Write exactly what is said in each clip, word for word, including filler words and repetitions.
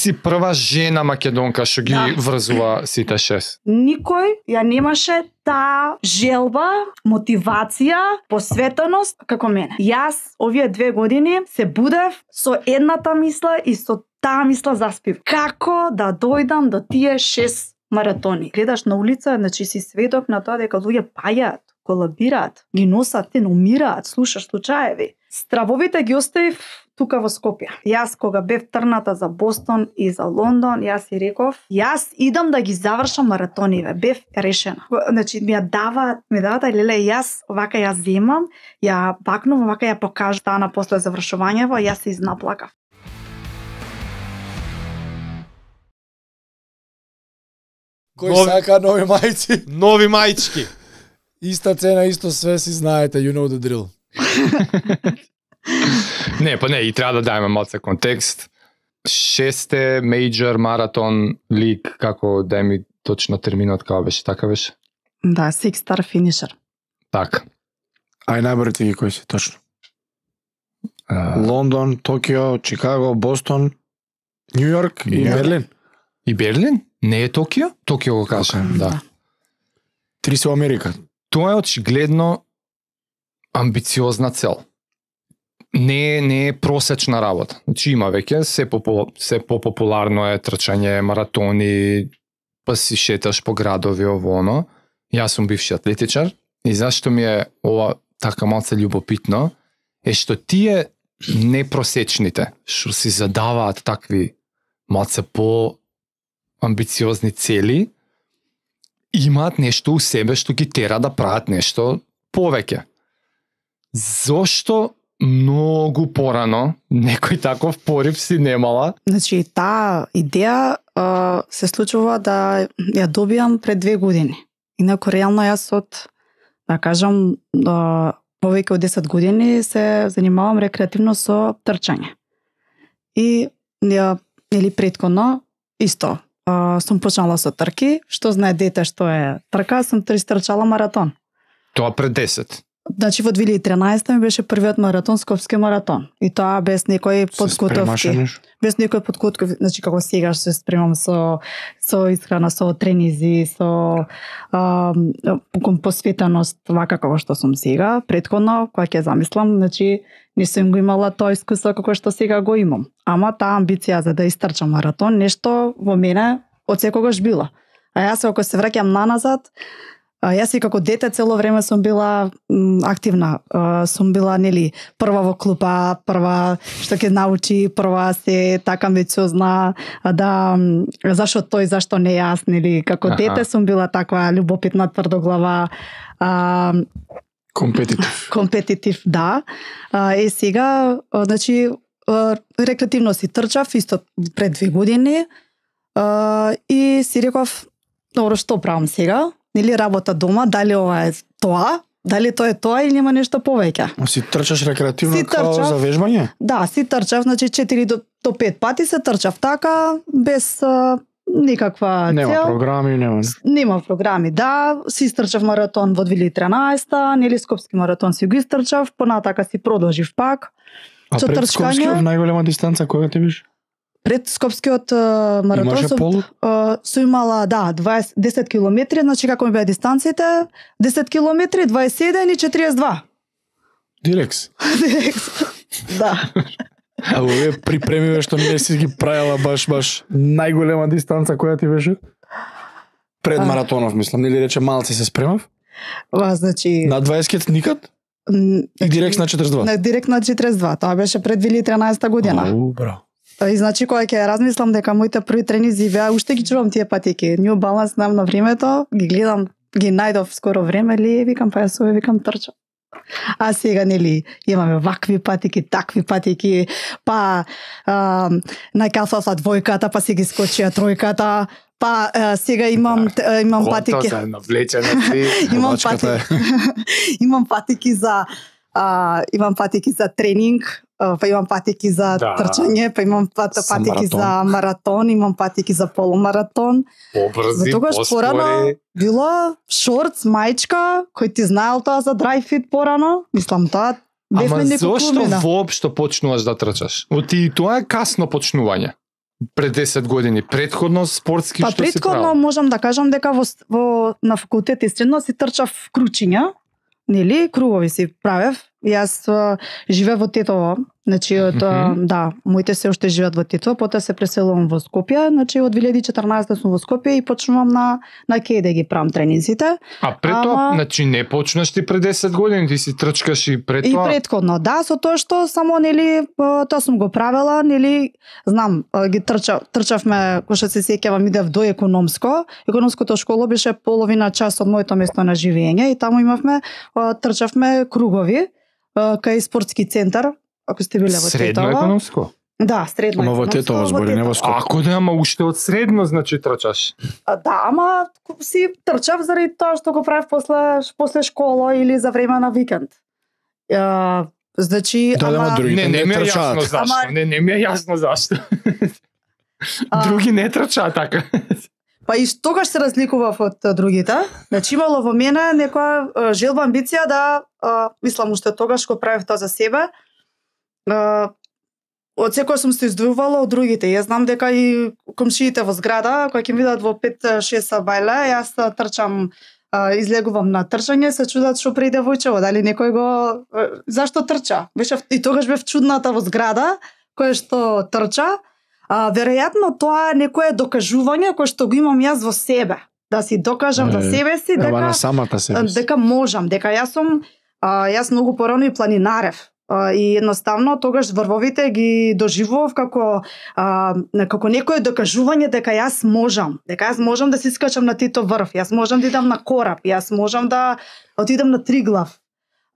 Си прва жена македонка што ги Да. врзува сите шест. Никој ја немаше таа желба, мотивација, посветеност како мене. Јас овие две години се будев со едната мисла и со таа мисла заспив. Како да дојдам до тие шест маратони? Гледаш на улица, значи си сведок на тоа дека луѓе паѓаат, колабираат, ги носат, те умираат, слушаш случаеви. Стравовите ги оставив тука во Скопје. Јас кога бев трната за Бостон и за Лондон, јас си реков, јас идам да ги завршам маратониве. Бев решена. Значи ми ја даваат, ми даваат, леле, јас овака ја земам, ја бакнувам, овака ја покажам стана после завршувањево, јас се изнаплакав. Кој Нови- сака нови мајци? Нови мајчки. Иста цена, исто све, си знаете, you know the drill. Не, па не, и треба да дајме малце контекст. Шесте мејджор маратон лиг, како дај ми точно терминот како беше, така беше? Да, six star finisher. Така. Ај набрате ги кои се точно. А, Лондон, Токио, Чикаго, Бостон, Нью Йорк и Нью Йорк. Берлин. И Берлин? Не е Токио? Токио го кажа, Така, да. да. Три се во Америка. Тоа е очигледно амбициозна цел. Не е, не е просечна работа. Значи има веќе се попу, се попопуларно е трчање, маратони, па си шеташ по градови ово оно. Јас сум бивши атлетичар и зашто ми е ова така малце љубопитно е што тие непросечните што си задаваат такви малце по амбициозни цели имаат нешто у себе што ги тера да прават нешто повеќе. Зошто многу порано некој таков порив си немала? Значи, таа идеја а, се случува да ја добијам пред две години. Инако, реално јас од, да кажам, а, повеќе од десет години се занимавам рекреативно со трчање. И ја, или предходно, исто, а, сум почнала со трки, што знае дете што е трка, сум трчала маратон. Тоа пред десет. Значи во две илјади и тринаесета ми беше првиот маратон, Скопски маратон. И тоа без некои Се спремаше подготовки. нешто? Без некој подготовки, значи како сега се спремам со со исхрана, со тренизи, со а, посветеност, вака како што сум сега. Претходно, кога ќе замислам, значи не сум го имала тоа искуство како што сега го имам. Ама таа амбиција за да истрчам маратон, нешто во мене од секогаш била. А јас ако се враќам наназад, а, јас и како дете цело време сум била м, активна. А, сум била, нели, прва во клупа, прва што ќе научи, прва се така амбициозна, а да м, зашо тој, зашто не јас, нели, како Аха. дете сум била таква љубопитна, тврдоглава, а, Компетитив. компетитив, да. А, е сега, а, значи, а, рекреативно си трчав исто пред две години а, и си реков, добро, што правам сега? Нели работа дома, дали ова е тоа? Дали тоа е тоа или нема нешто повеќе? Но си трчаш рекреативно Си као трчав. за вежбање? Да, си трчав, значи четири до пет пати се трчав така, без а, никаква Нема цел. програми, нема. Нема програми, да. Си истрчав маратон во две илјади и тринаесета, нели Скопски маратон си го истрчав, понатака си продолжив пак. А Со пред трчање? Скопскиот најголема дистанца која ти беше? Пред Скопскиот а, маратон Имаше сум, полу? а, сум имала, да, дваесет, десет километри, значи како ми беа дистанците, десет километри, дваесет и седум и четириесет и два. Дирекс. Да. А овие припремиве што не си ги правила баш баш најголема дистанца која ти беше? Пред А. маратонов, мислам, нели рече малци се спремав? Ва, значи... На дваесет никад? м, И директ на четиресет и два? На директ на четириесет и два, тоа беше пред две илјади и тринаесета година. Ау, браво. И значи кога ќе размислам дека моите први тренизи беа, уште ги чувам тие патики. New Balance знам на времето, ги гледам, ги најдов скоро време, ли викам па јас ове викам трчам. А сега нели имаме вакви патики, такви патики, па а, најкафафа двојката, па си ги скочија тројката, па а, сега имам т- имам патики. Конто се навлечена си. Имам Водачката е. патики. Имам патики за а, имам патики за тренинг, а, па имам патики за Да. трчање, па имам пат, За патики маратон. за маратон, имам патики за полумаратон. Побрзи, Затогаш порано поспори. била шортс, мајчка, кој ти знаел тоа за dry fit порано, мислам тоа бевме Ама некој зошто клумина. воопшто почнуваш да трчаш? Оти и тоа е касно почнување. пред десет години? Предходно спортски Па што си претходно правил? можам да кажам дека во, во на факултет и средно си трчав кручиња, нели, кругови си правев. Јас а, живеев во Тетово, значи од Мгм. да, моите се уште живеат во Тетово, потоа се преселувам во Скопје, значи од две илјади и четрнаесетта сум во Скопје и почнувам на на Кеј да ги правам тренинзите. А пред тоа, Ама- значи не почнаш ти пред десет години, ти си трчкаш и пред И тоа. предходно, да, со тоа што само нели а, тоа сум го правела, нели знам, а, ги трчав, трчавме, кој што се сеќавам, идев до економско. Економското школо беше половина час од моето место на живење и таму имавме а, трчавме кругови а, кај спортски центар, ако сте биле во Средно Тетово. економско. Да, средно Ама во економско, Тетово збори, не во Скопје. Ако да, ама уште од средно, значи трчаш. А, да, ама си трчав заради тоа што го правев после после школа или за време на викенд. А, значи, Да, да, ама ама другите Не, не не ми е трчаат. јасно зашто. Ама- Не, не ми е јасно зашто. А- Други не трчаат така. Па и тогаш се разликував од а, другите. Значи имало во мене некоја а, желба, амбиција да, а, мислам уште тогаш го правев тоа за себе. А, од секој сум се издвојувала од другите. Јас знам дека и комшиите во зграда, кои ќе ми видат во пет-шест сабајле, јас а, трчам, а, излегувам на трчање, се чудат што преде војчево, дали некој го а, зашто трча? Беше и тогаш бев чудната во зграда која што трча. А, веројатно тоа е некое докажување кое што го имам јас во себе. Да си докажам за Е, себе си Ева дека на самата себе. си. дека можам, дека јас сум а, јас многу порано и планинарев. А, и едноставно тогаш врвовите ги доживував како а, како некое докажување дека јас можам, дека јас можам да си скачам на тито врв, јас можам да идам на кораб, јас можам да отидам на Триглав.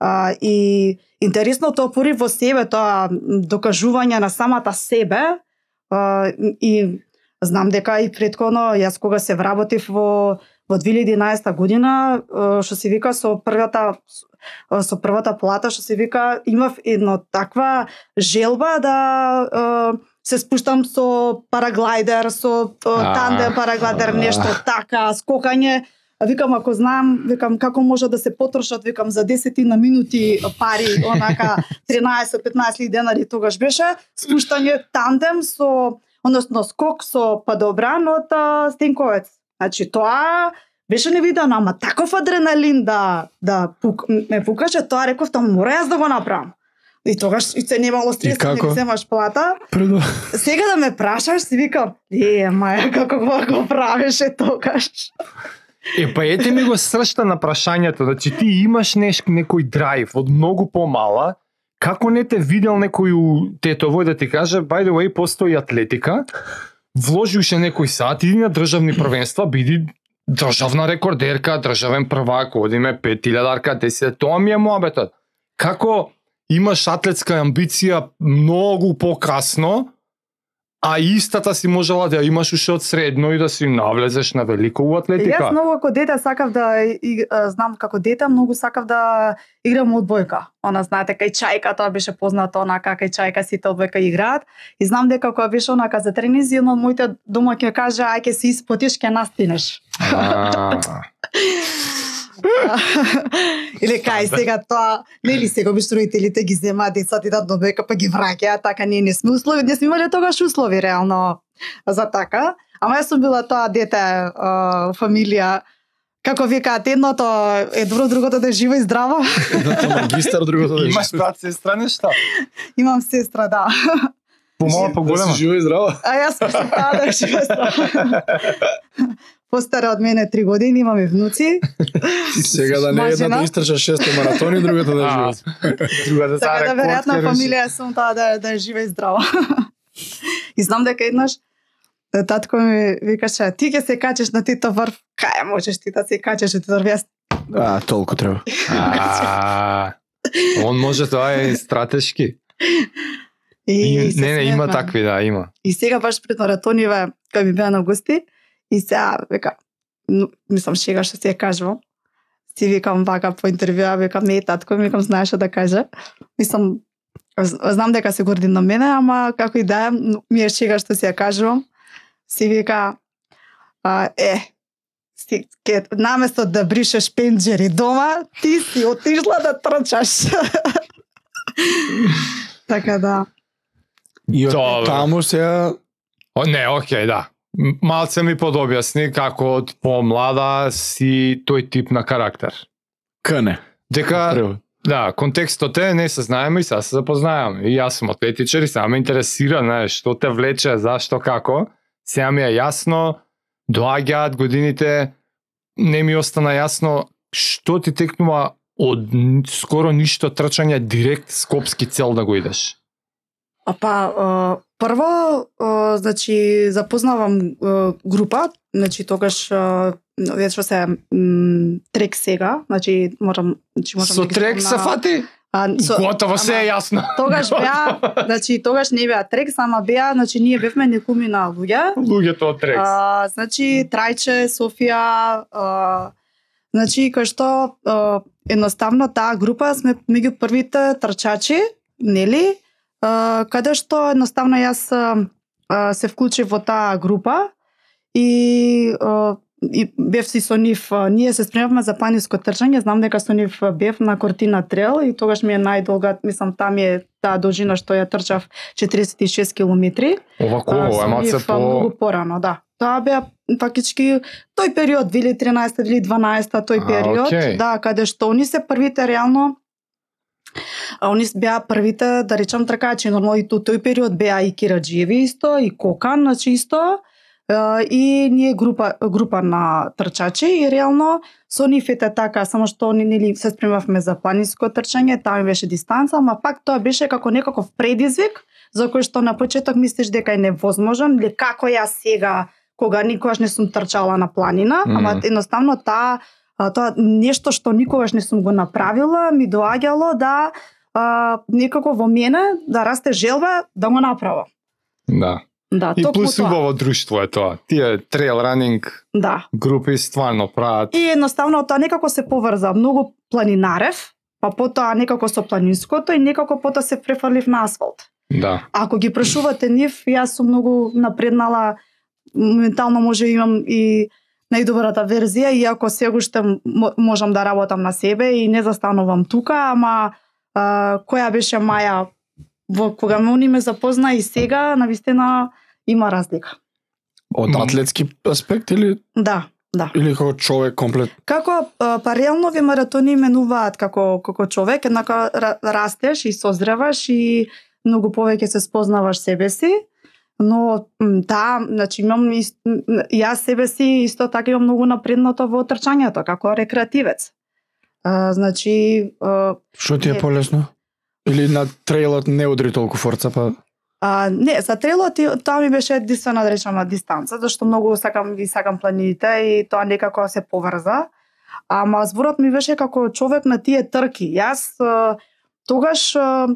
А, и интересното опори во себе тоа докажување на самата себе. Uh, и знам дека и предходно јас кога се вработив во во две илјади и еднаесетта година, uh, што се вика со првата со првата плата, што се вика, имав едно таква желба да uh, се спуштам со параглайдер, со uh, тандем параглайдер, нешто така, скокање. Викам, ако знам, викам, како може да се потрошат, викам, за десетина минути пари, онака, тринаесет-петнаесет денари тогаш беше, спуштање тандем со, односно скок со падобран од а, Стенковец. Значи, тоа беше невидено, ама таков адреналин да, да пук, ме пукаше, тоа реков, тоа мора јас да го направам. И тогаш и се немало стрес, И како? не земаш плата. Предо... Сега да ме прашаш, си викам, е, маја, како го, го правеше тогаш. Е, па ете ми го сршта на прашањето, значи ти имаш неш, некој драйв од многу помала, како не те видел некој у Тетово да ти каже, by the way, постои атлетика, вложи уште некој сат, иди на државни првенства, биди државна рекордерка, државен првак, одиме пет илјадарка, десет, тоа ми е моабетот. Како имаш атлетска амбиција многу покасно, а истата си можела да ја имаш уште од средно и да си навлезеш на велико у атлетика. Јас многу како дете сакав да и, а, знам како дете многу сакав да играм одбојка. Она знаете кај чајка тоа беше познато, онака кај чајка сите одбојка играат и знам дека кога беше онака за тренизи едно од моите дома ќе каже ај ќе се испотиш ќе настинеш. А, Или кај сега тоа, нели сега обично родителите ги земаат децата идат до одбојка па ги враќаат, така ние не сме услови, не сме имале тогаш услови реално за така. Ама јас сум била тоа дете, а, фамилија, како викаат, едното е добро, другото да е живо и здраво. Едното магистар, другото да имаш брат, сестра, нешта? Имам сестра, да. Помала, Да поголема. си живо и здраво. А јас сум таа да е живо и здраво. Постара од мене три години, имаме внуци. Сега да не Мажина. едната истрча шесто маратони, другата да е А, живо. Другата Така за да рекорд веројатно ќе реши. фамилија сум таа да, да е жива и здрава. И знам дека еднаш татко ми викаше, ти ќе се качеш на тито врв, кај можеш ти да се качеш на тито врв, јас А, толку треба. А, он може, тоа е стратешки. и, И, се не, не, има смеевме. такви, да, има. И сега баш пред маратониве, кога ми беа на гости, и сега, века, ну, мислам, шега што се ја кажувам, си викам вака по интервјуа, викам, не, татко, викам, знаеш што да каже. Мислам, з- знам дека се горди на мене, ама како и да е, ну, ми е шега што се ја кажувам. Си вика, а, е, си, ке, наместо да бришеш пенџери дома, ти си отишла да трчаш. Така да. И од Добро. таму сега О, не, окей, да. М- Малце ми подобјасни како од помлада си тој тип на карактер. Кане. Дека, Прво. да, контекстот е, не се знаеме и сега се запознаеме. И јас сум атлетичар и сега ме интересира, знаеш, што те влече, зашто, како. Сега ми е јасно, доаѓаат годините, не ми остана јасно што ти текнува од н- скоро ништо трчање директ скопски цел да го идеш. А па, а, прво, а, значи, запознавам а, група, значи, тогаш, а, веќе се м, трек сега, значи, можам, значи, можам Со да ги трек се спомнам. фати? А, со- Готово, се е ама, јасно. Тогаш беа, значи, тогаш не беа трек, само беа, значи, ние бевме некуми на луѓе. Луѓето од трек. А, значи, Трајче, Софија, а, значи, кај што а, едноставно таа група сме меѓу првите трчачи, нели? А, каде што едноставно јас а, а, се вклучив во таа група и, а, и бев си со нив, а, ние се спремавме за планинско трчање, знам дека со нив бев на Кортина Трел и тогаш ми е најдолга, мислам, там е таа должина што ја трчав четиридесет и шест километри. Овако, А, ова со е малце нив, а, по... многу порано, да. Тоа беа фактички тој период две илјади и тринаесета, две илјади и дванаесета тој А, период, окей. да, каде што они се првите реално а, они беа првите, да речам, тркачи, нормално и тој, тој период беа и Кираџиеви исто, и Кокан, значи исто, а, и ние група група на трчачи и реално со нив ете така, само што они нели се спремавме за планинско трчање, таа беше дистанца, ама пак тоа беше како некаков предизвик за кој што на почеток мислиш дека е невозможен, или како јас сега кога никогаш не сум трчала на планина, Мм. ама едноставно таа а, тоа нешто што никогаш не сум го направила, ми доаѓало да а, некако во мене да расте желба да го направам. Да. Да, И токму плюс тоа. убаво друштво е тоа. Тие трейл ранинг Да. групи стварно прават. И едноставно тоа некако се поврза. Многу планинарев, па потоа некако со планинското и некако потоа се префрлив на асфалт. Да. Ако ги прашувате нив, јас сум многу напреднала, моментално може имам и најдобрата верзија, иако сега уште мо- можам да работам на себе и не застанувам тука, ама а, која беше Маја во кога ме они ме запозна и сега, навистина има разлика. Од М. атлетски аспект или Да, да. или како човек комплет? Како а, паралелнови маратони менуваат како како човек, еднако ра- растеш и созреваш и многу повеќе се спознаваш себе си, но м, да, значи имам ист, м, јас себе си исто така имам многу напредното во трчањето како рекреативец. А, значи а, Што ти е Не. полесно? Или на трейлот не удри толку форца, па А, не, за трелот и- тоа ми беше единствена да речеме дистанца, зашто многу сакам ги сакам планините и тоа некако се поврза. Ама зборот ми беше како човек на тие трки. Јас а, тогаш а,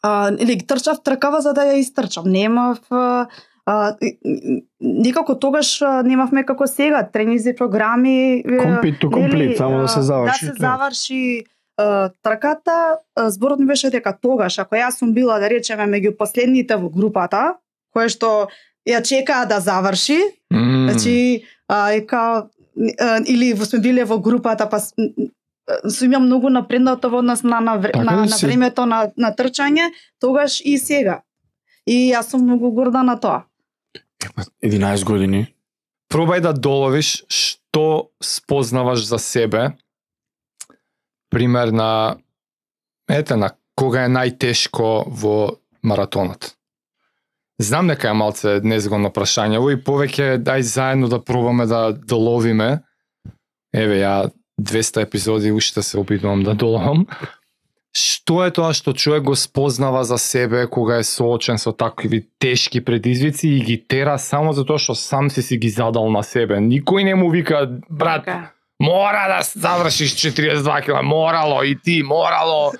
а, или трчав тркава за да ја истрчам. Немав а, а, и- и- никако тогаш а, немавме како сега тренинзи програми. е, Complete to нели, complete, само да а, се заврши Да се тоа. заврши а, трката. А, зборот ми беше дека тогаш, ако јас сум била, да речеме, меѓу последните во групата, која што ја чекаа да заврши, М. значи, а, и као, а, или во сме биле во групата, па с- м, м, сум имам многу напреднато во однос на, на, вре- Така на, ли на си? времето на, на трчање, тогаш и сега. И јас сум многу горда на тоа. единаесет години. Пробај да доловиш што спознаваш за себе. Пример на ете на кога е најтешко во маратонот. Знам дека е малце незгодно прашање, и повеќе дај заедно да пробаме да доловиме. Еве ја двеста епизоди уште се обидувам да доловам. Што е тоа што човек го спознава за себе кога е соочен со такви тешки предизвици и ги тера само затоа што сам си си ги задал на себе. Никој не му вика, брат, Така. мора да завршиш четириесет и два километра, морало и ти, морало,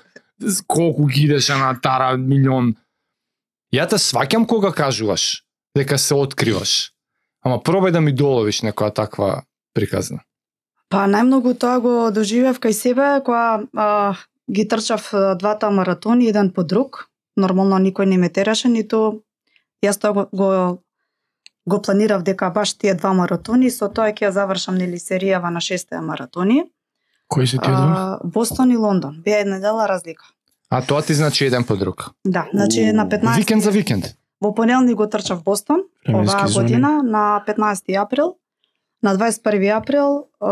колку ги идеше на тара милион. Ја те сваќам кога кажуваш дека се откриваш. Ама пробај да ми доловиш некоја таква приказна. Па најмногу тоа го доживев кај себе кога а, ги трчав а, двата маратони еден по друг. Нормално никој не ме тераше, ниту јас тоа го, го го планирав дека баш тие два маратони, со тоа ќе ја завршам нели серијава на шест маратони. Кои се тие два? А, Бостон и Лондон. Беа една дела разлика. А тоа ти значи еден по друг. Да, значи на петнаесет Викенд за викенд. Во понеделник го трчав Бостон, Временски оваа зони. година на петнаесети април. На дваесет и први април е,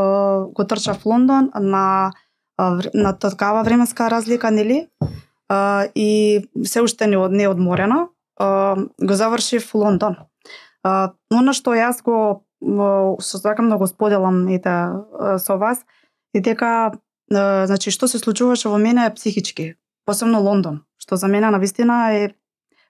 го трчав Лондон на е, на такава временска разлика, нели? Е, и се уште не, од- не одморена. Е, го завршив Лондон. Uh, оно што јас го uh, што сакам да го споделам ете uh, со вас е дека uh, значи што се случуваше во мене психички, посебно Лондон, што за мене навистина е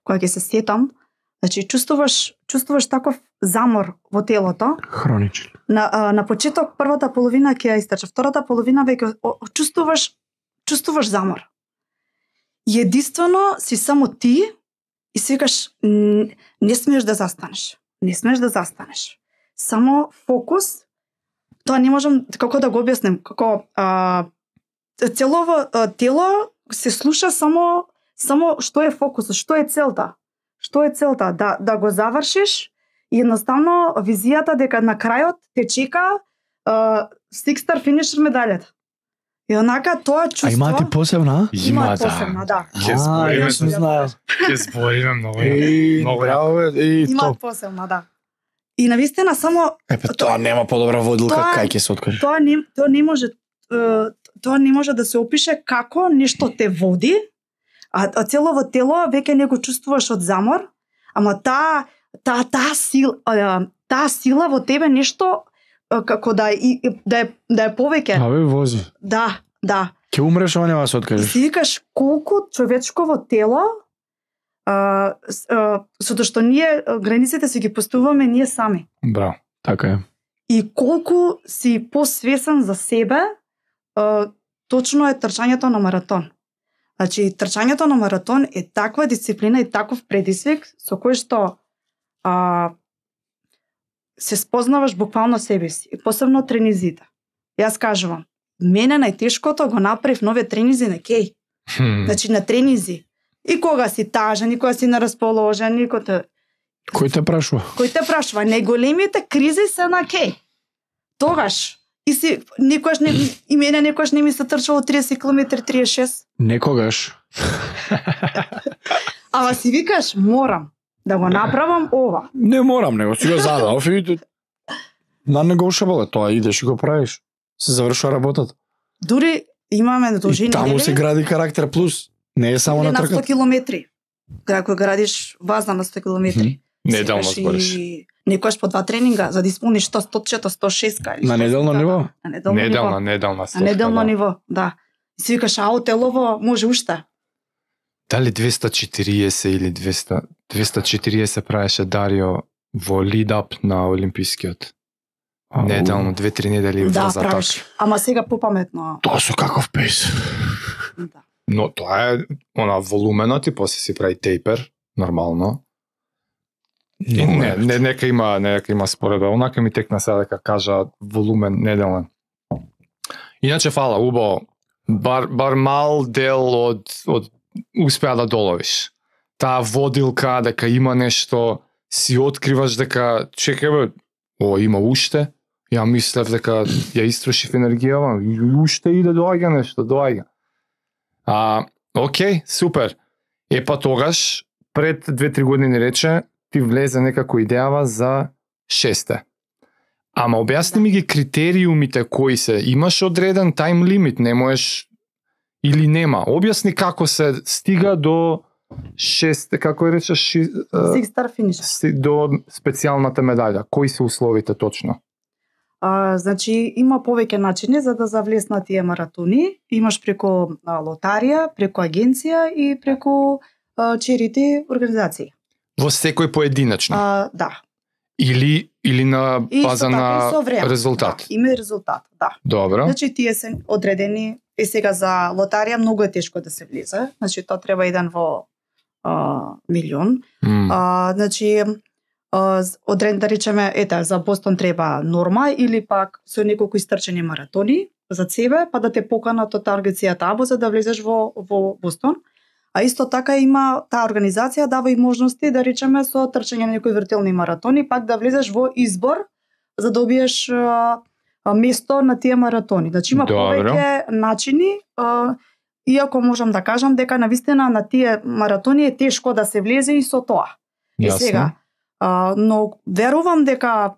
кога ќе се сетам, значи чувствуваш чувствуваш таков замор во телото. Хроничен. На uh, на почеток првата половина ќе ја истрча, втората половина веќе о- о- чувствуваш чувствуваш замор. И единствено си само ти и секаш н- не смееш да застанеш. Не смееш да застанеш. Само фокус. Тоа не можам како да го објасним, како а, целово а, тело се слуша само само што е фокусот, што е целта. Што е целта да да го завршиш и едноставно визијата дека на крајот те чека а, six star finisher медалјата. И онака тоа чувство. А имате посебна? Има Има, да. посебна, да. Ќе А, збориме, јас сум знаел. ќе збориме многу. Еј, Многу браво, бе, еј, Има топ. посебна, да. И навистина само Епе, тоа нема подобра водилка, Тоа- кај ќе се откаже. тоа не тоа не може е, тоа не може да се опише како нешто те води, а, а целово тело веќе не го чувствуваш од замор, ама таа таа таа сила а, таа сила во тебе нешто а, како да и да е да е повеќе. Абе, вози. Да, да. Ќе умреш, ама нема да се И откажеш. си викаш колку човечково тело а, с- а, сото што ние а, границите си ги поставуваме ние сами. Браво. Така е. И колку си посвесен за себе, а, точно е трчањето на маратон. Значи, трчањето на маратон е таква дисциплина и таков предизвик со кој што а, се спознаваш буквално себе си. И посебно тренизите. Јас кажувам, мене најтешкото го направив нови тренизи на кеј. Хм. Значи, на тренизи. И кога си тажен, и кога си нерасположен, и кога те... Кој те прашува? Кој те прашува? Најголемите кризи се на кеј. Тогаш. И си, никогаш не, и мене никогаш не ми се трчало триесет километри, триесет и шест. Некогаш. Ама си викаш, морам да го направам ова. Не морам, него си го задав и на не го ушабале, тоа идеш и го правиш. Се завршува работата. Дури имаме должини, И таму се гради карактер плюс. Не е само или на на сто трката. километри. Како градиш вазна на сто километри. Неделно Секаш збориш. и некојаш по два тренинга за да исполниш сто, сто четири, сто шест. На неделно ниво? На неделно Неделна, ниво. неделна На стопка, неделно да. ниво, да. И си викаш, ао, телово може уште. Дали двеста и четириесет или двеста двеста и четириесет правеше Дарио во лидап на Олимпискиот. Ау. Неделно, две-три недели Да, за правиш. Ама сега попаметно. Тоа со каков пейс. Да. Но тоа е она волуменот и после си прави тейпер, нормално. И не, не, нека има, нека има споредба. Онака ми текна сега дека кажа волумен неделен. Иначе фала, убаво. Бар, бар мал дел од, од успеа да доловиш. Таа водилка, дека има нешто, си откриваш дека, чекај бе, о, има уште. Ја мислев дека ја истрошив енергијава, и уште иде доаѓа нешто, доаѓа. А, окей, супер. Е па тогаш, пред две-три години рече, ти влезе некако идејава за шесте. Ама објасни ми ги критериумите кои се. Имаш одреден тайм лимит, не можеш или нема. Објасни како се стига до шесте, како е речеш, ши, а, Six star finish. си- до специјалната медаља. Кои се условите точно? А, значи, има повеќе начини за да завлез на тие маратони. Имаш преку а, лотарија, преку агенција и преку а, черити организации. Во секој поединечно. А, да. Или, или на И исто база така на и со време. резултат. Да, има и резултат, да. Добро. Значи, тие се одредени. И сега за лотарија многу е тешко да се влезе. Значи, тоа треба еден во а, милион. М. А, значи, а, з- одрен да речеме, ете, за Бостон треба норма или пак со неколку истрчени маратони за себе, па да те поканат од агенцијата АБО за да влезеш во, во Бостон. А исто така има таа организација дава и можности да речеме со трчање на некои виртуелни маратони, пак да влезеш во избор за да добиеш а, а, место на тие маратони. Значи има Добро. повеќе начини, а, иако можам да кажам дека навистина на тие маратони е тешко да се влезе и со тоа. Е Јасно. сега, а, но верувам дека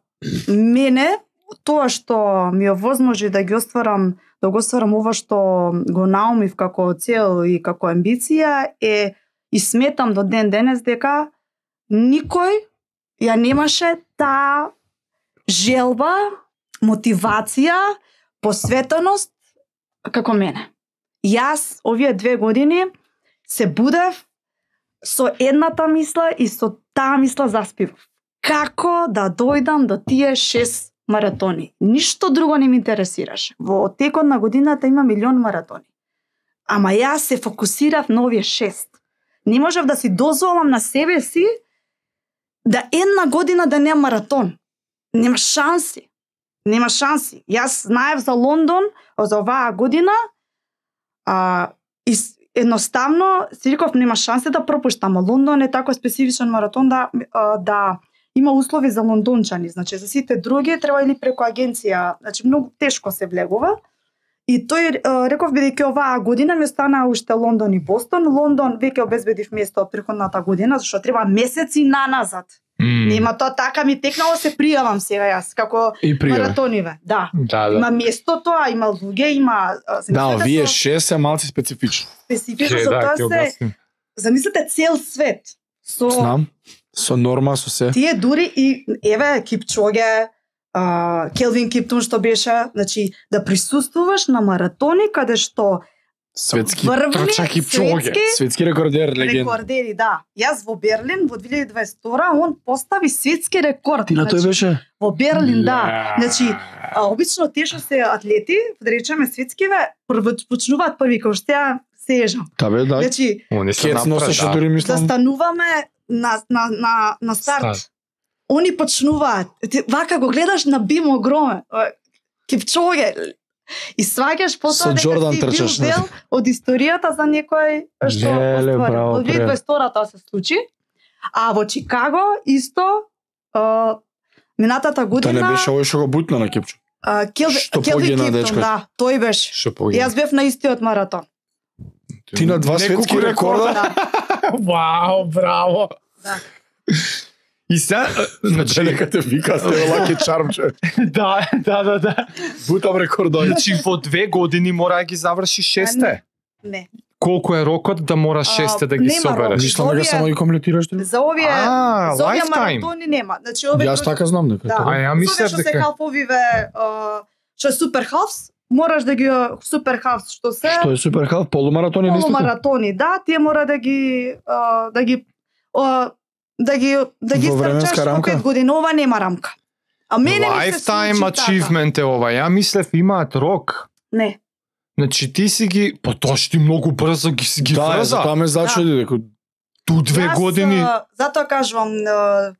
мене тоа што ми овозможи да ги остварам, да го остварам ова што го наумив како цел и како амбиција е и сметам до ден денес дека никој ја немаше таа желба, мотивација, посветеност како мене. Јас овие две години се будев со едната мисла и со таа мисла заспивав. Како да дојдам до тие шест маратони? Ништо друго не ме интересираше. Во текот на годината има милион маратони. Ама јас се фокусирав на овие шест. Не можев да си дозволам на себе си да една година да нема маратон. Нема шанси. Нема шанси. Јас знаев за Лондон, за оваа година, а, и едноставно си реков нема шанси да пропуштам. Лондон е тако специфичен маратон да, да има услови за лондончани. Значи за сите други треба или преку агенција, значи многу тешко се влегува. И тој реков бидејќи оваа година ми остана уште Лондон и Бостон. Лондон веќе обезбедив место од претходната година, зашто треба месеци наназад. Mm. Нема тоа така ми текнало, се пријавам сега јас како маратониве. Да. Да, да. Има место тоа, има луѓе, има Да, вие шест се малци специфично. специфично Ке, за да, тоа ќе се објасним. замислете цел свет. Со Знам. Со норма, со се. тие дури и еве Кипчоге, а, Келвин Киптон што беше, значи да присуствуваш на маратони каде што Светски врвни трча Кипчоге. светски светски рекордер, легенда. рекордери, да. Јас во Берлин во две илјади и дваесет и втора он постави светски рекорд. Ти на тој беше? Во Берлин, да. Ле. Значи, а, обично тие што се атлети, да речеме светскиве, прво почнуваат први како што ја се ежам. Та бе, да. Значи, Они се Кец носеше напред, дури да мислам. стануваме на на на на старт. Старт. Они почнуваат. Ти вака го гледаш на бим огромен. Кипчоге. И сваќаш Со потоа дека Джордан си бил трчаш, не? дел од историјата за некој што Леле, оствари. браво, Во две илјади и дваесет и втора тоа се случи. А во Чикаго исто а, минатата Та година не беше овој што го бутна на Кипчо. а, Кел, Што Келви погина, Киптон, дечко? да, тој беше. Што погина? Јас бев на истиот маратон. Ти на два Неколку светски рекорда? Да, Вау, браво. да. И сега, значи, Нека те вика, сте лаки чарм, човек. да, да, да, да. Бутам рекордови. Значи во две години мора да ги заврши шесте. Не. Колку е рокот да мора шесте да ги нема собереш? рок. Мислам дека Овие- само ги комплетираш. ти? За овие А, за овие lifetime. маратони нема. Значи овие Јас така знам дека. Да. така. А ја За мислев овие што се дека халфовиве, а, што е супер халфс, мораш да ги супер халфс што се Што е супер халф, полумаратони не полумаратони, да, тие мора да ги а, да ги а, да ги да ги Во временска стрчаш во рамка? пет години, ова нема рамка. А мене ми се lifetime случи така. achievement е ова. Ја мислев имаат рок. Не. Значи ти си ги, па тоа што ти многу брзо ги си ги Да, врза. затоа ме зачуди дека Ту две Јас, години. а, затоа кажувам, а,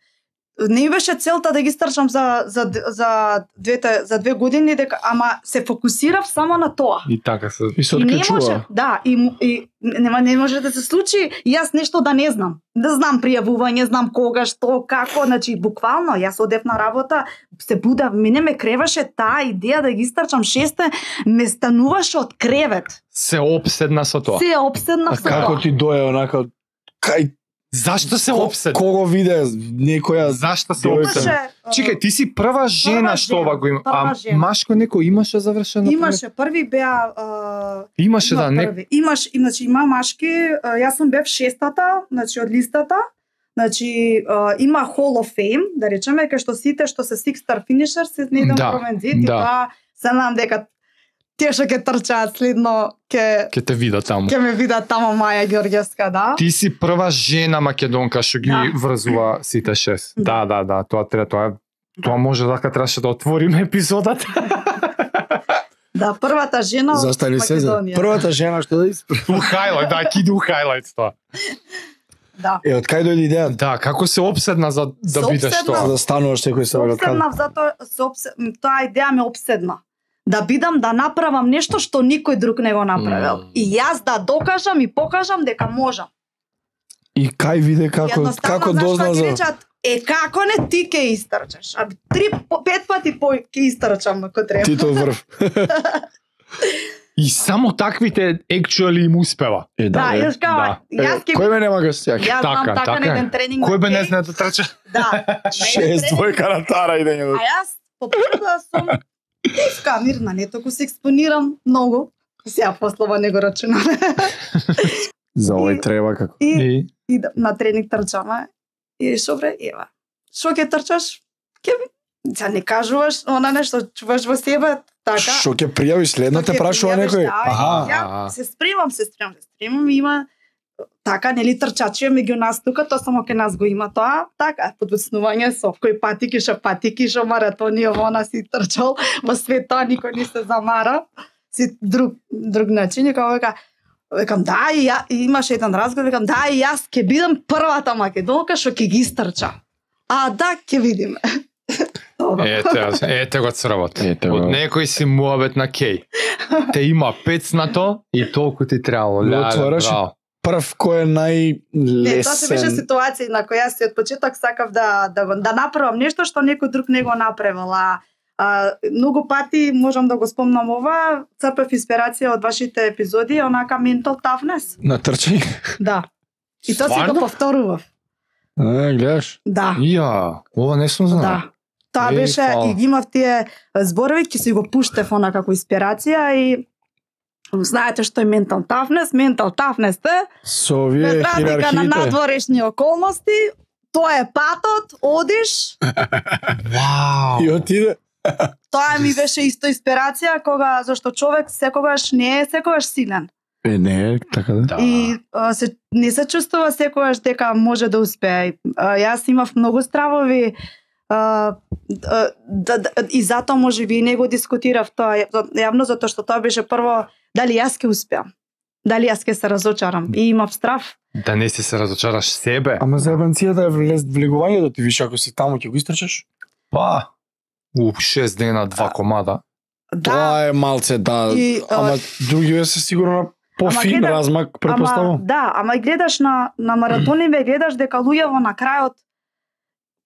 не ми беше целта да ги стрчам за за за двете за две години, дека ама се фокусирав само на тоа. И така се. и се И не може, откачува. да, и, му- и нема не може да се случи и јас нешто да не знам. Да знам пријавување, знам кога, што, како, значи буквално јас одев на работа, се будав, мене ме креваше таа идеја да ги истрчам шесте, ме стануваше од кревет. Се опседна со тоа. Се обседнав А со како тоа. ти дое онака кај Зашто се ко- опседна? Кого виде некоја Зашто се Девојка. опседна? Имаше, а, Чекај, ти си прва жена Прва што жена, ова го има. прва А жена. машко некој имаше завршено? имаше први беа а, Имаше има да, не. први. Имаш, им, значи има машки, а, јас сум бев шестата, значи од листата. Значи а, има Hall of Fame, да речеме, кај што сите што се six star finishers се не Да, да, промензит и да. тоа се надам дека тие што ќе трчаат следно ќе Ке те видат таму. ќе ме видат тамо Маја Ѓорѓевска, да. Ти си прва жена македонка што ги Да. врзува сите шест. Да. Да, да, да, тоа треба, тоа е Тоа може дека требаше да отвориме епизодата. Да, првата жена од Застани се за Македонија. првата жена што да испр... У хайлайт, да, киди у хайлайт тоа. Да. Е, од кај дојде идејата? Да, како се обседна за да Се бидеш обседна. За тоа? да стануваш секој се од каде? Обседнав затоа се обсе... таа идеја ме обседна. Да бидам да направам нешто што никој друг не го направил. Mm. И јас да докажам и покажам дека можам. И кај виде како Едноставно, како знаеш дозна што ги за речат, е како не ти ке истрчаш. А три по- пет пати по ке истрчам ако треба. Тито врв. И само таквите actually им успева. Е, Да, е. јас кажам, да. јас ќе Кој ме нема го стјак? Јас знам Така, така, така на е. еден тренинг. Кој бе на не кеј. знае да трча? Да. на еден Шест тренинг. двојка на тара идење. А јас по природа сум тивка, мирна, не толку се експонирам многу. Сега послова не го рачунаме. За овој И- треба како. И, И и да- на тренинг трчаме. И шобре, ева. Шо ќе трчаш? Ќе Сега не кажуваш она нешто, чуваш во себе, така. Што ќе пријавиш следно те Ќе прашува пријавиш, некој? да, Аха. Ја аха. се спремам, се спремам, се спремам, има така, нели трчачи меѓу нас тука, тоа само ке нас го има тоа, така, подоцнување со кој патики, шо патики, шо маратони, ово она си трчал, во свет тоа никој не се замара, си друг, друг начин, и као века, викам, да, и ја, и имаше еден разговор, викам, да, и јас ќе бидам првата македонка што ќе ги истрча. А, да, ќе видиме. Добро. ете, ете го црвот. Ете Од го. некој си муабет на кеј. Те има пецнато и толку ти требало. Го Леле, отвораш и браво. Прв кој е Не, тоа се беше најлесен. ситуација на која јас си од почеток сакав да да го да направам нешто што некој друг не го направил. А, а многу пати можам да го спомнам ова, црпев инспирација од вашите епизоди, онака mental toughness. На трчање. Да. И тоа си Стварно? го повторував. А, гледаш. Да. Ја, ова не сум знал. Да. Тоа Е, беше фала. и ги имав тие зборови, ќе си го пуштев она како инспирација и знаете што е mental toughness, mental toughness е Со без овие разлика на хиерархиите. надворешни околности, тоа е патот, одиш, Вау. И отиде. тоа ми беше исто инспирација кога зашто човек секогаш не е секогаш силен. Е, не, така да. Да. И а, се не се чувствува секогаш дека може да успее. А, јас имав многу стравови а, да, да, да, и затоа може би и не го дискутирав тоа ја- јавно затоа што тоа беше прво дали јас ќе успеам. Дали јас ќе се разочарам. И имав страв. Да не си се разочараш себе. Ама за ебанцијата е влез влегувањето, ти виш ако си таму ќе го истрчаш. Па, у шест дена, два комада. Да, Тоа е малце, да. И, а, Ама другиве се сигурно на пофин гледа- размак, ама, претпоставам. да, ама и гледаш на, на маратони, ве гледаш дека луѓе на крајот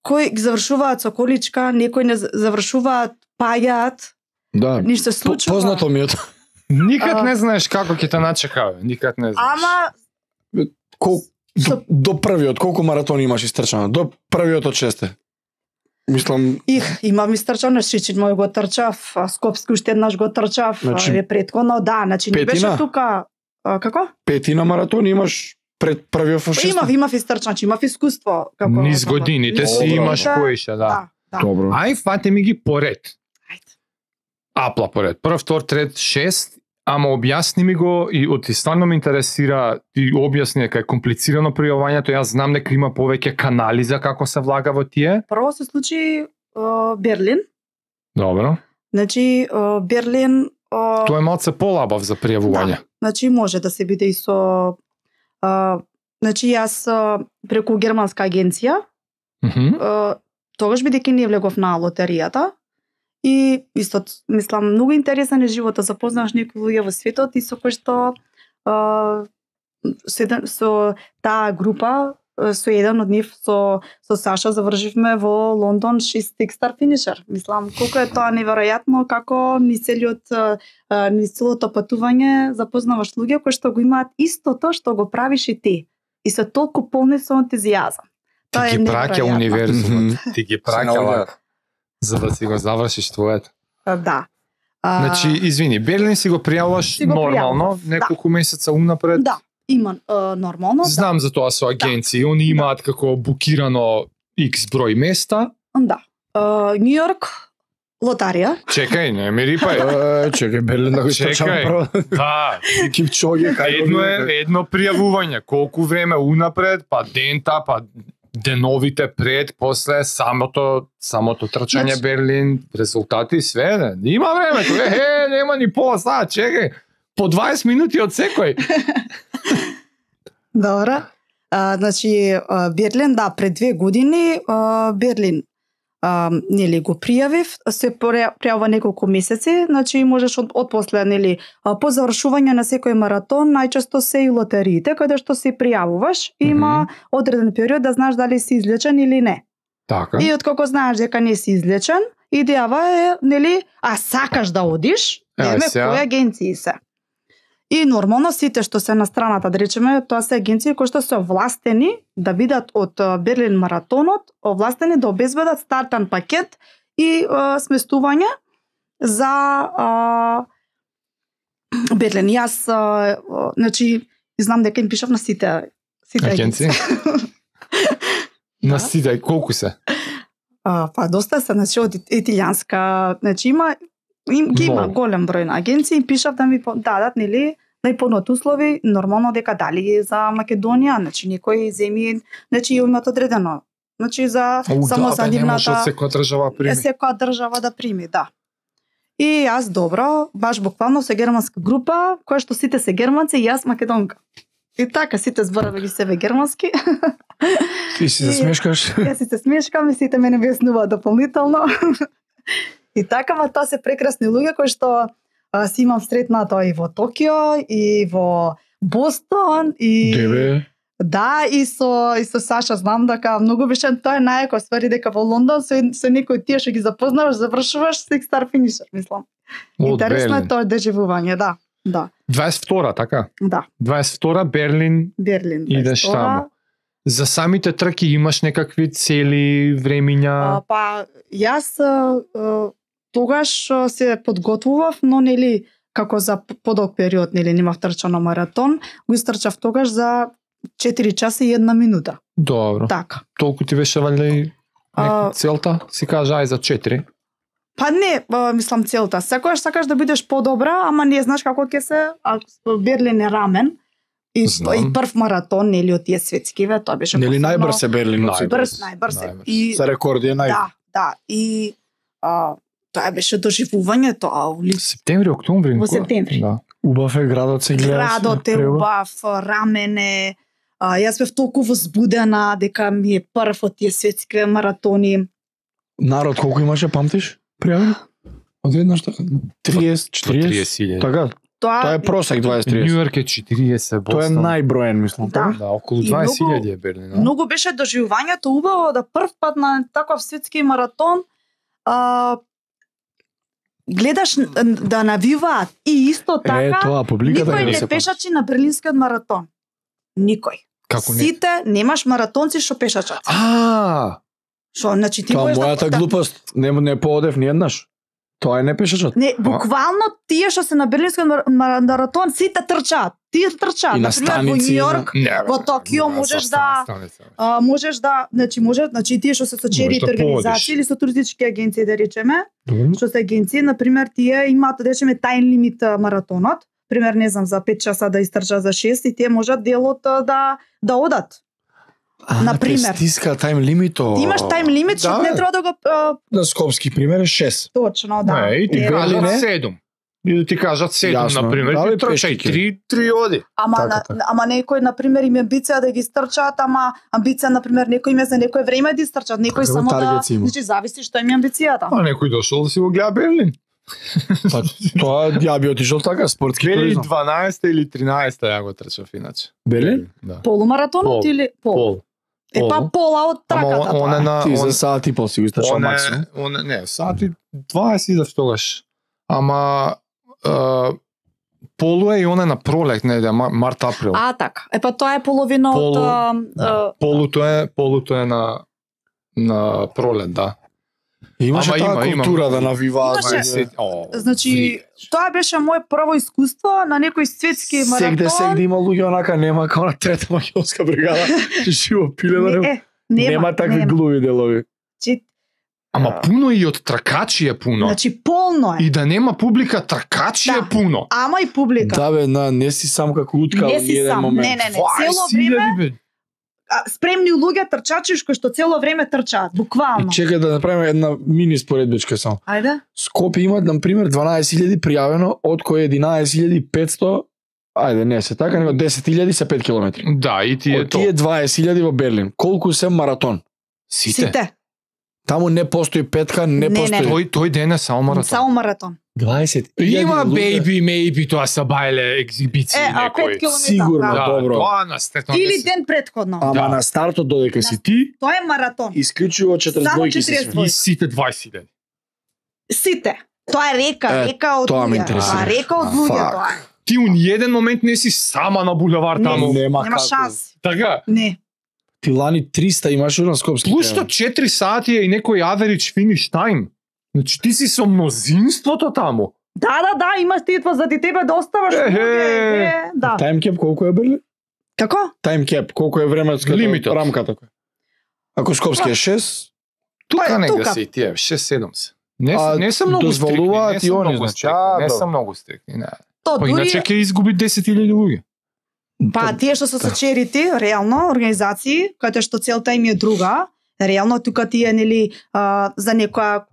кои ги завршуваат со количка, некои не за- завршуваат, паѓаат, Да. ништо се По- случува. Познато ми е тоа. Никад А. не знаеш како ќе те начека, бе. Никад не знаеш. Ама Кол, до, Со- до првиот, колку маратони имаш истрчано? До првиот од шесте. Мислам, Их, имам истрчано, Шичињ мој го трчав, а, Скопски уште еднаш го трчав, Значи, значи, претходно, да, значи не беше петина? тука, а, како? петина маратони имаш пред првиот од шесте. Имав, имав истрчано, значи имав искуство. Како, Низ како- годините си Добро. имаш поише, да. Да, да. Добро. Ај, фате ми ги поред. Ајде. Апла поред. Прв, втор, трет, шест. Ама објасни ми го и од ти стварно ме интересира, ти објасни дека е комплицирано пријавувањето, јас знам дека има повеќе канали за како се влага во тие. Прво се случи а, Берлин. Добро. Значи а, Берлин а, Тоа е малце полабав за пријавување. Да. Значи може да се биде и со а, значи јас а, преку германска агенција, Мгм. а, тогаш бидејќи не влегов на лотеријата и исто мислам многу интересен е животот, запознаваш некои луѓе во светот и со кои што а, со, еден, со таа група а, со еден од нив со со Саша завршивме во Лондон шест стар финишер. Мислам колку е тоа неверојатно како низ целиот а, а, низ целото патување запознаваш луѓе кои што го имаат истото што го правиш и ти и се толку полни со ентузијазам. Тоа Ти е ги праќа неверојатно. универзумот. Ти ги праќа наоѓаат. вака, за да си го завршиш твоето. А, Да. А, Значи, извини, Берлин си го пријавуваш Си го нормално, пријавував, да. неколку месеца унапред. Да, има а, нормално. Знам за тоа со агенции, они имаат како букирано X број места. Да. А, Нью Йорк, лотарија. Чекај, не ми рипај. Е, чекај, Берлин да го истрчам Чекај. прво. Да, Кипчоге, кај го едно видите? е едно пријавување, колку време унапред, па дента, па деновите пред, после самото самото трчање Значи- Берлин, резултати све, не. Има време, е, е, нема ни пола сат, чекај. По дваесет минути од секој. Добра. А, значи, а, Берлин, да, пред две години а, Берлин а, нели го пријавив, се пре- пријавува неколку месеци, значи можеш од, од после, нели, а, по завршување на секој маратон, најчесто се и лотериите, каде што се пријавуваш, има одреден период да знаеш дали си излечен или не. Така. И откако знаеш дека не си излечен, идејава е, нели, а сакаш да одиш, Е, еве сега- кои агенции се. И нормално сите што се на страната, да речеме, тоа се агенции кои што се овластени да бидат од Берлин маратонот, овластени да обезбедат стартен пакет и а, сместување за а, Берлин. Јас, а, а, значи, знам дека им пишав на сите, сите Агенции? агенции. На сите, колку се? А, па доста се, значи од италијанска, значи има им ги има Много. голем број на агенции и пишав да ми по- дадат, нели, да и понудат услови, нормално дека дали за Македонија, значи некои земји, значи имаат одредено. Значи за О, само да, за бе, не може од нивната секоја држава е прими. секоја држава да прими, да. И јас добро, баш буквално со германска група, која што сите се германци и јас македонка. И така сите зборове ги себе германски. Ти си се смешкаш. Јас си се смешкам и сите мене објаснуваат дополнително. И така, ма тоа се прекрасни луѓе кои што а, си имам сретнато и во Токио, и во Бостон, и Дебе. да, и со и со Саша знам дека многу беше тоа е најако ствари дека во Лондон со, со некои тие што ги запознаваш, завршуваш сик стар финишер, мислам. Од Интересно е Берлин. тоа доживување, да. Да, дваесет и втора, така? да. дваесет и втора Берлин, Берлин. идеш дваесет и втора. таму. За самите трки имаш некакви цели, А, времиња? па јас а, а, тогаш а, се подготвував, но нели како за п- подолг период нели немав трчано маратон, го истрчав тогаш за четири часа и една минута. Добро. Така. Толку ти беше валјда и А, нека целта? Си кажа ај за четири. Па не, а, мислам целта. Секогаш сакаш да бидеш подобра, ама не знаеш како ќе се, а Берлин е рамен. И, Знам. и прв маратон нели од тие светскиве, тоа беше Нели посебно- најбрз е Берлин? од сите? Брз, најбрз е. Најбрз. И За рекорди е нај. да, да, и а, тоа беше доживување, тоа ули Септември, октомври? Во кога? септември. Да. Убав е градот се гледа. Градот е убав, рамене. А, јас бев толку возбудена дека ми е прв од тие светски маратони. Народ колку имаше, памтиш? Пријавени? Одеднаш така. триесет, По четириесет. триесет илјади. Така, Тоа, тоа е просек дваесет Нью триесет. Йорк е четириесет, Тоа е Бостон. најброен, мислам. Да. така? Да, околу И дваесет многу- илјади е Берлин. да? многу беше доживувањето убаво да прв пат на таков светски маратон а, гледаш н- да навиваат и исто Е, така тоа публиката никој не не се пешачи на Берлинскиот маратон. Никој. Како не? Сите немаш маратонци што пешачат. А, Што значи ти Тоа можеш мојата да, глупост. Не не поодев ни еднаш. Тоа е не пешачот. Не, буквално тие што се на Берлинскиот мар- мар- маратон сите трчаат. Тие трчаат. И на Например, во станици, Њу Йорк не, бе, Во Токио не, можеш со да- станица. а, можеш да, значи може, значи тие што се со черите Можеш да организации поодиш. или со туристички агенции да речеме, Добро. што се агенции, на пример, тие имаат да речеме тајм лимит а, маратонот, пример не знам за пет часа да истрча за шест и тие можат делот а, да да одат. А, Например. те стиска тајм лимито. Ти имаш тајм лимит што Да, не бе. треба да го а, На скопски пример е шест. точно, да. Не, и ти И кажат Берлин е? седум. И да ти кажат седум, Јасно. например, Да, бе, ти трчај пешки ќе. три, три оди. Ама Така, на, така. ама некој на пример им е амбиција да ги стрчаат, ама амбиција на пример некој им е за некој време да истрчат, некој Каква само да, таргет си има? значи зависи што им е амбицијата. А некој дошол да си го гледа Берлин. Па тоа ја би отишол така спортски две илјади туризам. дванаесета или тринаесета ја го трчав иначе. Берлин? Да. Полумаратонот Пол. или пол? Пол. Е па Пол. пола од Ама траката. он, он е тоа. на Ти за он, саат и пол си го истрчал он е, максимум. он е, не, сати дваесет идев тогаш. Ама е, полу е и он е на пролет, не, да, март април. А, така. Е па тоа е половина од Полу, а, Да. а, Полуто е, полуто е на на пролет, да. Имаше Ама таа има, има. култура да навиваат. Имаше. да- О, значи ври. тоа беше моје прво искуство на некој светски маратон. Сегде сегде има луѓе онака нема како на трета македонска бригада. Живо пиле да Не, нема. е, нема, Нема такви нема. глуви делови. Значи, Ама пуно и од тркачи е пуно. значи полно е. И да нема публика, тркачи Да. е пуно. Ама и публика. Да бе, на, не си сам како утка Не во си еден сам, момент. не, не, не. дваесет Цело време илјади, бе. а, спремни луѓе трчачи кои што цело време трчаат, И буквално. чекај да направиме една мини споредбичка само. Ајде. Скопје имат, на пример, дванаесет илјади пријавено, од кои единаесет илјади петсто, ајде, не се така, него десет илјади се пет километри. Да, и ти е Од то. тие дваесет илјади во Берлин, колку се маратон? Сите. Сите. Таму не постои петка, не, Не, не. постои. Тој тој ден е само маратон. Само маратон. дваесет илјади Има луѓе. бейби, мейби, тоа се бајле ексибиции Е, а некои. пет километри. Сигурно. Да. Да, Добро. тоа на стетно. Или ден претходно. Ама Да. на стартот додека си ти, Тоа е маратон. исклучиво четиридесет Само двојки се четиридесет све. И сите дваесет илјади. Сите. Тоа е река, Е, река од тоа ме луѓе. интересира. Тоа е река од луѓе, Фак. тоа е. Ти у ниеден момент не си сама на булевар Не. таму. Нема Нема како. шанс. Така. Не. Ти лани триста имаш на скопски. Плюс што четири сати е и некој average finish time. Значи ти си со мнозинството таму. Да, да, да, имаш ти това за ти тебе да оставаш. Ехе. луѓе, е, Да. Таймкеп колку е Берли? Како? Таймкеп колку е временската Лимитот. рамката? Ако скопски е шест, Тука Па, нега тука. си и тие, шест седем се. Не, А, не се многу стрикни, дозволуваат не и се они, многу значи, стрикни, а, не се добро. многу стрикни, не. То Па дури иначе ќе изгуби десет илјади луѓе. Па тие што се со черити, реално организации, каде што целта им е друга, реално тука тие нели а, за некоја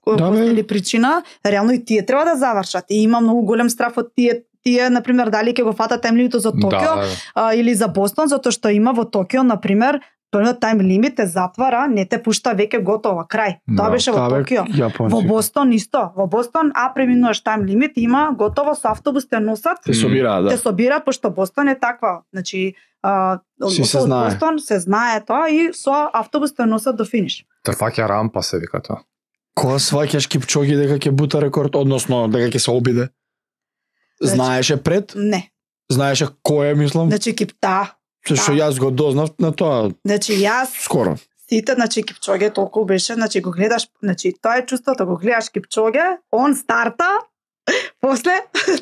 Да, бе. или причина, реално и тие треба да завршат. И има многу голем страф од тие тие на пример дали ќе го фатат тайм лимитот за Токио Да, а, или за Бостон, затоа што има во Токио на пример првиот тайм лимит те затвара, не те пушта веќе готово, крај. Тоа Да. беше во Токио. Јапонци. Во Бостон исто. Во Бостон, а преминуваш тайм лимит, има готово со автобус те носат. Те собираат, Те да. собираат пошто Бостон е таква. Значи, а, Си се од знае. Бостон се знае тоа и со автобус те носат до финиш. Те фаќа рампа се вика тоа. Кога сваќаш Кипчоги дека ќе бута рекорд, односно дека ќе се обиде? Значи- Знаеше пред? Не. Знаеше кој е, мислам? Значи Кипта. Се што да. јас го дознав на тоа Значи јас скоро. сите, значи Кипчоге толку беше, значи го гледаш, значи тоа е чувството, го гледаш Кипчоге, он старта, после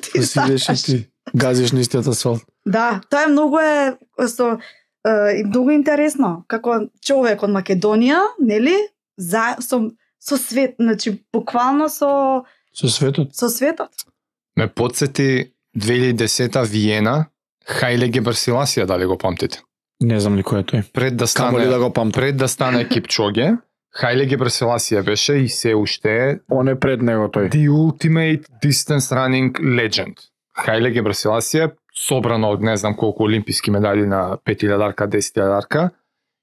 ти Да си идеш и старташ. ти газиш на истиот асфалт. Да, тоа е многу е со е, и многу интересно како човек од Македонија, нели? За со со свет, значи буквално со Со светот. со светот. Ме подсети две илјади и десета Виена, Хајле Гебрсиласија, дали го памтите? Не знам ли кој е тој. Пред да Камо ли стане да го памтам. пред да стане Кипчоге, Хајле Гебрсиласија беше и се уште е Он е пред него тој. the ultimate distance running legend. Хајле Гебрсиласија собрано од не знам колку олимписки медали на пет илјадарка, десет илјадарка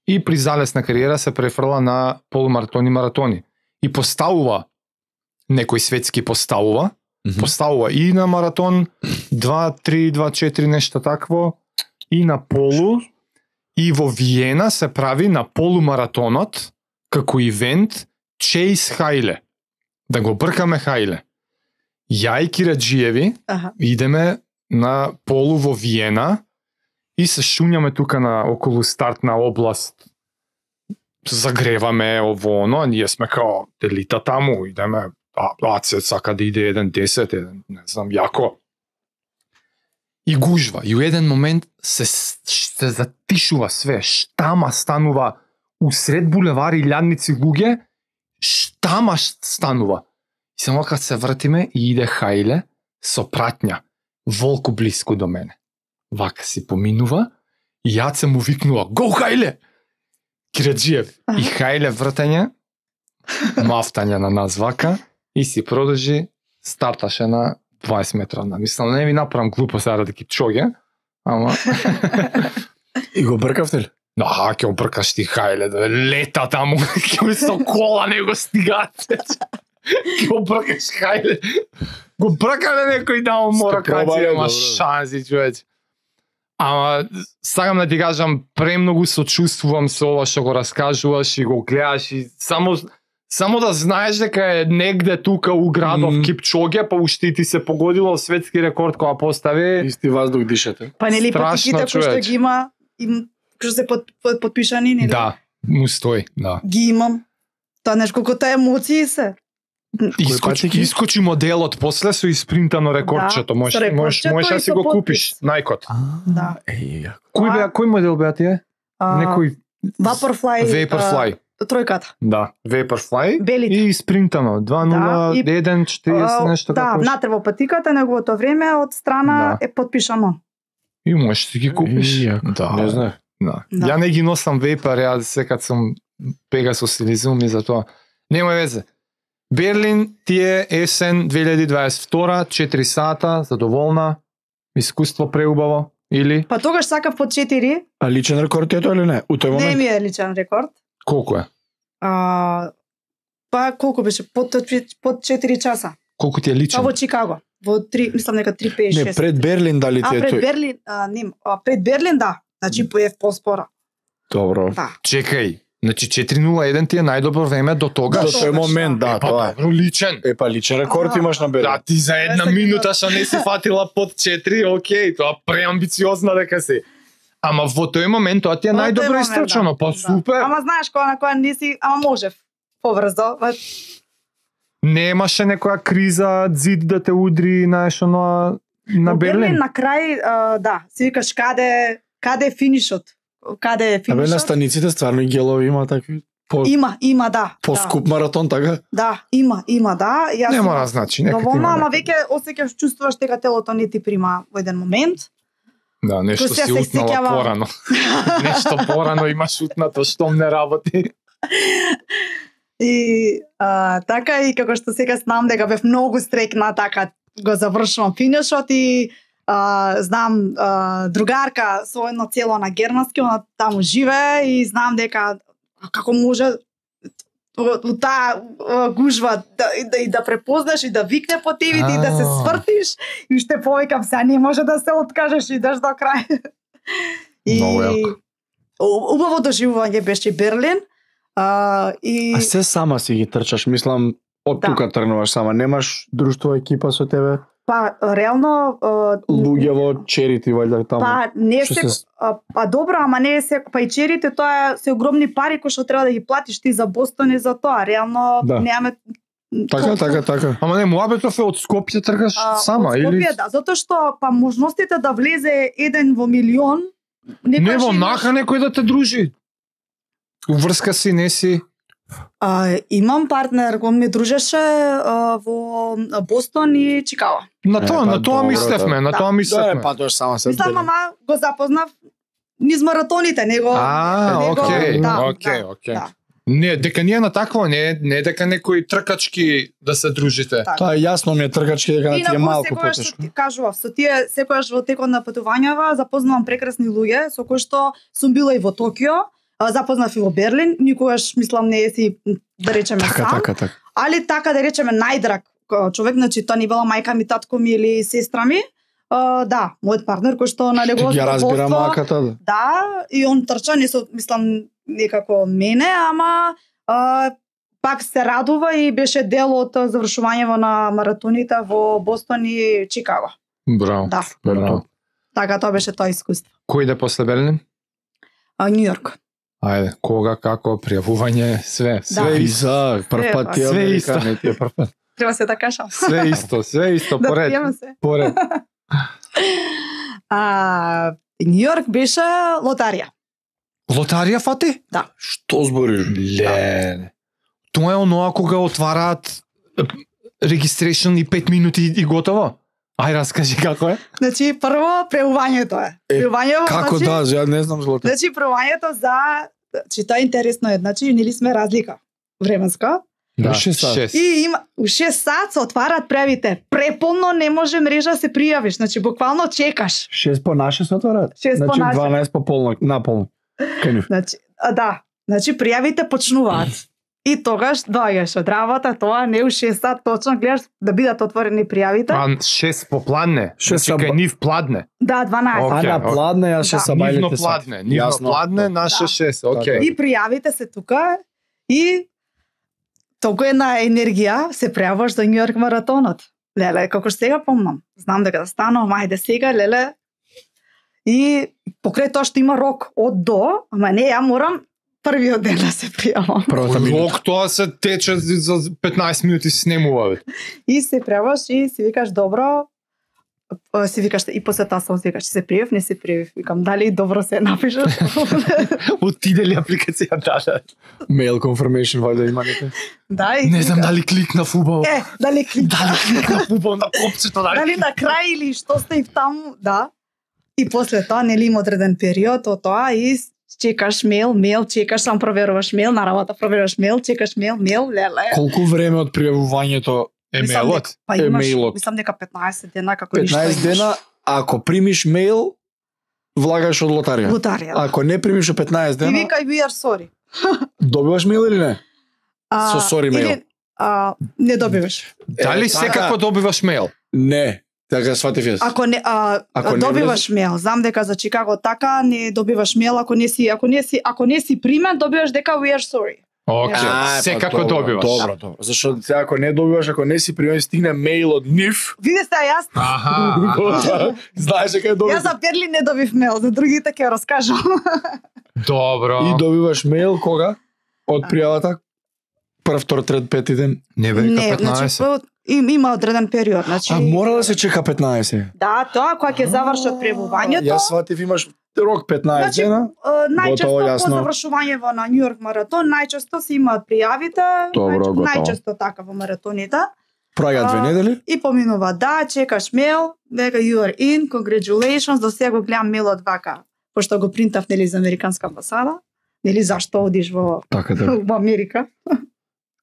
и при залесна кариера се префрла на полумаратони и маратони. И поставува некој светски поставува, поставува и на маратон два три два четири нешто такво и на полу и во Виена се прави на полумаратонот како ивент Чейс Хајле. Да го бркаме Хајле. Ја и Кираджиеви Аха. идеме на полу во Виена и се шуњаме тука на околу стартна област. Загреваме ово оно, а ние сме као делита таму, идеме, а, а се сака да иде еден десет, еден, не знам, јако. И гужва. И у еден момент се, се затишува све, штама станува усред булевари илјадници луѓе, штама станува. И само кога се вртиме и иде Хајле со пратња, волку блиску до мене. Вака си поминува и јад се му викнува "Го Хајле!" Кираджиев. И Хајле вртање, мафтање на нас вака и си продолжи, старташе на дваесет метра. Мислам, не ми направам глупо сега да Кипчоге, ама И го бркавте ли? да, ќе обркаш ти Хајле, да лета таму, ќе со кола не го стигаат. Ќе обркаш Хајле. Го бркале некој да му мора Сте пробале, каци, ама добро. шанси, човече. Ама, сакам да ти кажам, премногу сочувствувам со ова што го раскажуваш и го гледаш и само само да знаеш дека е негде тука у градов Мм. Кипчоге, па уште и ти се погодило светски рекорд кога постави. Исти воздух дишете. Па нели Страшно, патиките кои што човече. ги има, им кои што се под, под, подпишани, нели? Да, му стои, да. Ги имам. Тоа нешто колку таа емоции се. Искочи, патики? искочи моделот после со испринтано рекордчето, Да, можеш со можеш рекордчето можеш и да си со го потпис. купиш, најкот. Да. Еј, јако. Кој беа, кој модел беа тие? А, Некој Vaporfly. Vaporfly. а, Тројката. Да, Vaporfly Белите. и испринтано две нула Да, и- еден четириесет А, нешто да, како беше. внатре во патиката неговото време од страна Да. е подпишано. И можеш да си ги купиш. Еј, јако. Да. Не знае. Да. Да. Ја не ги носам вейпер, ја секад сум Pegasus или Zoom и за тоа. Нема везе. Берлин тие есен две илјади дваесет и втора, четири сата, задоволна, искуство преубаво или Па тогаш сакав по четири, А личен рекорд е тоа или не? У тој не момент? ми е личен рекорд. колку е? А, па колку беше? Под, под четири часа. Колку ти е Тоа личен? во Чикаго. Во три, мислам нека три пет Не, шест. пред Берлин дали А ти е пред тој? Берлин, а, не, а пред Берлин да. Значи поев поспора. Добро. Да. Чекај, Значи четири нула еден ти е најдобро време до тогаш. До тој момент, да, Па тоа е. добро, личен. Е, па личен рекорд Ага. имаш на Берлин. Да, ти за една Десет минута што не си фатила под четири, окей, тоа преамбициозно дека си. Ама во тој момент тоа ти е Во тој најдобро момент, истрчано, да. па Да. супер. Ама знаеш која на која не си, ама можев побрзо. Ма, Немаше некоја криза, зид да те удри, знаеш, оно на во Берлин. на крај, а, да, си викаш каде каде е финишот? Каде е Абе на финишот? станиците стварно и гелови има такви по Има, има, да. по-скуп маратон, така? Да, да, има, има, да. Јас Не имам мора значи, нека ти доволно, има ама некаде. веќе осеќаш, чувствуваш дека телото не ти прима во еден момент. Да, нешто Кој се си се утнала сеќава- порано. Нешто порано имаш утнато, штом не работи. И а, така и како што сега знам дека бев многу стрекна, така го завршувам финишот и а, знам а, другарка со едно цело на германски, она таму живее и знам дека како може во во таа а, гужва да, и да, и да препознаш и да викне по тебе и да се А. свртиш и што повикам сега не може да се откажеш и идеш до крај. И Многу јако. у- убаво доживување беше Берлин. А, и А се сама си ги трчаш, мислам, од Да. тука тргнуваш сама, немаш друштво, екипа со тебе, па реално а, луѓе во черити вајде таму. па не Што се се- а, па добро, ама не е се па и черите тоа е се огромни пари кои што треба да ги платиш ти за Бостон и за тоа. Реално Да. немаме Така, така, така. Ама не, муабетов е од Скопје тргаш А, сама од или Скопје, да, затоа што па можностите да влезе еден во милион не некојаш во имаш- наха некој да те дружи. Уврска си, не си. А, имам партнер, го ми дружеше а, во Бостон и Чикаго. На Е, тоа, па на тоа добро, мислевме, на да. тоа Да, мислевме. е, па тоа само се. Мислам, ама го запознав низ маратоните, него А, него- окей, да, окей, да, окей. да. Не, дека ние на такво, не, не дека некои тркачки да се дружите. Така. Тоа е јасно ми е тргачки дека на ти е Инаку, малку секогаш потешко. ти кажував, со тие секогаш во текот на патувањава запознавам прекрасни луѓе со кои што сум била и во Токио, а, запознав и во Берлин, никогаш мислам не е си да речеме Така, сам, така, така. али така да речеме најдраг а, човек, значи тоа не била мајка ми, татко ми или сестра ми. А, да, мојот партнер кој што на Ти неговото ги разбира задоволство- маката, да. Да, и он трча, не со, мислам, некако мене, ама а, пак се радува и беше дел од завршувањето на маратоните во Бостон и Чикаго. Браво. Да, Браво. така тоа беше тоа искуство. Кој иде после Берлин? А, Нью Йорк. Ајде, кога, како, пријавување, све, све Да. исто. Виза, прв пат ти е Све Америка, исто. не ти е прв пат. Треба се да кажам. Све исто, све исто, Да поред, приемам се. поред. А, Нью Йорк беше лотарија. Лотарија фати? Што збориш? Ле. Тоа е оноа кога отвараат регистрација и пет минути и готово. Ај, раскажи како е. Значи, прво преувањето е. Е, Преувањето, Како значи, да, ја не знам злото. Значи, првањето за... Значи, тоа е интересно е. Значи, нели сме разлика временска. Да, шест сат. шест. И има, у шест сат се отварат превите. Преполно не може мрежа да се пријавиш. Значи, буквално чекаш. шест по наше се отвараат. Шест по Значи наше. дванаесет по полно, наполно. Кај нив. Значи, а, да. Значи, пријавите почнуваат. И тогаш доаѓаш од работа, тоа не у шест сат точно гледаш да бидат отворени пријавите. А шест попладне. Шест Значи са- кај нив пладне. Да, дванаесет. А Окей, на окей. пладне јас ше Да. са Нивно бајлите пладне, нивно Јасно. пладне, наше Да. шест. Окей. И пријавите се тука и толку една енергија се пријаваш за Нью Йорк маратонот. Леле, како што сега помнам. Знам дека да станам, ајде сега, леле. И покрај тоа што има рок од до, ама не, ја морам првиот ден да се пријавам. Првата минута. Лок тоа се тече за петнаесет минути снемува. бе. И се пријаваш и си викаш добро, а, си викаш и после тоа сам си викаш се пријав, не се пријав. Викам дали добро се напишеш. Отиде ли апликација да? Mail confirmation вајде има нека. Да, и Не знам викам, дали кликнав убаво. Е, дали кликна. Дали кликнав убаво на копчето, дали. Дали на крај или што сте и таму, да. И после тоа нели има одреден период од тоа и чекаш мејл, мејл, чекаш, сам проверуваш мејл, на работа проверуваш мејл, чекаш мејл, мејл, леле. Колку време од пријавувањето? Мислам Емейлот. дека- Па имаш, Емейлот. мислам дека петнаесет дена како ништо петнаесет имаш. дена, ако примиш мејл, влагаш од лотарија. Лотарија. Да. Ако не примиш од петнаесет И дена, вика we are sorry. добиваш мејл или не? А, Со sorry или, мејл. А, не добиваш. Дали Е, секако така. добиваш мејл? Не. Така сватив јас. Ако не а, Ако не добиваш мејл, знам дека за Чикаго така не добиваш мејл ако не си ако не си ако не си примен, добиваш дека we are sorry. Океј, А, секако па, добро, добиваш. Добро, добро. Зашто сега ако не добиваш, ако не си примен, стигне мејл од нив. Види се јас Аха, аха. Знаеш дека е добро. Јас за Берлин не добив мејл, за другите ќе раскажам. Добро. И добиваш мејл кога? Од пријавата? Прв, втор, трет, пети ден. Не бе, Не, значи петнаесет. прво- им, има одреден период, значи. А мора да се чека петнаесет. Да, тоа кога ќе завршат пребувањето. Јас сватив имаш рок петнаесет Значи, дена. е, најчесто Готово, по јасно. завршување во на Нью Йорк маратон, најчесто се имаат пријавите, Добро, нај- готово. најчесто така во маратоните. Праѓа две А, недели. И поминува, да, чекаш мејл, дека you are in, congratulations, до сега го гледам мејлот вака, пошто го принтав, нели, за Американска амбасада, нели, зашто одиш во, Така така. во Америка.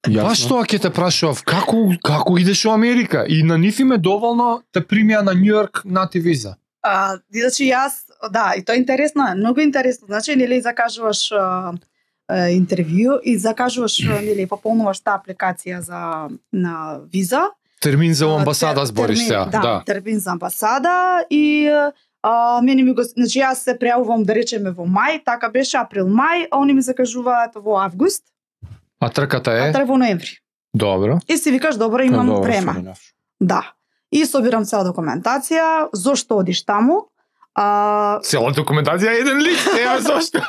Баш тоа ќе те прашував, како како идеш во Америка? И на нив им е доволно те примија на Нью Йорк на ти виза. А, значи јас, да, и тоа е интересно, е, многу интересно. Значи, нели, закажуваш а, а, интервју и закажуваш, а, нели, пополнуваш таа апликација за на виза. Термин за А, амбасада тер- збориш термин- сега. Да, Да. термин за амбасада и а, мене ми го, значи јас се прејавувам да речеме во мај, така беше април-мај, а они ми закажуваат во август, А трката а е? треба во ноември. Добро. И си викаш, добро, имам време. Да. И собирам цела документација, зошто одиш таму, а, Цела документација е еден лист, ева зошто.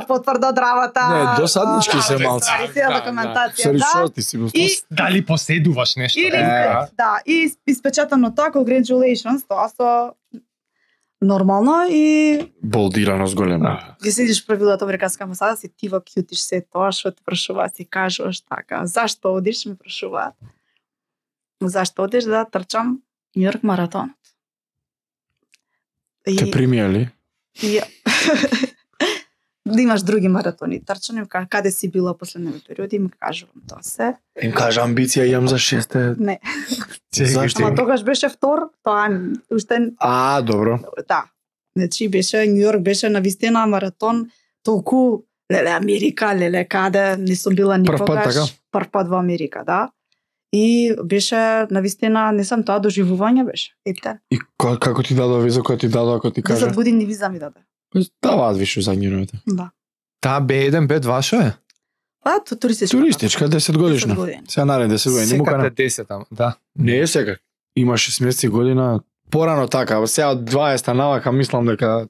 потврда од работа. Не, досаднички а, се да, малце. ствари, Цела Да, документација, Сори, да. што ти си го И Дали поседуваш нешто? Или, Е. да, и испечатано тоа, congratulations, тоа со нормално и болдирано с голема. ги седиш правилата Американска амбасада, си ти во кјутиш се тоа што те прашуваат, си кажуваш така. Зашто одиш, ме прашуваат. Зашто одиш да трчам Нью Йорк маратонот? И, Те примија ли? и да имаш други маратони трчани, ка- каде си била последниве периоди, им кажувам тоа се. Им кажа амбиција имам за шесте. Не, Зашто? ама тогаш беше втор, тоа уште А, добро. да. Значи беше Нью Йорк беше на вистина маратон толку леле Америка, леле каде не сум била Прв пат, никогаш. така? Прв пат во Америка, да. И беше на вистина не сам тоа доживување беше. Епте. И ко- како ти дадо виза, кој ти дадо ако ти кажа? десет години виза ми даде. Даваат више зањуровите. Да. Таа Б еден бет ваша е? Па ту- туристичка. Туристичка десет годишна. десет години. Сега нареден десет години. Не му Секата кана. е десет, ама, да. Не е сега. Има шеснаесет година. Порано така, сега од дваесет навака мислам дека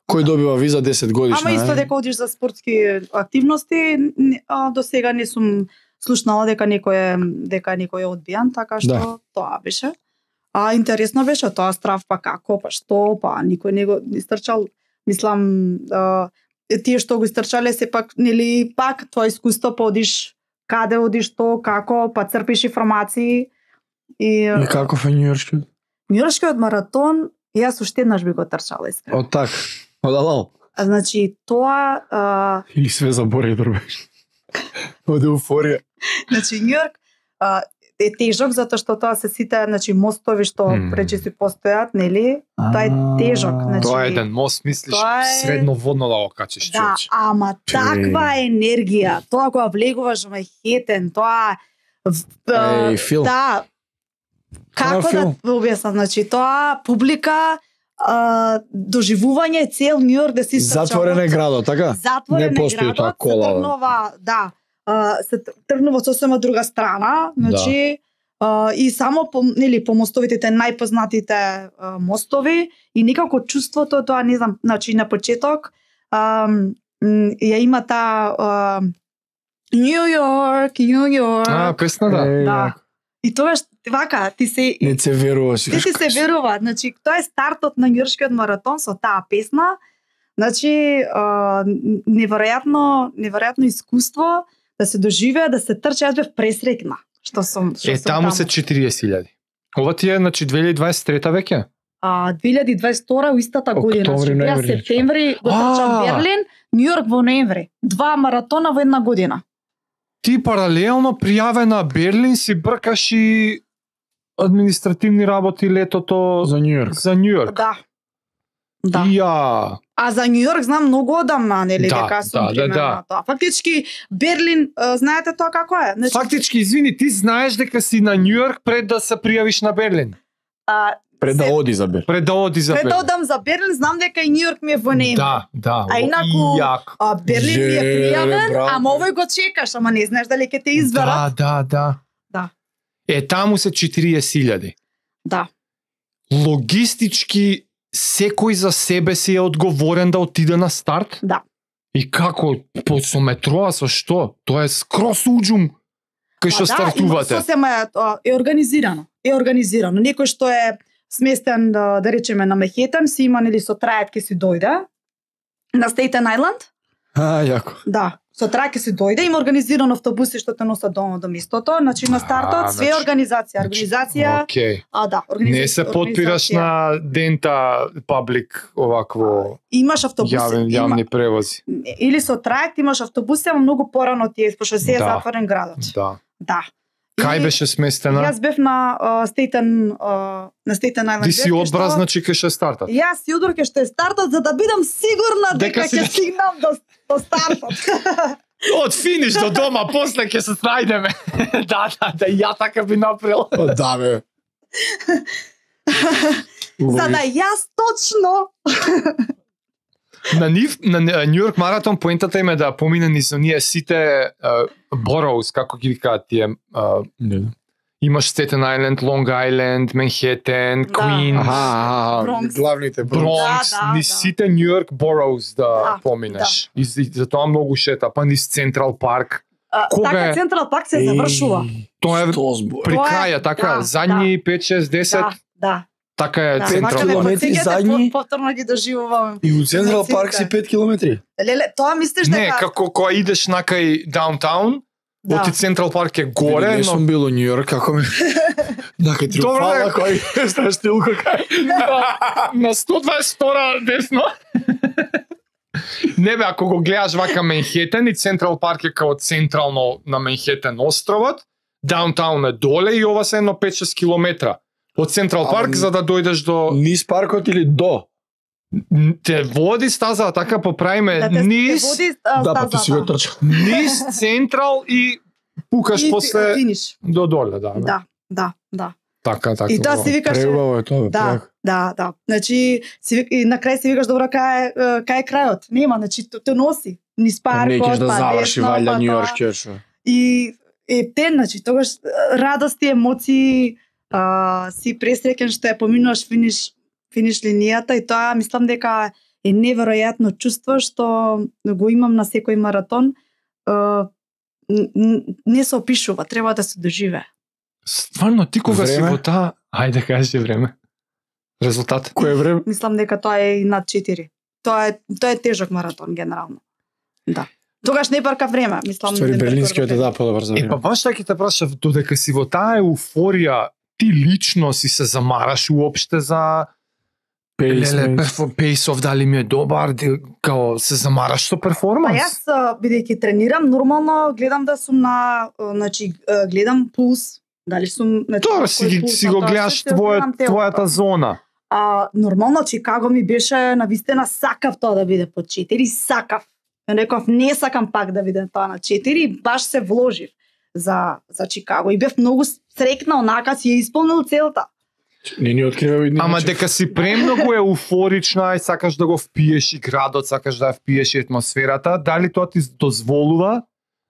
кој добива виза десет годишна. Ама исто е. дека одиш за спортски активности, не- а, до сега не сум слушнала дека некој е дека некој е одбијан, така што Да. тоа беше. А интересно беше тоа страв, па како, па што, па никој не го истрчал. Мислам, а, тие што го истрчале се пак нели пак тоа искуство па одиш каде одиш што, како, па црпиш информации и, И каков е Њујоршкиот? Њујоршкиот маратон јас уште еднаш би го трчала искрено. Од так. Од алал. А, значи тоа а, Или све забори дробеш. Од еуфорија. Значи Њујорк а, е тежок затоа што тоа се сите значи мостови што Мм. пречисто постојат, нели? Тоа е тежок, значи. Тоа е еден мост, мислиш, тоа е- средно водно да го качиш, Да, човече. ама таква енергија, тоа кога влегуваш во Манхетен, тоа в- а, Еј, филм. да. Како да филм. ви објаснам, значи тоа публика а, доживување цел Њујорк да си Затворен е градот, така? Затворен Не е постои градот, таа кола, се да. тргнува, да, а, се тр- тргнува од сосема друга страна, значи а, и само по нели по мостовите те најпознатите а, мостови и некако чувството тоа не знам, значи на почеток а, м, ја има таа а, Нью Йорк, Нью Йорк. А, песна да. Еј, Да. И тогаш вака ти се Не се верува си. ти ти се верува, значи тоа е стартот на Њујоршкиот маратон со таа песна. Значи а, неверојатно, неверојатно искуство да се доживее, да се трчи, јас бев пресрекна што сум што Е, сум таму се четириесет илјади. Ова ти е, значи, две илјади дваесет и трета веќе? а две илјади и дваесет и втора у истата година, Октомври, значи ја ноември. септември го трчам А. Берлин, Њујорк во ноември. Два маратона во една година. Ти паралелно пријавена Берлин си бркаш и административни работи летото За Њујорк. за Њујорк. Да. Да. Ја. А за Њујорк знам многу одамна, нели, Да, дека сум да, да, примерно да. тоа. Фактички Берлин, а, знаете тоа како е? Значи, Фактички, извини, ти знаеш дека си на Њујорк пред да се пријавиш на Берлин. а, Пред да се- оди за Берлин. Пред да оди за пред да Берлин. одам за Берлин, знам дека и Њујорк ми е во нејме. Да, да. А о, инаку- и јак. А Берлин ми е Же, пријавен, браво. ама овој го чекаш, ама не знаеш дали ќе те изберат. Да, да, да. Да. Е, таму се четириесет илјади. Да. Логистички секој за себе си е одговорен да отиде на старт? Да. И како по со метроа со што? Тоа е скрос уџум кај што Па да, стартувате. има сосема е, а, е организирано. Е организирано. Некој што е сместен да, да речеме на Мехетан, си има нели со трајат ќе си дојде на Стейтен Ајланд. А, јако. Да, со трајат ќе си дојде, има организирано автобуси што те носат дома до местото, значи на стартот А, све значи- организација, организација, Океј. а да, организација. Не се потпираш на дента паблик овакво Имаш автобуси, јавен, има, јавни превози. или со трајат имаш автобуси, ама многу порано ти е, пошто се е Да. затворен градот. Да. Да. Кај И- беше сместена? Јас бев на uh, Стейтен uh, на Стейтен Ајланд. Ти си бев, кај одбраз, што- значи кај ше стартат. Јас си удрке што е стартот за да бидам сигурна Дека дека си- ќе стигнам до, до стартот. Од финиш до дома, после ќе се снајдеме. Да, да, да, ја така би направил. О, да, бе. За да јас точно На нив, на Њујорк маратон поентата им е да помине низ оние сите бороус, како ги викаат тие. а, Не. Имаш Стетен Ајленд, Лонг Ајленд, Менхетен, Да. Квинс, Аха, аха, Бронкс. главните Бронкс. Бронкс, Да, да, низ да. сите Њујорк бороус да, Да, поминеш. И, и затоа многу шета, па низ Централ парк. а, Кога така е? Централ парк се завршува. Тоа е Сто збор. при Тоа е- краја, така, да, задни пет, шест, десет, Да, да. така е Да, Централ мака Централ ме парк. километри потсеќате, задни. по- повторно ги доживувам. И у Централ Емоциите. парк си пет километри. Леле, тоа мислиш дека Не, како кога идеш накај даунтаун, да. оти Централ парк е горе, Не но сум бил у Њујорк, како ми... Накај Добро, триумфала, бе. кој знаеш стилко кај. на сто дваесет втора десно. Не бе, ако го гледаш вака Менхетен и Централ парк е као централно на Менхетен островот, даунтаун е доле и ова се едно пет шест километра. Од Централ Ама парк н- за да дојдеш до Низ паркот или до? те води стаза, така поправиме да те, низ, те води а, Да, па ти стазата. си го трчал. низ Централ и пукаш И ти- после финиш. до доле, да. бе. Да, да, да. Така, така. И тоа си викаш Преубаво е тоа, бе, Да, преако. да, да. Значи, си, вик- и на крај си викаш, добро, кај е, е, кај е крајот? Нема, значи, те, те носи. Низ Па не паркот, кеш да па заврши десно, валја па Њујорк тоа. ќе. И е те, значи, тогаш е, радости, емоции, а, си пресреќен што ја поминуваш финиш, финиш линијата и тоа мислам дека е неверојатно чувство што го имам на секој маратон. А, н- н- не се опишува, треба да се доживее. Стварно, ти кога си Време? во таа... Ајде, кажи време. Резултат? Кој е време? Мислам дека тоа е и над четири. Тоа е тоа е тежок маратон генерално. Да. Тогаш не барка време, мислам. Ствари не барка берлинскиот е време. да подобар за Е, па време. баш така ќе те прашав, додека си во таа еуфорија, ти лично си се замараш уопште за леле, перфо- пейсов, дали ми е добар, ди- као се замараш со Па перформанс? јас а, бидејќи тренирам, нормално гледам да сум на, а, значи а, гледам пулс, дали сум, значи Тоа кој си, ги- пулс си на го тоа, гледаш се твоја, гледам телото. твојата зона. А нормално Чикаго ми беше навистина сакав тоа да биде по четири, сакав. Ја реков не сакам пак да биде тоа на четири, и баш се вложив за за Чикаго и бев многу срекна, онака си ја исполнил целта. Не ни открива и Ама дека си премногу еуфорична и сакаш да го впиеш и градот, сакаш да ја впиеш и атмосферата, дали тоа ти дозволува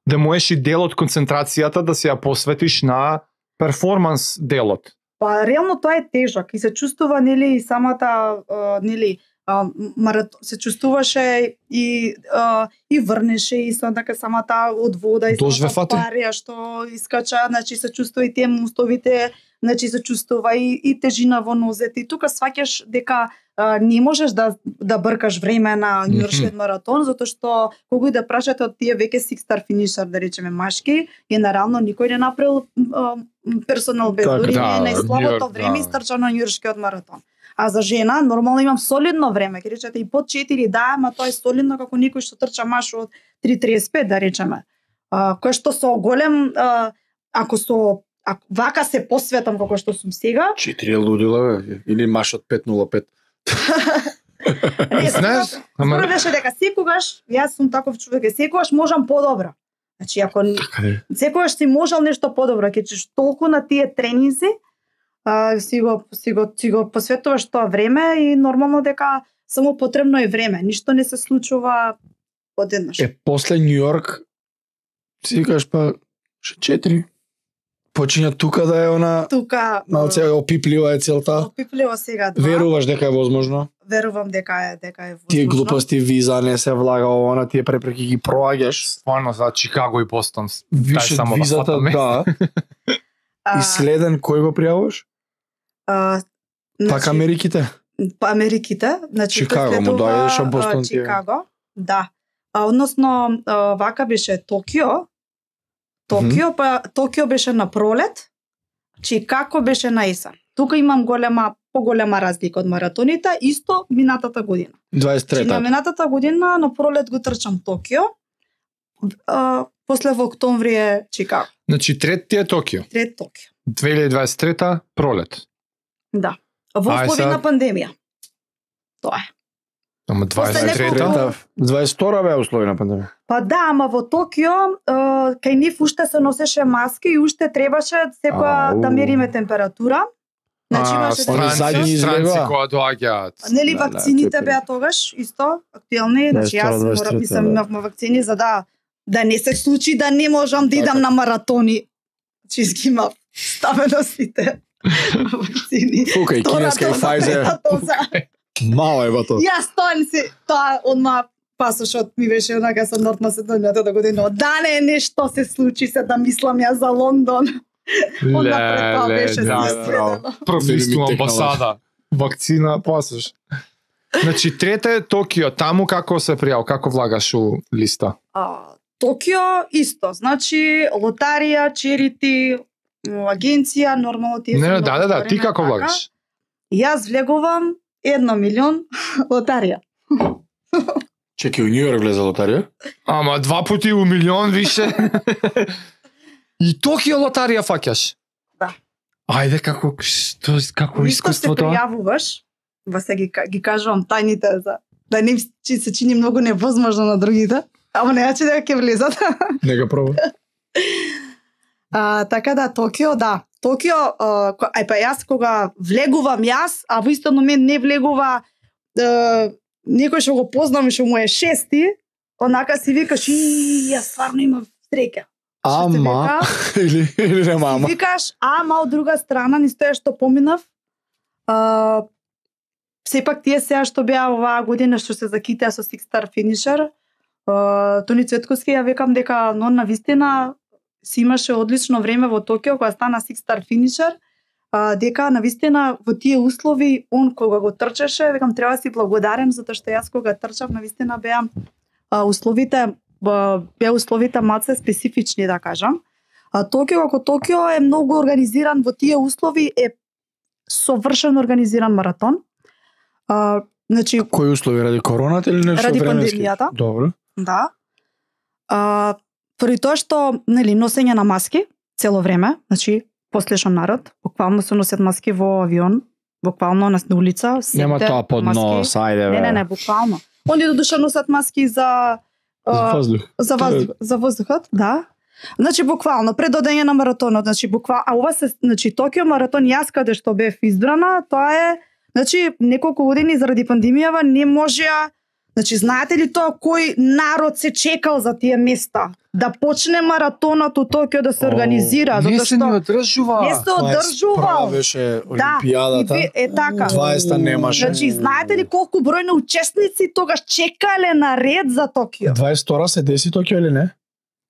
да можеш и дел од концентрацијата да се ја посветиш на перформанс делот? Па реално тоа е тежок и се чувствува нели и самата а, нели а, марат... се чувствуваше и а, и врнеше и со така самата од вода и Дожве самата фати? парија што искача, значи се чувствува и тие мостовите, значи се чувствува и, и тежина во нозете и тука сваќаш дека а, не можеш да да бркаш време на Њујоршкиот маратон затоа што кога и да прашате од тие веќе six star финишер да речеме машки, генерално никој не направил а, персонал бест, Така, дури да, не е најслабото Њујорк, време да. истрча на Њујоршкиот маратон. А за жена нормално имам солидно време, ќе речете и под четири, да, ама тоа е солидно како некој што трча маш од три тридесет и пет да речеме. А, кој што со голем а, ако со ако вака се посветам како што сум сега, четири лудила, бе. Или маш од пет нула пет. не, Знаеш, ама Според беше дека секогаш, јас сум таков човек, и секогаш можам подобро. Значи, ако Така е. секогаш си можел нешто подобро, ќе чеш толку на тие тренинзи, а, си го си го си го посветуваш тоа време и нормално дека само потребно е време, ништо не се случува одеднаш. Е, после Њу Йорк си викаш па ше четири. Почиња тука да е она Тука малце опиплива е целта. опипливо сега два. Веруваш дека е возможно? Верувам дека е дека е возможно. Тие глупости, виза не се влага она, тие препреки ги проаѓаш. Стварно за Чикаго и Бостон. Више само да визата, фатаме. да. А, И следен кој го пријавуваш? а, Пак Америките. Па Америките, значи Чикаго, тој му следува, доаѓаш, а а, Бостон ти е. Чикаго, да. А, односно, а, вака беше Токио. Токио, па Токио беше на пролет, Чикаго беше на есен. Тука имам голема, поголема разлика од маратоните, исто минатата година. дваесет и Значи, на трета. минатата година на пролет го трчам Токио, а, после во октомври е Чикаго, Значи трет ти е Токио. трет Токио. две илјади дваесет и трета пролет. Да. Во Ај, услови сега- на пандемија. Тоа е. Ама дваесет и неколку- трета. Трета, дваесет и втора беа услови на пандемија. Па да, ама во Токио, е, кај нив уште се носеше маски и уште требаше секоја Ау. да мериме температура. Значи А, имаше Они странци, задни странци излева. кои доаѓаат. Нели Да, да, вакцините тоа е. беа тогаш исто актуелни, значи дваесет и втора, јас дваесет и морам трета, мислам да. имавме вакцини за да да не се случи да не можам да Така. идам на маратони. Значи ги имав ставено сите вакцини. Фука и кинеска и Втора доза, Pfizer. трета доза. Мало е бато. Јас тоа не се, тоа одма пасошот ми беше онака со Норт Македонијата година. Да не нешто се случи се да мислам ја за Лондон. Одма пред тоа беше да, се да. следено. Професионална Ми амбасада. Вакцина, пасаш. Значи трета е Токио, таму како се пријав, како влагаш у листа? А, Токио исто, значи лотарија, черити, агенција, нормално тие се Не, многу да, да, да, ти отворени, како така. влагаш? Јас влегувам едно милион лотарија. Чеки, у Њу Йорк влезе лотарија? Ама два пати у милион више. И Токио лотарија фаќаш? Да. Ајде, како, што, како Исто се искуство тоа? пријавуваш, ва се ги, ги кажувам тајните за да не им чи- се чини многу невозможно на другите, ама не че дека ќе влезат. Нека проба. А, така да, Токио, да. Токио, а, ко- ај па јас кога влегувам јас, а во исто момент не влегува а, некој што го познам и што му е шести, онака си викаш, и јас стварно имам среќа. Што се Ама, вика? или, или нема ама. Викаш, ама од друга страна, ни стоја што поминав, а, сепак тие сега што беа оваа година што се закитеа со Six Star Finisher, а, Тони Цветковски, ја викам дека но на вистина си имаше одлично време во Токио кога стана Six Star Finisher, а, дека на вистина во тие услови он кога го трчаше, викам треба да си благодарен затоа што јас кога трчав на вистина беа а, условите ба- беа условите малце специфични да кажам. А Токио како Токио е многу организиран во тие услови, е совршено организиран маратон. А, значи, Кои услови, ради короната или нешто Ради временски? пандемијата. Добро. да. А, поради тоа што, нели, носење на маски цело време, значи, послушен народ, буквално се носат маски во авион, буквално на улица, сите Нема тоа под маски. нос, ајде бе. Не, не, не, буквално. Оние до душа носат маски за За а, воздух. За воздух, за воздухот, да. Значи буквално пред одење на маратонот, значи буквално, а ова се, значи Токио маратон јас каде што бев избрана, тоа е, значи неколку години заради пандемијава не можеа, значи знаете ли тоа кој народ се чекал за тие места да почне маратонот у Токио да се О, организира, Не затоа се ни што одржува. не се одржувал. Права беше Да, и Олимпијадата. ви- е така. дваесета немаше. Значи знаете ли колку број на учесници тогаш чекале на ред за Токио? дваесет и втора се деси Токио или не?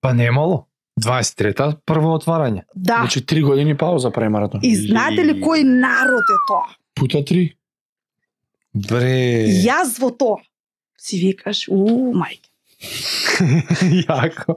Па немало. дваесет и трета прво отварање. Да. Значи три години пауза прави маратон. И знаете ли кој народ е тоа? Пута три. Бре. Јас во тоа. Си викаш, у, мајке, Јако.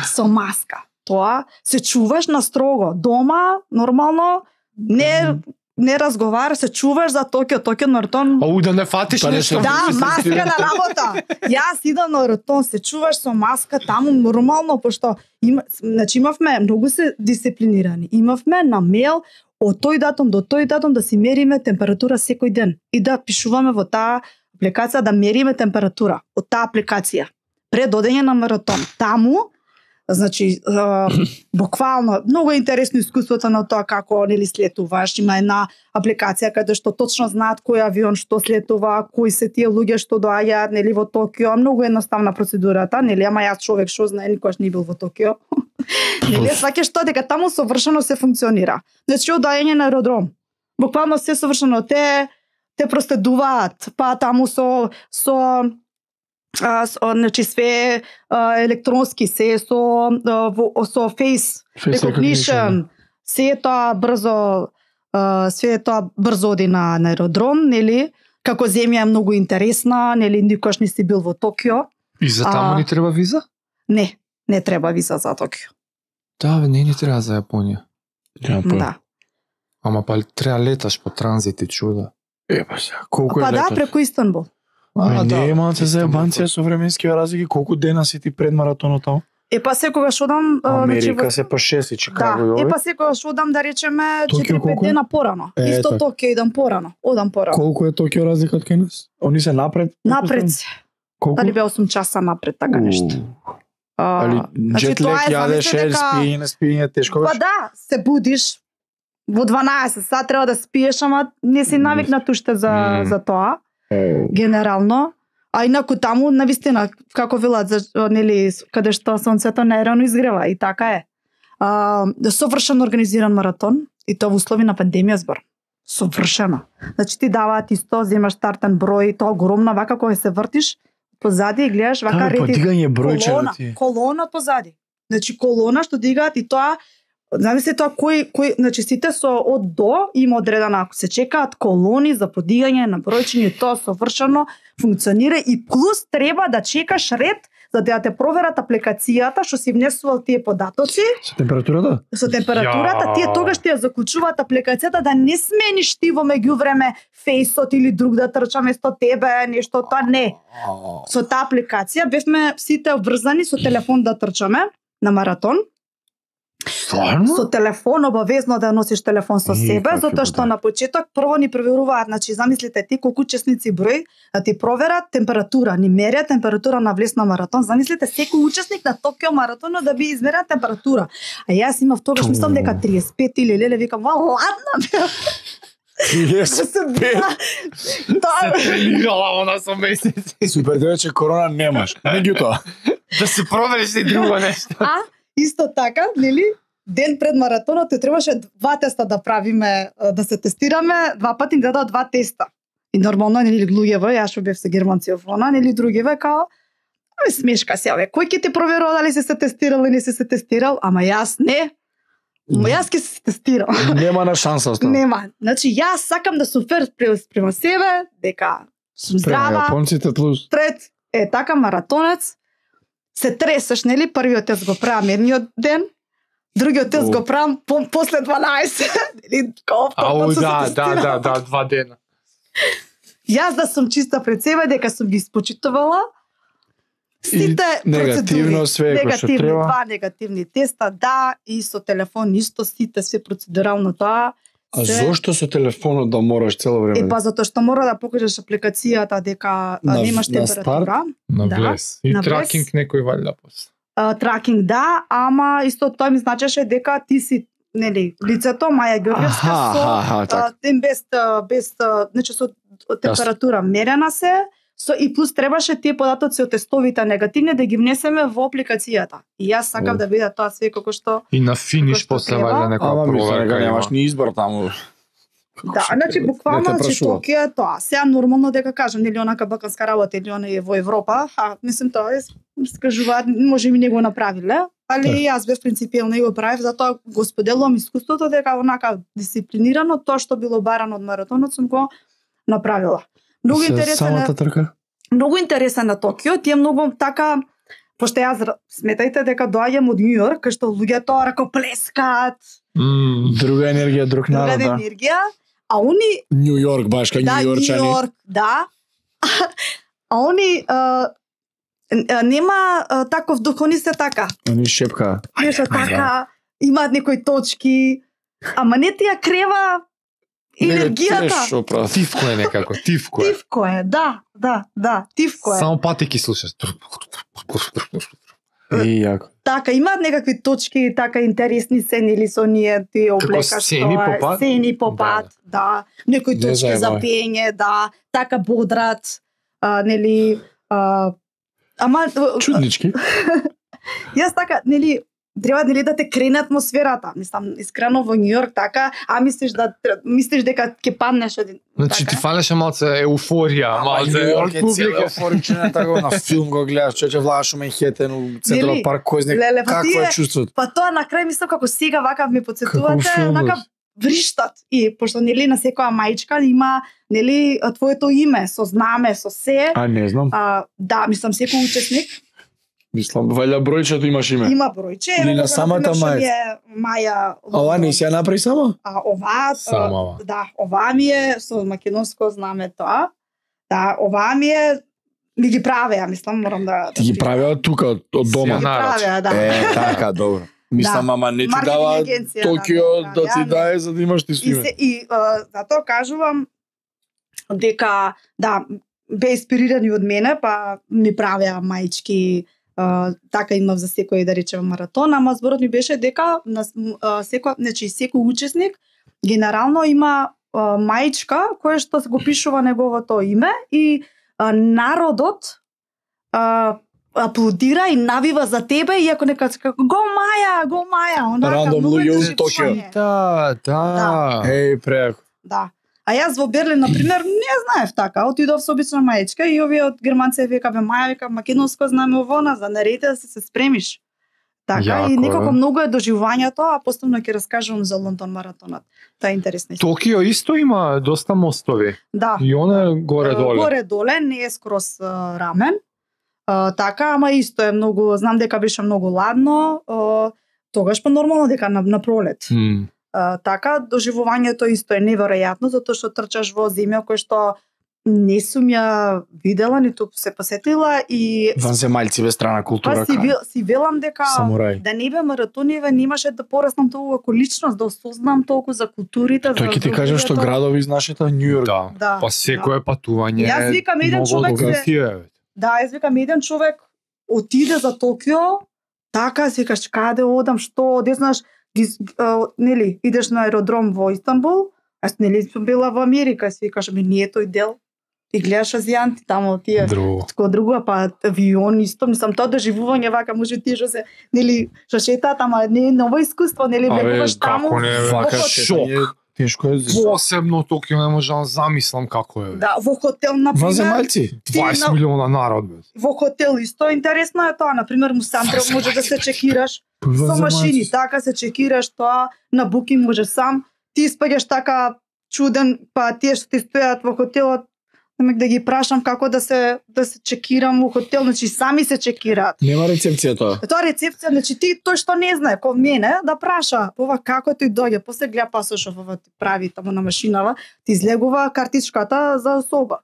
со маска. Тоа се чуваш на строго. Дома, нормално, не не разговара, се чуваш за Токио, Токио маратон. А у да не фатиш Па не нешто. се- Да, мислам, маска ти- на работа. Јас идам на маратон, се чуваш со маска таму нормално, пошто има, значи имавме многу се дисциплинирани. Имавме на мејл од тој датум до тој датум да си мериме температура секој ден и да пишуваме во таа апликација да мериме температура од таа апликација пред одење на маратон. Таму Значи, а, буквално, многу е интересно искуството на тоа како нели слетуваш. Има една апликација каде што точно знаат кој авион што слетува, кои се тие луѓе што доаѓаат нели во Токио. Многу едноставна процедурата, нели, ама јас човек што знае, никогаш не бил во Токио. Нели, сваќаш што дека таму совршено се функционира. Значи, од доаѓање на аеродром. Буквално се совршено те те проследуваат, па таму со со а, со, значи све а, електронски, се со а, во, со face, face recognition, се тоа брзо а, све тоа брзо оди на, на аеродром, нели? Како земја е многу интересна, нели, никош не си бил во Токио. И за таму А, ни треба виза? Не, не треба виза за Токио. Да, бе, не ни треба за Јапонија. Да. Ама па треба леташ по транзит и чуда. Е, па сега, колку е Па да, летот? преку Истанбул. А, не е малце за Истанбул. ебанција со временскиве разлики, колку дена си ти пред маратонот таму? Е па секогаш одам, а, Америка во- се по шест и Чикаго и Да, овој. е па секогаш одам да речеме Токио четири пет колку? дена порано. Е, Исто така. Токио идам порано. Одам порано. Колку е Токио разлика од кај нас? Они се напред? Напред се. Колку? Дали бе осум часа напред, така нешто. Уу. А, Али значи, джет тоа лек е, јадеш, замисли е, дека- спиење, спиење тешко Па беше? да, се будиш во дванаесет сат треба да спиеш, ама не си навикнат уште за Мм. за тоа Е, генерално. А инаку таму навистина како велат за нели каде што сонцето најрано изгрева и така е. А, совршено организиран маратон и тоа во услови на пандемија збор. Совршено. Значи ти даваат исто, земаш стартен број, тоа огромна вака кога се вртиш позади и гледаш вака Вака реди подигање бројче колона, да ти. колона позади. Значи колона што дигаат и тоа замисли тоа кој кој значи сите со од до има одредена, ако се чекаат колони за подигање на бројчиња, тоа совршено функционира и плюс треба да чекаш ред за да те проверат апликацијата што си внесувал тие податоци Со температурата? со температурата, Ја. тие тогаш ти ја заклучуваат апликацијата да не смениш ти во меѓувреме фејсот или друг да трча место тебе, нешто тоа не. Со таа апликација бевме сите обврзани со телефон да трчаме на маратон. Стварно? Со телефон, обавезно да носиш телефон со И, себе, какви затоа што будали. на почеток прво ни проверуваат, значи замислите ти колку учесници број, да ти проверат температура, ни мерат температура на влез на маратон. Замислите секој учесник на Токио маратонот да би измерат температура. А јас имав тогаш Ту. мислам дека триесет и пет или леле, викам, ва ладна бе. триесет и пет. Тоа Тренирала она со месеци. Супер, дека че корона немаш. Меѓутоа, Да се провериш и друго нешто. А, исто така, нели, ден пред маратонот те требаше два теста да правиме, да се тестираме, два пати ни дадоа два теста. И нормално, нели, луѓето, јас што бев се германци офона, нели, другиве, као, ами смешка се, ове, кој ќе ти проверува дали си се тестирал или не си се тестирал, ама јас не, ама јас ќе се тестирал. нема на шанса остава. Нема. Значи, јас сакам да сум фер спрема, спрема себе, дека сум Према здрава, јапонците плюс. пред е така маратонец, се тресеш, нели, првиот тест го правам едниот ден, другиот тест О. го правам по, после дванаесет, нели, као Ау, повторно се да, да, тестирам. да, да, два дена. Јас да сум чиста пред себе, дека сум ги испочитувала сите И негативно процедури. све кој што негативни, треба. два негативни теста, да, и со телефон исто сите, све процедурално тоа. А се- зошто со телефонот да мораш цело време? Е, па затоа што мора да покажеш апликацијата дека а, На- немаш на температура. На Да, влез. И на влез. тракинг некој валја после. А, тракинг да, ама исто тоа ми значеше дека ти си нели лицето Маја Ѓорѓевска Аха, со аха, така. а, тем без а, без а, значи со температура мерена се со и плюс требаше тие податоци од тестовите негативни да ги внесеме во апликацијата. И јас сакав О. да биде тоа све како што И на финиш Што после треба? валја некоја Ама мислам дека проверка немаш има. ни избор таму. да, значи буквално Не те значи прашуваат. Токио е тоа. Сега нормално дека кажам нели онака балканска работа или она е во Европа, а мислам тоа е скажуваат може и не го направиле, али Да. јас бев принципиелна и го правев, затоа го споделувам искуството дека онака дисциплинирано тоа што било барано од маратонот сум го направила. Многу Се интересен е, самата трка? многу интересен на Токио, ти е многу така пошто јас р- сметајте дека доаѓам од Њу Јорк, кај што луѓето ракоплескаат, М, Друга енергија, друг друга народ, да. енергија, а они Њу Јорк, баш кај да, Њу Њу Јорчани. Јорк, да. А они а, а, нема а, таков дух, они се така. Они шепка. Нешто така, имаат некои точки, ама не ти ја крева енергијата. Шо прави? Тивко е некако, тивко е. Тивко е, да, да, да, тивко е. Само патики слушаш. И јако. Така, имаат некакви точки, така интересни се, нели со ние ти облекаш сцени по пат? сцени по пат, да. Некои Не точки за заебај. пење, да, така бодрат, а, нели, а, ама Чуднички. јас така, нели, треба нели да те крене атмосферата. Мислам, искрено во Њујорк така, а мислиш да мислиш дека ќе паднеш один. Значи ти така? фалеше малце еуфорија, малце од публика. Форичен така на филм го гледаш, човече влааш у Менхетен, у Централ Нели? парк, кој знае Леле, па какво тие- е чувството. Па тоа на крај мислам како сега вака ми Како потсетувате, филм, онака вриштат. И пошто нели на секоја мајчка има нели твоето име со знаме, со се. А не знам. А, да, мислам секој учесник Мислам, вајда бројчето имаш име. има бројче. Или Ево, на кога, самата например, што мајка. ми е Маја. А ова не си ја направи само? А оваа, Само ова. а, да, оваа ми е со македонско знаме тоа. Да, оваа ми е ми ги правеа, мислам, морам да Ти ги правеа тука од од Си дома. ја Ги нарачи. правеа, да. Е, така, добро. Мислам, Да. ама не ти Маркетинг дава агенција, Токио да, да да, ти да. дае за да имаш ти И, свиме. се, и а, затоа кажувам дека да бе инспирирани од мене, па ми правеа маички, а, така имав за секој да речеме маратон, ама зборот ми беше дека на а, секој, значи секој учесник генерално има а, маичка која што го пишува неговото име и а, народот а, аплодира и навива за тебе, иако нека како го Маја, го Маја, онака Рандом многу луѓе од доживување. Да, да. Еј, преако. Да. А јас во Берлин, например, не знаев така. Отидов со обична маечка и овие од германци века бе Маја, века македонско знаме овона, за наредите да се се спремиш. Така, Јако, и некако е. многу е доживувањето, а постојано ќе раскажувам за Лондон маратонот. Тоа е интересно. Токио исто има доста мостови. Да. И она е горе-доле. Горе-доле, не е скроз а, рамен. А, така, ама исто е многу, знам дека беше многу ладно, а, тогаш па нормално дека на, на пролет. М. А, така, доживувањето исто е неверојатно, затоа што трчаш во земја која што не сум ја видела, ниту се посетила и Ванземајци без страна па култура. си, вел, си велам дека Самурај. да не бе маратониве, немаше да пораснам толку како личност, да осознам толку за културите, Тој за ќе ти каже што луѓето. градови из нашата Њујорк. Да. Да. Па секое патување Јас викам, еден многу човек се- откритие, бе. Да, јас викам еден човек отиде за Токио, така си викаш каде одам, што, де знаеш, ги, а, нели, идеш на аеродром во Истанбул, јас нели сум била во Америка, си викаш ми не е тој дел. И гледаш азијанти таму тие. Друго. Тако друго, па авион исто, мислам тоа доживување вака може тие што се нели што шетаат, ама не е ново искуство, нели Абе, влегуваш таму. како не, бе? Вака Шок. шетање тешко е. Посебно Токио не можам да замислам како е. бе. Да, во хотел на пример. Ванземајци. дваесет на- милиона народ, бе. Во хотел исто интересно е тоа, на пример Мусантро може да се чекираш со машини, така се чекираш тоа на Booking може сам, ти испаѓаш така чуден, па тие што ти стојат во хотелот, немек да ги прашам како да се да се чекирам во хотел, значи сами се чекираат. Нема рецепција тоа. Тоа рецепција, значи ти тој што не знае, ко мене, да праша, ова како тој доѓе, после гледа пасошов, ова ти прави таму на машинава, ти излегува картичката за соба.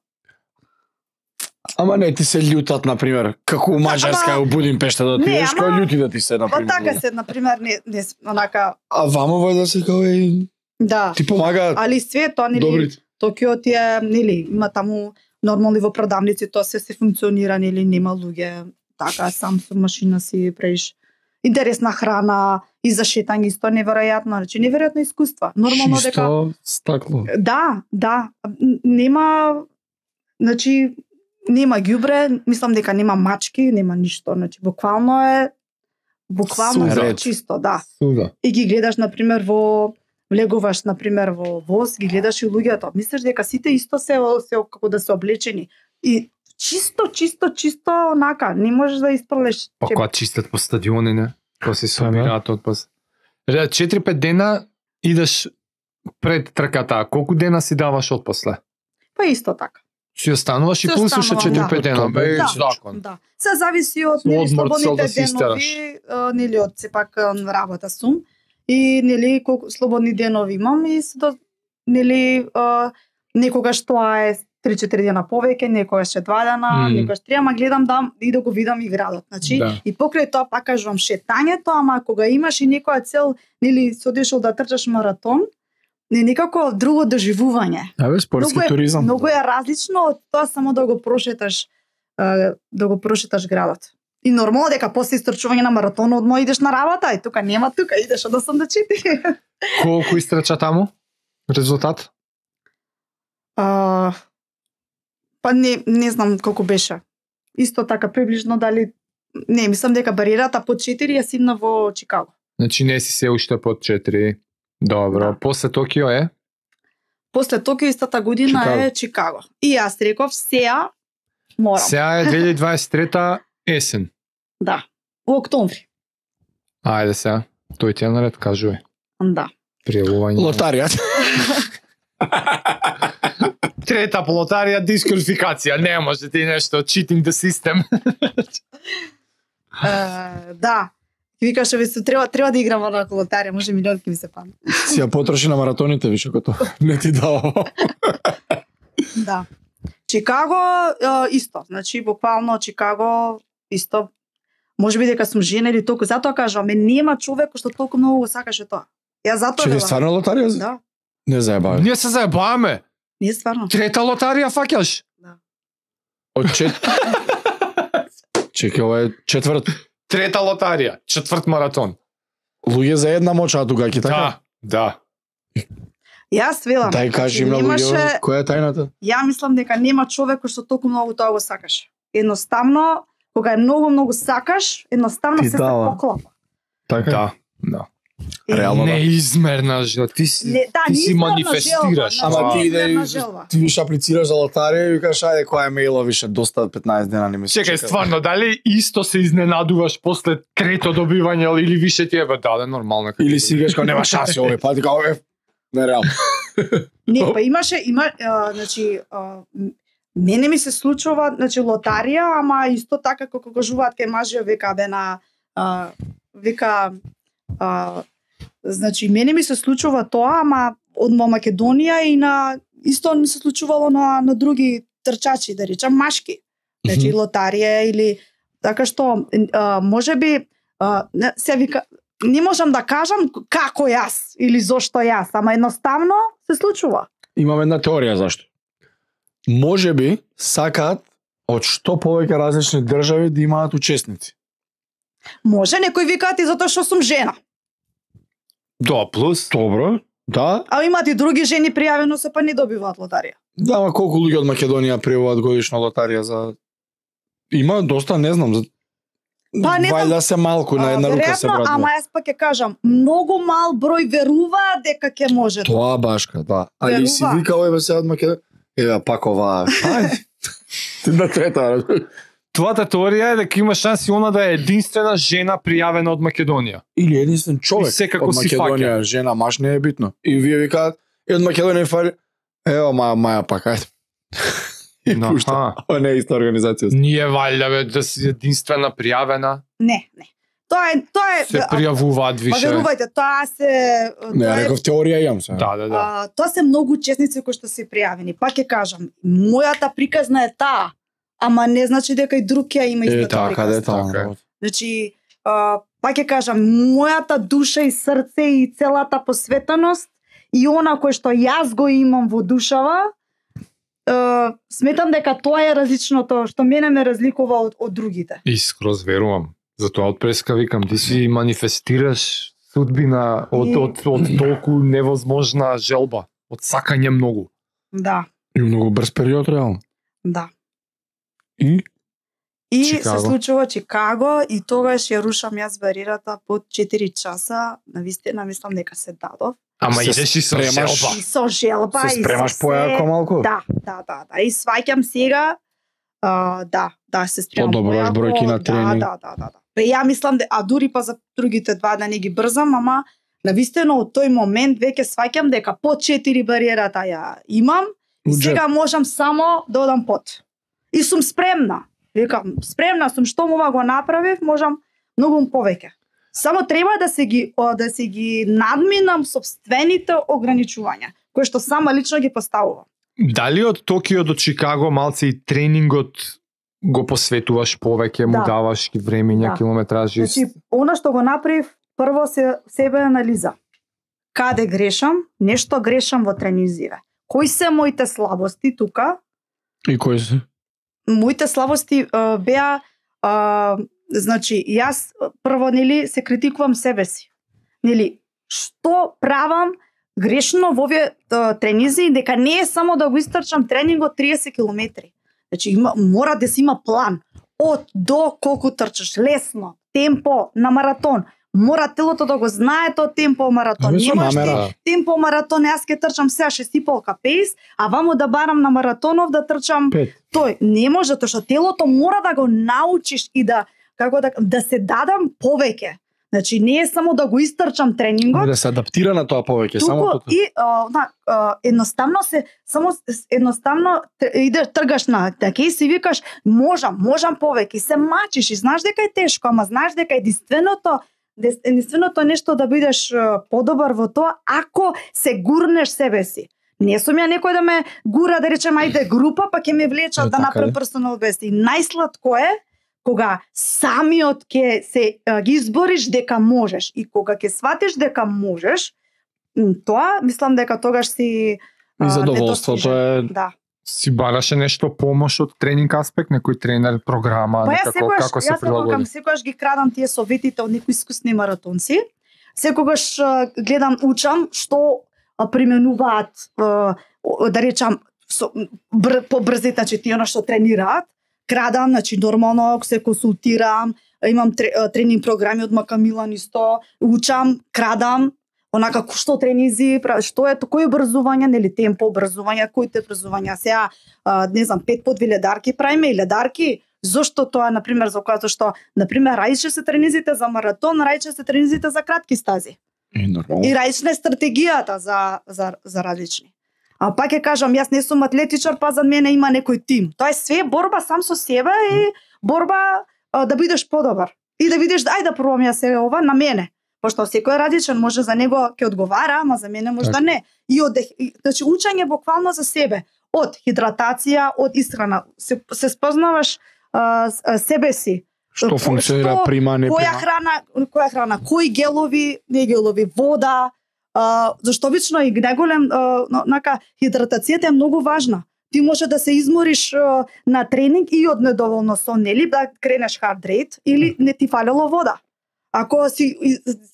Ама не ти се љутат на пример, како у Маđарска Ама- у Будимпешта да Не, отидеш, ама- кој љути да ти се на Па пример. така се, на пример, не, не онака, А вамо вајда се као е да. ти помага Али све тоа нели добрите. Токио ти е, нели, има таму нормални во продавници, тоа се се функционира, нели, нема луѓе, така, сам со машина си правиш интересна храна и за шетање исто неверојатно, значи неверојатно искуство. Нормално дека Чисто стакло. да, да, н- нема значи нема ѓубре, мислам дека нема мачки, нема ништо, значи буквално е буквално Суда. се чисто, да. Суда. И ги гледаш на пример во влегуваш на пример во воз, ги гледаш и луѓето. Мислиш дека сите исто се се како да се облечени и чисто чисто чисто онака, не можеш да испрлеш. Па кога чистат по стадиони, не? Кога се собираат отпас. Ре, четири-пет дена идеш пред трката, колку дена си даваш отпосле? Па исто така. Си остануваш и Си плюс уште останувам, четири-пет да. дена, бе, Да. закон. Да. Се зависи од Со нели одмор цел слободните да си истераш. денови, а, нели од сепак а, на работа сум и нели колку слободни денови имам и се до нели а, некогаш тоа е три-четири дена повеќе, некогаш е два дена, Мм. некогаш три, ама гледам да и да го видам и градот. Значи Да. и покрај тоа пак кажувам шетањето, ама кога имаш и некоја цел, нели си одишол да трчаш маратон, не некако друго доживување. Абе, спортски Многу е- туризам. Многу е различно од тоа само да го прошеташ а, да го прошеташ градот. И нормално дека после истрчување на маратонот одма идеш на работа, и тука нема тука, идеш од осум до четири. Колку истрча таму? Резултат? А, па не, не знам колку беше. Исто така приближно дали не, мислам дека бариерата под четири ја симна во Чикаго. Значи не си се уште под четири. Добро. Да. После Токио е? После Токио истата година Чикаго. е Чикаго. И јас реков сеа морам. Сега е две илјади дваесет и трета есен. Да. Во октомври. Ајде сега. Тој ти е наред, кажувај. Да. Пријавување. Лотаријата. Трета по лотарија дисквалификација. Не може ти нешто cheating the system. Е, да. Ти викаше ви се треба треба да играм на лотарија, може милионки ми се пам. Си ја потроши на маратоните више кото. Не ти дава. Да. Чикаго е, исто, значи буквално Чикаго исто. Може би дека сум жена или толку, затоа кажам, ме нема човек кој што толку многу го сакаше тоа. Ја затоа Чекај, велам. стварно лотарија? Да, Не заебавам. Ние се заебаваме. не стварно. Трета лотарија фаќаш. Од чет... Чекај, ова е четврт. Трета лотарија, четврт маратон. Луѓе за една моча тука, ки така? Да, да. Јас велам. Дај кажи значи, на немаше, луѓе, која е тајната? ја мислам дека нема човек кој што толку многу тоа го сакаше. Едноставно, кога е многу многу сакаш, едноставно Ти се се дава. поклапа. Така? Да, да. Е, Реално да. Неизмерна жел. Ти си, Не, да, ти си неизмерна манифестираш. желба, Ама значи, ти неизмерна да желба. ти виш аплицираш за лотарија и викаш ајде која е мејло више доста петнаесет дена не ми се Чекај, чека. стварно, дали исто се изненадуваш после трето добивање или више ти е бе, да, да, нормално. како Или ти си викаш како нема шанси овој пат, како е нереално. Не, па имаше, има, а, значи, а, м- мене ми се случува, значи, лотарија, ама исто така како кажуваат кај мажи, века бе на, а, века, а, значи, мене ми се случува тоа, ама од Македонија и на, исто ми се случувало на, на други трчачи, да речам, машки. Значи, Мгм. лотарија или, така што, а, може би, а, не, се вика, не можам да кажам како јас или зошто јас, ама едноставно се случува. Имам една теорија зашто. Може би сакаат од што повеќе различни држави да имаат учесници. Може, некои викаат и затоа што сум жена. Да, плюс. Добро, да. А имаат и други жени пријавено се па не добиваат лотарија. Да, ама колку луѓе од Македонија пријавуваат годишна лотарија за... Има доста, не знам, за... Па, не знам. Вајда се малку на една А, рука се веројатно, братува. ама јас пак ќе кажам, многу мал број веруваат дека ќе може. Тоа башка, да. А и си Верува. вика овој се од Македонија. Еве пак ова. Ајде. Ти на трета. Твојата теорија е дека има шанси она да е единствена жена пријавена од Македонија. Или единствен човек И секако од си Македонија, жена, маш не е битно. И вие викаат, е од Македонија и фали, ево маја, маја пак, ајде. И Аха. пушта. Ова не е иста организација. Ние валјда бе да си единствена пријавена, Не, не. Тоа е, тоа е се а, пријавуваат Па више. верувајте, тоа се Не, тоа е- реков теорија имам се. Да, да, да. А, тоа се многу учесници кои што се пријавени. Пак ќе кажам, мојата приказна е таа, ама не значи дека и друг ја има Е, истата така, да е приказна. тоа. Така е. Значи, а, пак ќе кажам, мојата душа и срце и целата посветеност и она кој што јас го имам во душава, а, сметам дека тоа е различното што мене ме разликува од, од другите. Искроз верувам. Затоа од преска викам, ти си манифестираш судбина од, И- од, од толку невозможна желба, од сакање многу. Да, И многу брз период, реално. да. И? И Чикаго. се случува Чикаго и тогаш ја рушам јас бариерата под четири часа, навистина мислам дека се дадов. Ама Се идеш и со спремаш. желба. И со желба Се и спремаш со се. појако малку? Да, да, да, да. И сваќам сега, а, да, да, се спремам Подобруваш појако, бројки на да, тренинг. Да, да, да, да. Бе, ја мислам, де, а дури па за другите два да не ги брзам, ама навистина од тој момент веќе сваќам дека под четири бариерата ја имам и Уџе. сега можам само да одам под. И сум спремна. Викам, спремна сум, што ова го направив, можам многу повеќе. Само треба да се ги о, да се ги надминам собствените ограничувања, кои што сама лично ги поставувам. Дали од Токио до Чикаго малце и тренингот го посветуваш повеќе, му Да. даваш ги времења, Да. километражи? Значи, она што го направив, прво се себе анализа. Каде грешам, нешто грешам во тренизиве. Кои се моите слабости тука? И кој се? Моите слабости а, беа а, значи јас прво нели се критикувам себе си. Нели што правам грешно во овие тренинзи, дека не е само да го истрчам тренингот триесет километри. Значи има, мора да се има план од до колку трчаш, лесно, темпо на маратон. Мора телото да го знае тоа темпо маратон. Не можеш намера. темпо маратон, јас ќе трчам сега шест и пол ка пейс, а вамо да барам на маратонов да трчам Пет. тој. Не може, тоа што телото мора да го научиш и да како да да се дадам повеќе. Значи не е само да го истрчам тренингот, Да се адаптира на тоа повеќе, само туку тоа. и а, на, а, едноставно се само едноставно идеш тргаш на така и си викаш можам, можам повеќе, се мачиш и знаеш дека е тешко, ама знаеш дека единственото единственото нешто да бидеш подобар во тоа ако се гурнеш себе си. Не сум ја некој да ме гура да речем ајде група па ќе ме влечат Е, да така направам е. персонал бест. И најсладко е кога самиот ќе се а, ги избориш дека можеш и кога ќе сватиш дека можеш, м, тоа мислам дека тогаш си а, И задоволството е Да. Си бараше нешто помош од тренинг аспект, некој тренер, програма, Па јас некако секогаш, како се јас прилагоди? секогаш, секогаш ги крадам тие советите од некои искусни маратонци. Секогаш а, гледам, учам што а, применуваат а, о- да речам со, бр, побрзите, значи тие она што тренираат. Крадам, значи нормално се консултирам, имам тре, а, тренинг програми од Макамилан исто, учам, крадам, онака што тренинзи, пра- што е кој образување, нели темпо образување, кои те образувања. Сега а, не знам, пет по две ледарки правиме и ледарки. Зошто тоа, на пример, за кое што, на пример, раиче се тренизите за маратон, раиче се тренизите за кратки стази. И нормално. И раична е стратегијата за за за различни. А пак ќе кажам, јас не сум атлетичар, па за мене има некој тим. Тоа е све борба сам со себе и борба а, да бидеш подобар. И да видиш, ајде да пробам јас сега ова на мене. Пошто секој е различен, може за него ќе одговара, ама за мене може Така. да не. И од и- значи учење буквално за себе, од хидратација, од исхрана, се, се спознаваш а, с- а, себе си. Што функционира Што- прима, не Која прима. храна, која храна, кои гелови, не гелови, вода, а, зашто обично и најголем а, нака хидратацијата е многу важна. Ти може да се измориш а, на тренинг и од недоволно сон, нели да кренеш hard rate или не ти фалело вода. Ако си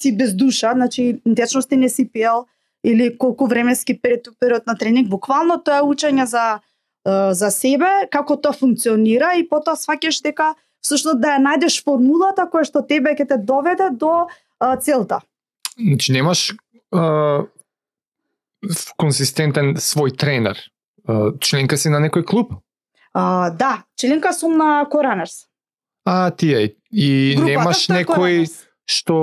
си без душа, значи течност ти не си пиел или колку временски период, период на тренинг, буквално тоа е учење за а, за себе, како тоа функционира и потоа сваќаш дека всушност да ја најдеш формулата која што тебе ќе те доведе до а, целта. Значи немаш а, консистентен свој тренер. А, членка си на некој клуб? А, да, членка сум на Коранерс. А, тие. И Групата немаш што е некој Коранерс. што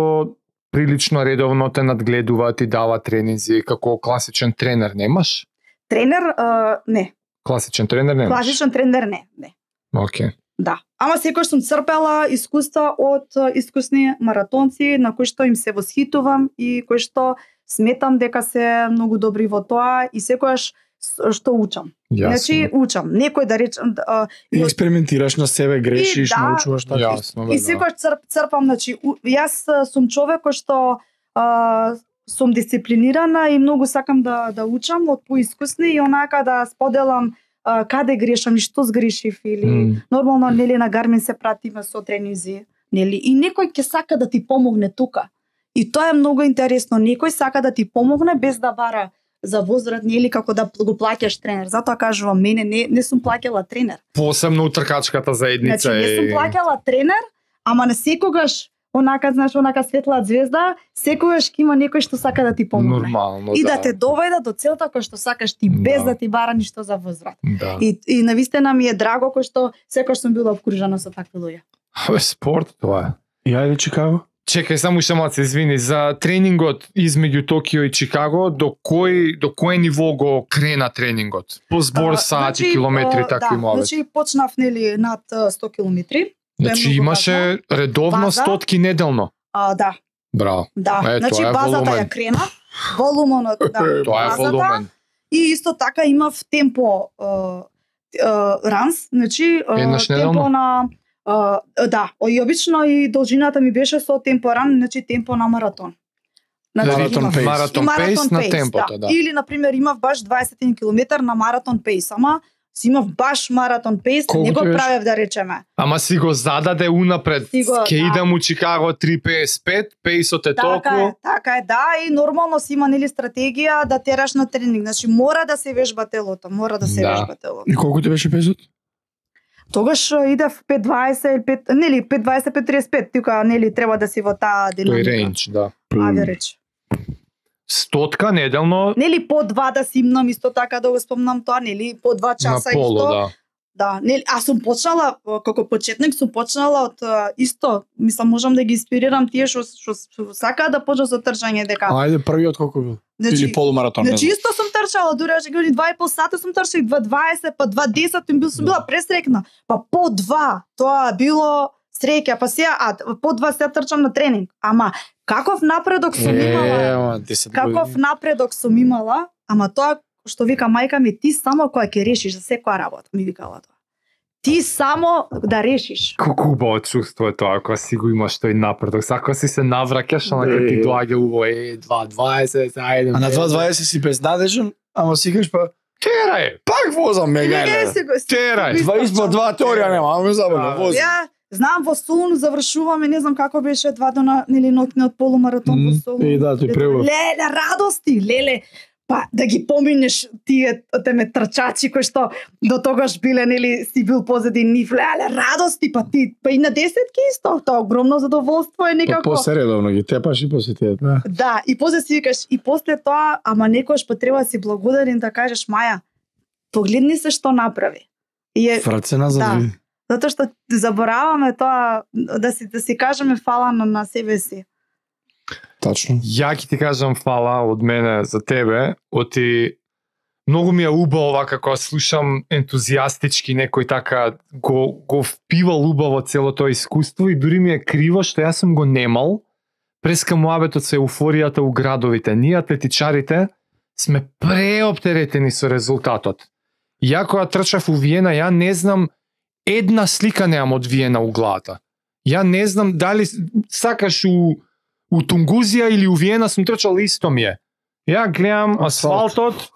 прилично редовно те надгледува, ти дава тренинзи, како класичен тренер немаш? Тренер, а, не. Класичен тренер немаш? Класичен тренер не, не. Океј. Да. Ама секој сум црпела искуства од а, искусни маратонци на кои што им се восхитувам и кои што сметам дека се многу добри во тоа и секогаш с- што учам. Јасно. Значи учам. Некој да речем а, И и од- експериментираш на себе, грешиш, да. научуваш така. Јасно, бе, И да. секогаш црп, црпам, значи, у, јас а, сум човек кој што а, сум дисциплинирана и многу сакам да да учам од поискусни и онака да споделам а, каде грешам и што сгрешив или М. нормално нели на Гармин се пратиме со тренинзи, нели и некој ќе сака да ти помогне тука. И тоа е многу интересно, некој сака да ти помогне без да бара за возврат нели како да го плаќаш тренер. Затоа кажувам, мене не не сум плаќала тренер. Посебно у тркачката заедница Значи, не сум е... плаќала тренер, ама не секогаш, онака, знаеш, онака светла звезда, секогаш ќе има некој што сака да ти помогне. Нормално, И да. да те доведе до целта која што сакаш ти, без Да. да ти бара ништо за возврат. Да. И, и навистина ми е драго кој што секогаш сум била обкружена со такви луѓе. Абе, спорт тоа е. И ајде Чикаго. Чекај, само уште малце, извини, за тренингот измеѓу Токио и Чикаго, до кој до кое ниво го крена тренингот? По збор А, сати, значи, километри, а, такви да, муавет. Значи почнав нели над а, сто километри. Значи многу имаше редовно База. стотки неделно. А, да, Браво. да. Е, значи тоа е базата волумен. ја крена, волумонот, да. Тоа е базата, волумен. И исто така имав темпо а, а, ранс, значи а, Еднаш темпо неделно? на а, да, и обично и должината ми беше со темпо ран, значи темпо на маратон. Маратон имав- пейс. Маратон и пейс на темпото, да. Или на пример имав баш дваесет километри на маратон пейс, ама си имав баш маратон пейс, Колку не го ти беше? правев да речеме. Ама си го зададе унапред. Си го, Ке да. идам у Чикаго три песет и пет, пейсот е Така е, толку. така е, да, и нормално си има нели стратегија да тераш на тренинг. Значи мора да се вежба телото, мора да се Да. вежба телото. И колку ти беше песот? Тогаш а, идев пет дваесет или пет, нели пет дваесет пет тридесет и пет, тука нели треба да си во таа Тој динамика. рейндж, да. Ајде реч. Стотка неделно Нели по два да си имнам исто така да го спомнам тоа, нели по два на часа поло, исто. да. Да, нели, аз сум почнала а, како почетник сум почнала од а, исто, мислам можам да ги инспирирам тие што што што сакаат да почнат со трчање дека. Ајде првиот колку бил? Или полумаратон, не Значи знам. исто сум трчала, дури аже години два и пол сата сум трчала, два дваесет, па два десет, им бил сум била пресрекна. Па по два, тоа било среќа, па сега а по два се трчам на тренинг. Ама каков напредок сум имала? Е, ама десет Каков години. напредок сум имала? Ама тоа што вика мајка ми, ти само кога ќе решиш за секоја работа, ми викала тоа. Ти само да решиш. Колку убаво чувство е тоа, кога си го имаш тој напредок. Сака си се навраќаш, ама кога ти Е. доаѓа убаво, е, два дваесет, ајде. А на два дваесет си безнадежен, ама сикаш па Терај, пак возам ме Не гајле. си го- терај. Два испод два теорија нема, ама ме забавно, Да. возам. Ја знам во Солун завршуваме, не знам како беше два дена нели ноќниот полумаратон во Мм, Солун. и да, тој пребав. Леле, радости, леле. Па да ги поминеш тие теме трчачи кои што до тогаш биле нели си бил позади нив, леле, радости, па ти па и на десетки исто, тоа огромно задоволство е Па некако. после редовно ги тепаш и после тие, да. Да, и после си викаш, и после тоа, ама некојаш па треба да си благодарен да кажеш, Маја, погледни се што направи. И е, Врат се назад, Да. види. затоа што забораваме тоа, да си, да си кажеме фала на, на себе си. Тачно. Ја ќе ти кажам фала од мене за тебе, оти многу ми е убаво ова како слушам ентузијастички некој така го го впивал убаво цело тоа искуство и дури ми е криво што јас сум го немал преска муабетот со еуфоријата у градовите. Ние атлетичарите сме преоптеретени со резултатот. Ја кога трчав у Виена, ја не знам една слика немам од Виена у главата. Ја не знам дали сакаш у у Тунгузија или у Виена сум трчал исто ми е. Ја гледам Асфалт. асфалтот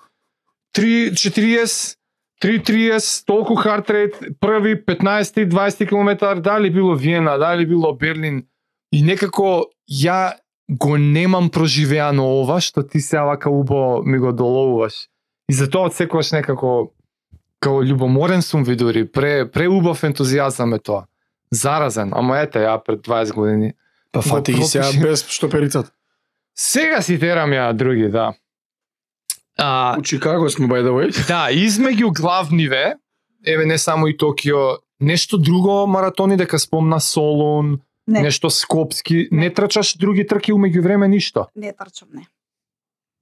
три четириесет, три тридесет, толку хард рейт, први петнаесет дваесет километар, дали било Виена, дали било Берлин и некако ја го немам проживеано ова што ти се вака убаво ми го доловуваш. И затоа одсекогаш некако као љубоморен сум ви дури, пре преубав ентузијазам е тоа. Заразен, ама ете ја пред дваесет години. Па фати ги сега пропуши. без шtoперицата. Сега си терам ја други, да. А, У Чикаго сме by the way. да, измеѓу главниве, еве не само и Токио, нешто друго маратони дека спомна Солун, Не, нешто Скопски, не, Не. трчаш други трки умеѓу време ништо. не трчам, не.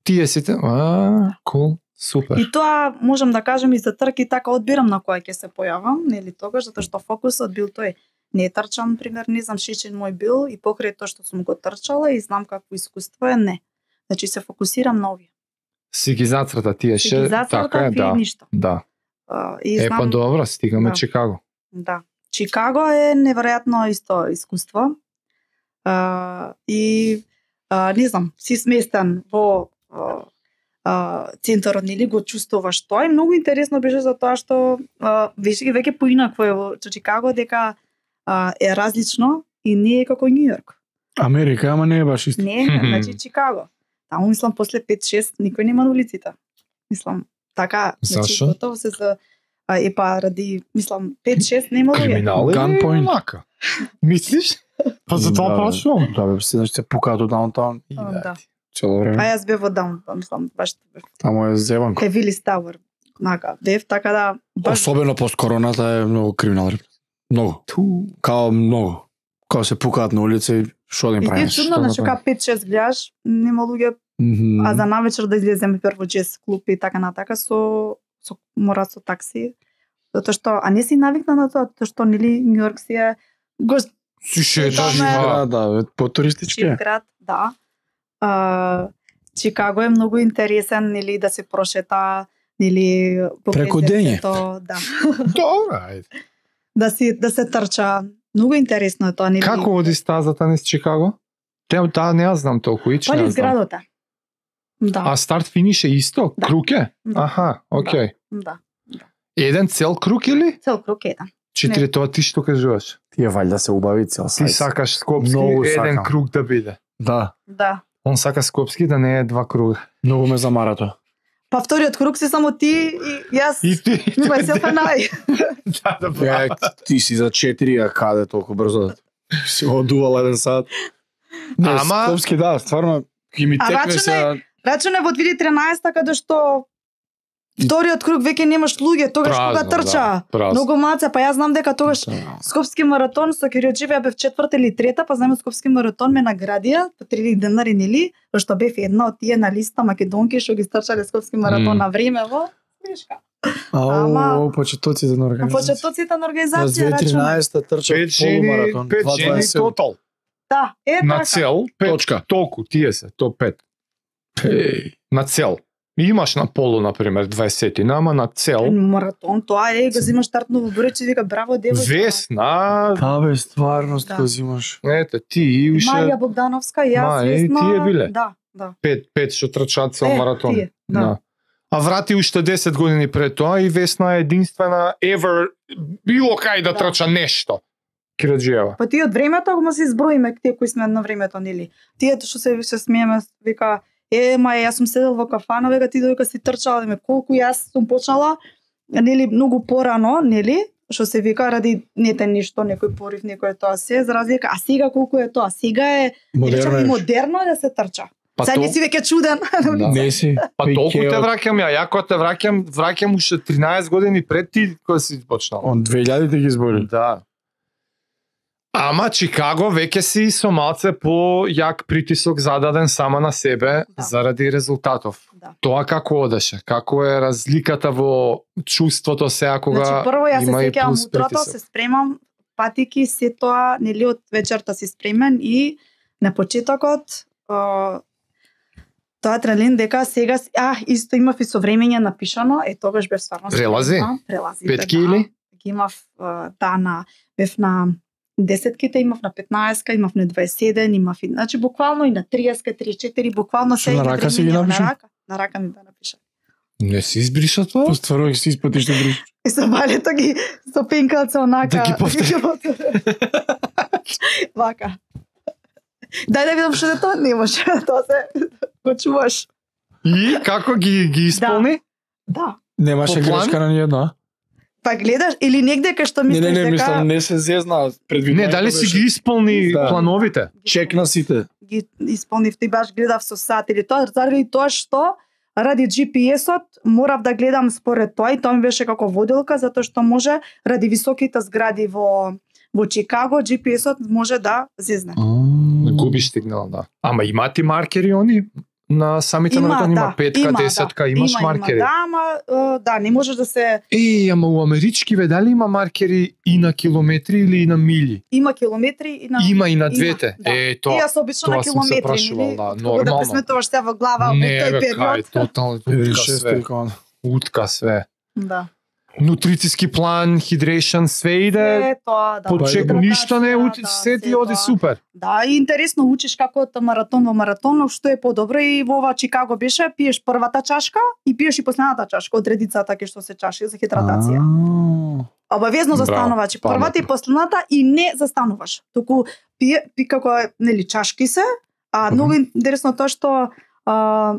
Тие сите, а, кул, супер. И тоа можам да кажам и за трки, така одбирам на која ќе се појавам, нели тогаш, затоа што фокусот бил тој. Не трчам, пример, не знам шичен мој бил и покрај тоа што сум го трчала и знам какво искуство е, не. Значи се фокусирам на овие. Си ги зацрта тие Си ше, ги така е, зацртав и да. ништо. Да. А, и Е, знам, па добро, стигаме Да. Чикаго. Да. Чикаго е неверојатно исто искуство. А, и а, не знам, си сместен во а, а, центарот, нели го чувствуваш тоа и многу интересно беше за тоа што а, веќе ги веќе поинако е во Чикаго дека а, е различно и не е како Њу Јорк. Америка, ама не е баш исто. Не, не, значи Чикаго. Таму мислам после пет шест никој нема на улиците. Мислам така, значи Зашо? готово се за а, е па ради мислам пет шест нема луѓе. Криминал или Gunpoint. мака? Мислиш? Па за тоа Да, прашувам. Да, бе, се значи се пукаат од даунтаун И А, да. да. цело А време. јас бев во даунтаун, мислам, баш Таму е зеванко. кај Вилис Тауер. Нака, бев така да баш Особено пост короната е многу криминал. Многу. Ту. Као многу. Као се пукаат на улица и што да им и ти е правиш? чудно, Што да значи правиш? кога пет шест гледаш, нема луѓе, Мгм. а за навечер да излеземе прво джез клуб и така натака со со мора со такси. Затоа што а не си навикна на тоа, тоа што нели Њу Јорк си е го Си шеташ, Таме- да. Да, да, е по-туристички. чип град, да. А, Чикаго е многу интересен, нели да се прошета, нели покрај Преку дење. срцето, да. Добро, ајде. Да си да се трча. Многу интересно е тоа, нели? Како оди стазата низ Чикаго? Те таа не ја знам толку, ич Па не ја низ знам. градот е. Да. А старт финиш е исто? Да. Круг е? Да. Аха, окей. Да. Еден цел круг или? Цел круг еден. Четири, тоа ти што кажуваш? Тие валјда се убави цел Ти сајз. сакаш Скопски Многу еден сакам. круг да биде. Да, Да. Он сака Скопски да не е два круга. многу ме замара тоа. Па вториот круг си само ти и јас. И ти. Ми myself and I. Да, да, Ја, ти си за четири, а каде толку брзо? Си го одувал еден сат. Не, Ама- Скопски да, стварно ќе ми А текне рачуне- се. Рачуне во две илјади и тринаесетта каде што вториот круг веќе немаш луѓе, тогаш кога Празно, трча. да, празно. Многу маце, па јас знам дека тогаш Скопски маратон со Кириоџиев бев четврта или трета, па знам Скопски маратон ме наградија по три илјади денари нели, што бев една од тие на листа македонки што ги стрчале Скопски маратон Мм. на време во Смешка. Ау, почетоците на На организација. почетоците на Јас организација две рачуне. тринадесета трчав Пет жени, полумаратон. пет два жени дваесет седум. тотал. Да, е На така. цел, пет. Точка. Толку, тие се, то пет. Еј. На цел. Имаш на полу, например, дваесет, ама на цел. Маратон, тоа е, го взимаш стартно во Буречи, вика браво девојка. Весна, Да бе, стварност Да. го взимаш. ете, ти и уште Марија Богдановска, јас, Ма, е, Весна. тие биле. Да, да. пет, пет што трчаат цел Е, маратон. тие, да. А врати уште десет години пред тоа и Весна е единствена ever било кај да Да. трча нешто. Кироџиева. Па тие од времето го му се изброиме тие кои сме на времето, нели? Тие што се се смееме, вика, е, ма јас сум седел во кафана, века ти додека си трчала, ме колку јас сум почнала, нели, многу порано, нели? Што се вика ради нете ништо, некој порив, некој тоа се, за разлика, а сега колку е тоа? Сега е Модерно и е. модерно да се трча. Па Сега то- не си веќе чуден. Да. Не си. Па толку те Пикеот. враќам ја, ја кога те враќам, враќам уште тринаесет години пред ти кога си почнал. Он две илјади ги избори. Да. Ама Чикаго веќе си со малце по јак притисок зададен сама на себе Да. заради резултатов. Да. Тоа како одеше? Како е разликата во чувството сега кога Значи прво јас се има и сеќавам плюс утрото, притисок? се спремам, патики се тоа, нели од вечерта си спремен и на почетокот а, тоа трелин дека сега си- а исто имав и совремење напишано, е тогаш бев стварно Прелази? спремна, прелази. Петки или? Ги имав а, да на бев на десетките, имав на петнаесетка, имав на дваесет и еден, имав и значи буквално и на триесет, триесет и четири, буквално Што, се на рака си ги напиша? На рака, на рака ми бе напиша. Не си избриша тоа? Постварно ги си испатиш да други. И со балето ги со пенкалце онака. Да ги повтори. Вака. Дај да видам што е тоа, не може. Тоа се го чуваш. И како ги ги исполни? Да. Немаше По план? грешка на ниједна. Па гледаш или негде кај што Не, мислиш не, не, дека мислам, не се зезна предвидно. Не, дали си ги исполни Да. плановите? Чек на сите. ги исполнив и баш гледав со сат или тоа заради тоа што ради Джи Пи Ес-от морав да гледам според тоа и тоа ми беше како водилка затоа што може ради високите згради во во Чикаго Джи Пи Ес-от може да зезне. Губиш сигнал, да. Ама има ти маркери они? На самите маратони има петка, десетка, имаш има, маркери. Има, да, ама е, да, не можеш да се Е, ама у амерички ве дали има маркери и на километри или и на мили? има километри и на Има и на има, двете. да. Е, И тоа. јас обично тоа на сум се километри, прашувал, нели? да, Како да нормално. пресметуваш се во глава Не, во тој бе, кај, период. тотално утка све. Утка све. Да. Нутрициски план, hydration, све иде. Се тоа, да. По Па, чек, да. ништо не учи, Да, се ти се оди тоа. супер. Да, и интересно учиш како од маратон во маратон, што е подобро и во ова Чикаго беше, пиеш првата чашка и пиеш и последната чашка од редицата кај што се чаши за хидратација. Обавезно Браво, застанува, че првата и паметно. последната и не застануваш. Туку пие, пи како е, нели чашки се, а Мгм. многу интересно тоа што а,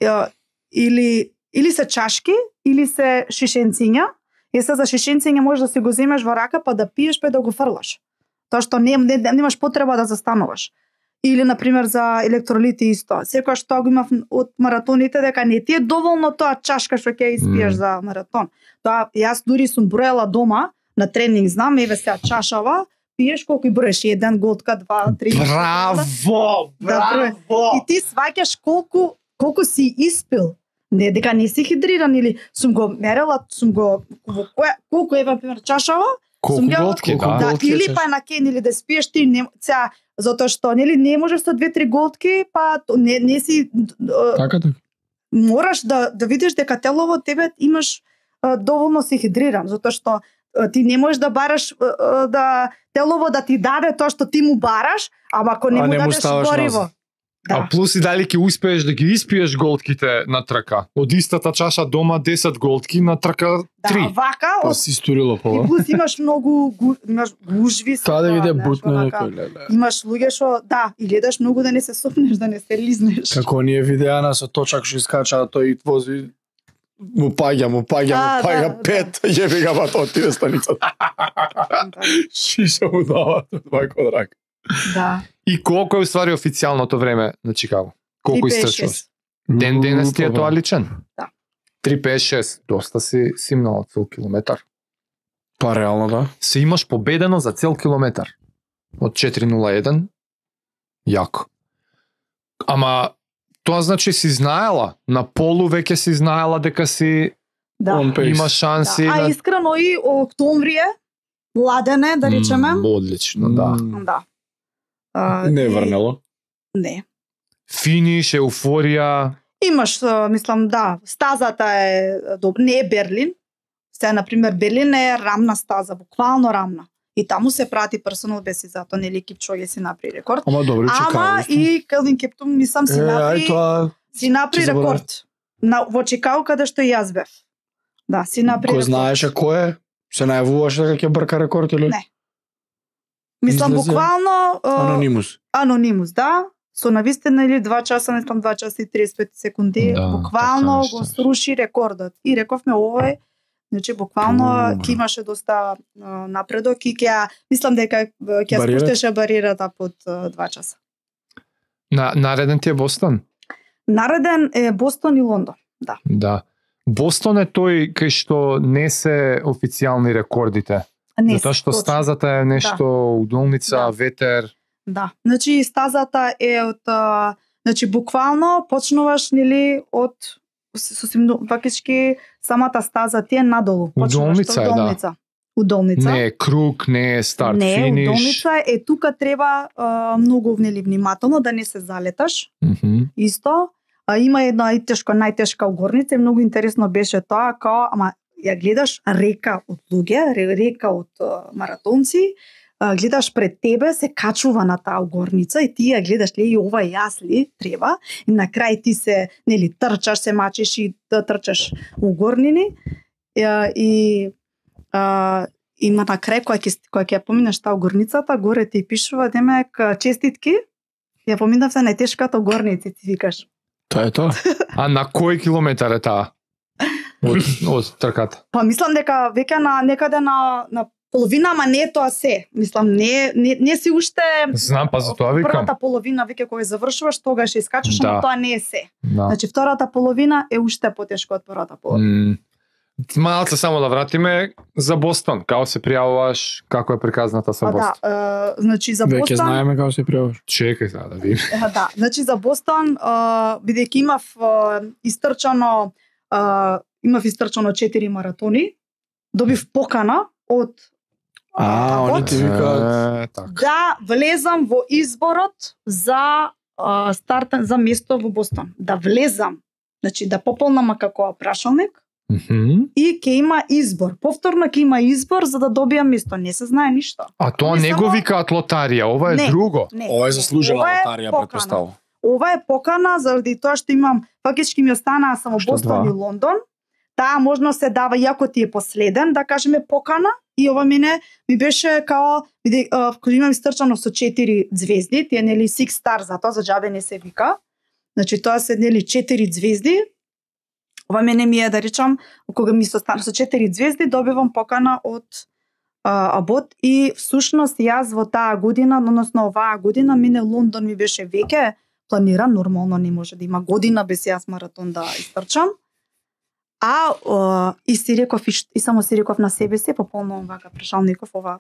ја, или или се чашки, или се шишенциња. И се за шишенциње можеш да си го земеш во рака па да пиеш па да го фрлаш. Тоа што не, не немаш потреба да застануваш. Или на пример за електролити исто. Секогаш тоа го имав од маратоните дека не ти е доволно тоа чашка што ќе испиеш Мм. за маратон. Тоа јас дури сум броела дома на тренинг, знам, еве сега чашава, пиеш колку и броеш, еден голтка, два, три. Браво! Да, Браво! И ти сваќаш колку колку си испил. Не дека не си хидриран или сум го мерела, сум го во која колку е например чашава, Колку сум ја- голтки, да. да, голтки или чаш. па на кен или да спиеш ти не сега затоа што нели не можеш со две-три голтки, па то не не си д- Така така. мораш да да видиш дека телово тебе имаш а, доволно си хидриран, затоа што а, ти не можеш да бараш а, а, да телово да ти даде тоа што ти му бараш, ама ако не А му не му дадеш ставаш гориво. назад. Да. А плюс и дали ќе успееш да ги испиеш голтките на трка. Од истата чаша дома десет голтки, на трка три. Да, вака, Па од... си историло и пола. плюс имаш многу гу... имаш гужви со Таа да тоа, биде знаеш, бутно вака. некој, леле. Имаш луѓе што да, и гледаш многу да не се сопнеш, да не се лизнеш. Како оние видеа со точак што искача, тој вози му паѓа, му паѓа, А, му паѓа да, пет, јеби га бат отиде станицата. Шиша му дава два квадрат. Да. И колку е уствари официјалното време на Чикаго? Колку три пет истрчуваш? шест. Ден денес ти е тоа личен? Да. три пет шест, доста си симнал цел километар. Па реално да. Се имаш победено за цел километар. Од четири нула еден. Јако. Ама тоа значи си знаела, на полу веќе си знаела дека си Да. Он пейс. има шанси. Да. А на- искрено и октомври е, ладен е, да речеме. М, одлично, да. М, Да. А, Не и- врнело. Не. Финиш, еуфорија. Имаш, а, мислам, да, стазата е доб... не е Берлин. Се, например, Берлин е рамна стаза, буквално рамна. И таму се прати персонал беси, затоа нели Кипчоге си направи рекорд. Ама добро, Чикаго. Ама исто. и Келвин Кептун мислам си Е, направи, ај тоа си направи ќе заборав. рекорд. На во Чикаго каде што и јас бев. Да, си направи кој рекорд. знаеше кој е? Се најавуваше дека ќе брка рекорд или? Не. Мислам Излезе буквално а, Анонимус. анонимус, да. Со навистина или два часа, мислам два часа и триесет и пет секунди, Да, буквално така го нешто. сруши рекордот. И рековме овој, значи буквално Пу. ќе имаше доста а, напредок и ќе мислам дека а, ќе Бариерата? спуштеше бариерата под а, два часа. На, нареден ти е Бостон? Нареден е Бостон и Лондон. Да. Да. Бостон е тој кај што не се официјални рекордите. Не, Затоа што точно. стазата е нешто удолница, Да. ветер. Да. Значи стазата е од а, значи буквално почнуваш нели од сосем фактички самата стаза ти е надолу. Почнуваш Удолница од е, да. удолница. Удолница. Не е круг, не е старт, Не, финиш. удолница е тука треба а, многу нели внимателно да не се залеташ. Мгм. Исто, а, има една најтешка најтешка угорница и многу интересно беше тоа као ама ја гледаш река од луѓе, ре- река од а, маратонци, а, гледаш пред тебе се качува на таа угорница и ти ја гледаш ли и ова јас ли треба и на крај ти се нели трчаш, се мачиш и да трчаш угорнини и, и а, има на крај кога ќе кога ќе ја поминеш таа угорницата, горе ти пишува демек честитки. Ја поминавте најтешката угорница, ти викаш. Тоа е тоа. А на кој километар е таа? Од, од трката. Па мислам дека веќе на некаде на на половина, ама не е тоа се. Мислам не не, не си уште Знам, па за тоа викам. првата половина веќе кога ја завршуваш, тогаш ја искачаш, Да. ама тоа не е се. Да. Значи втората половина е уште потешко од првата половина. М, Малце само да вратиме за Бостон. Како се пријавуваш, како е приказната со Па да, Бостон? е, значи за Веќе Бостон, знаеме како се пријаваш. Чекај сега да видим. Е, да, значи за Бостон, а, бидејќи имав а, истрчано а, имав истрчано четири маратони, добив покана од А, од- они ти викаат. Е, така. да влезам во изборот за а, стартен за место во Бостон. Да влезам, значи да пополнам како прашалник Мгм. и ќе има избор. Повторно ќе има избор за да добијам место. Не се знае ништо. А тоа Они не само- го викаат лотарија, ова е Не. друго. Не. Ова е заслужена Ова е лотарија, покана. претпоставувам. Ова е покана заради тоа што имам фактички ми останаа само Што Бостон два? и Лондон. Таа можност се дава иако ти е последен, да кажеме покана, и ова мене ми беше као биде а, кога имам истрчано со четири звезди, тие нели six star, затоа за џабе не се вика. Значи тоа се нели четири звезди. Ова мене ми е да речам кога ми се остана со четири звезди добивам покана од а, Абот и всушност јас во таа година, односно оваа година мине Лондон ми беше веќе планиран, нормално не може да има година без јас маратон да истрчам. А о, и си реков и, ш- и само си реков на себе си, пополнувам вака прашалников ова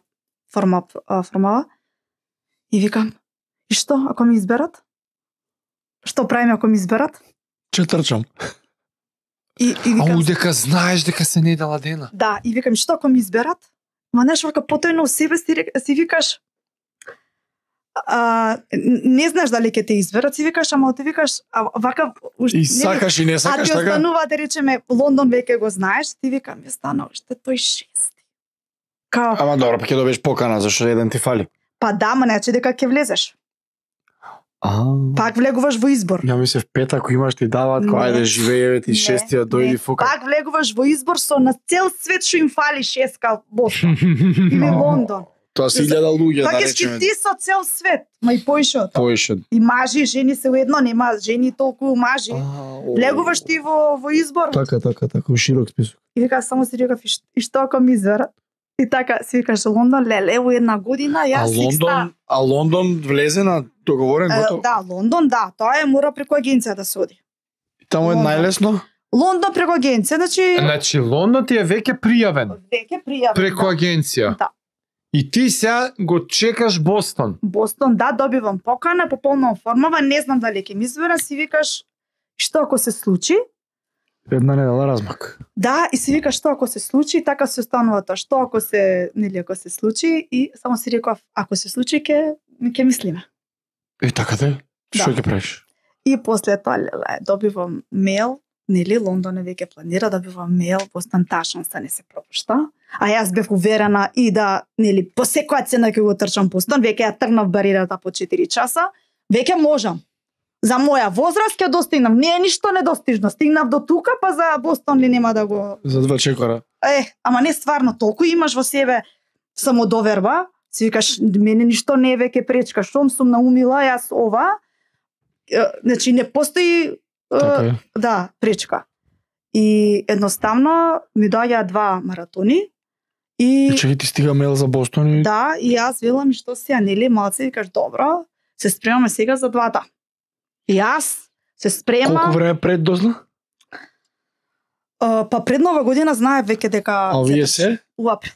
форма а, формала. И викам, и што ако ми изберат? Што правиме ако ми изберат? Че трчам. И, и А викам, удека знаеш дека се недела дена. да, и викам, што ако ми изберат? Ма нешто вака потојно у себе си, рек- си викаш, а, не знаеш дали ќе те изберат, си викаш, ама ти викаш, а, вака... уш- И не- сакаш и не а сакаш ти така? останува да речеме Лондон веќе го знаеш, ти викам ми стана уште тој шести. Као, Ама добро, па ќе добиеш покана, зашто еден ти фали. па да, ма не че дека ќе влезеш. А. Пак влегуваш во избор. Ја ми се в пет ако имаш ти даваат, кој Не. ајде живееве ти Не, шестиот дојди не. фука. Пак влегуваш во избор со на цел свет што им фали шеска Бостон или Лондон. Тоа се илјада луѓе, да Така си речеме. ти со цел свет, ма и поише од тоа. Поише. И мажи и жени се уедно, нема жени толку мажи. Влегуваш ти во во избор. Така, така, така, у широк список. И вика само си рекав и ш- и што ако ми изверат? И така си викаш Лондон, леле, во една година А јас Лондон, а Лондон влезе на договорен Е, готов. да, Лондон, да, тоа е мора преку агенција да се оди. Таму е Лондон. најлесно. Лондон преку агенција, значи Значи Лондон ти е веќе пријавен веќе пријавен. преку да. агенција. Да. И ти сега го чекаш Бостон. Бостон, да, добивам покана, пополнувам формава, не знам дали ќе ми избера, си викаш што ако се случи? Една недела размак. Да, и си викаш што ако се случи, така се останува тоа. Што ако се, нели ако се случи и само си реков ако се случи ќе ќе мислиме. И така да е. Што Да. ќе правиш? И после тоа леле, добивам мејл, нели Лондон е веќе планира, добивам мејл, Бостон таа шанса не се пропушта. А јас бев уверена и да, нели, по секоја цена ќе го трчам Бостон, веќе ја тргнав бариерата по четири часа, веќе можам. За моја возраст ќе достигнам, не е ништо недостижно. Стигнав до тука, па за Бостон ли нема да го... За два чекора. Е, ама не стварно, толку имаш во себе самодоверба, си викаш, мене ништо не е веќе пречка, штом сум наумила јас ова, е, значи не постои е, Така е. да, пречка. И едноставно ми доаѓаа два маратони и И чекай ти стига мејл за Бостон и да, и јас велам и што сега, нели, малце викаш, добро, се спремаме сега за двата. И јас се спремам, колку време пред дозна? е, па пред нова година знаев веќе дека А овие се? у април.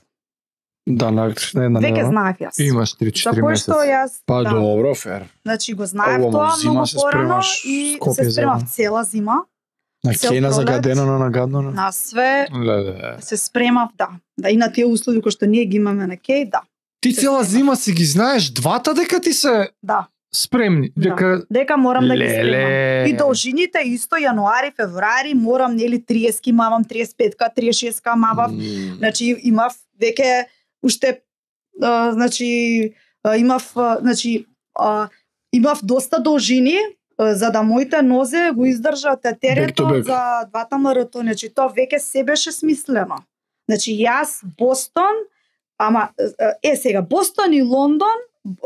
Да, на на една Веќе недела. знаев јас. Имаш За три-четири кој што месеци. јас Па да, добро, фер. значи го знаев Ова, тоа зима многу се порано спремаш и Скопје се за спремав една. цела зима На Цел Кена пролет. загадено на гадно. на све, Леле. се спремав, да. Да, и на тие услови кои што ние ги имаме на Кеј, да. Ти Се цела спремаш. зима си ги знаеш двата дека ти се Да, спремни, Да. дека дека морам да ги Леле. спремам. И должините исто јануари, февруари, морам нели триесет мавам, триесет и петка, триесет и шестка мавав. Значи имав веќе уште а, значи а, имав а, значи а, имав доста должини а, за да моите нозе го издржат Back to терето back. за двата маратони. Значи тоа веќе се беше смислено. Значи јас Бостон, ама е сега Бостон и Лондон,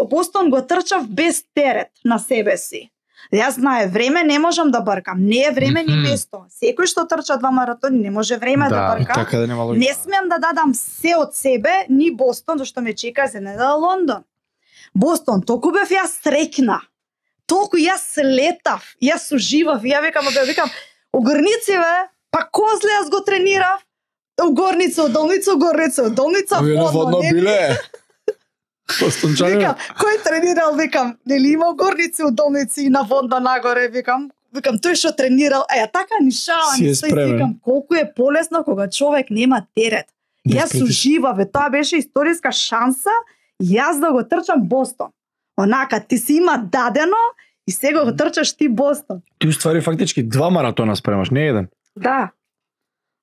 Бостон го трчав без терет на себе си. Јас знае, време не можам да бркам. Не е време ни Мгм. место. Секој што трча два маратони не може време да, Да, брка. Така да нема логика. Не смеам да дадам се од себе, ни Бостон, зашто ме чека за недела Лондон. Бостон, толку бев јас среќна. Толку јас летав, јас уживав, ја викам, бе, викам, огрници бе, па козле јас го тренирав. У горница, од долница, у горница, од долница, Овие на водно не? биле. Постончане. Викам, кој тренирал, викам, нели има горници, у долници и на водно нагоре, викам, викам, тој што тренирал, е, така нишава, Си е не стои, спремен. викам, колку е полесно кога човек нема терет. Без Јас притиск. уживав, бе, тоа беше историска шанса, јас да го трчам Бостон. Онака, ти си има дадено и сега го трчаш ти Бостон. Ти уствари фактички два маратона спремаш, не еден. Да.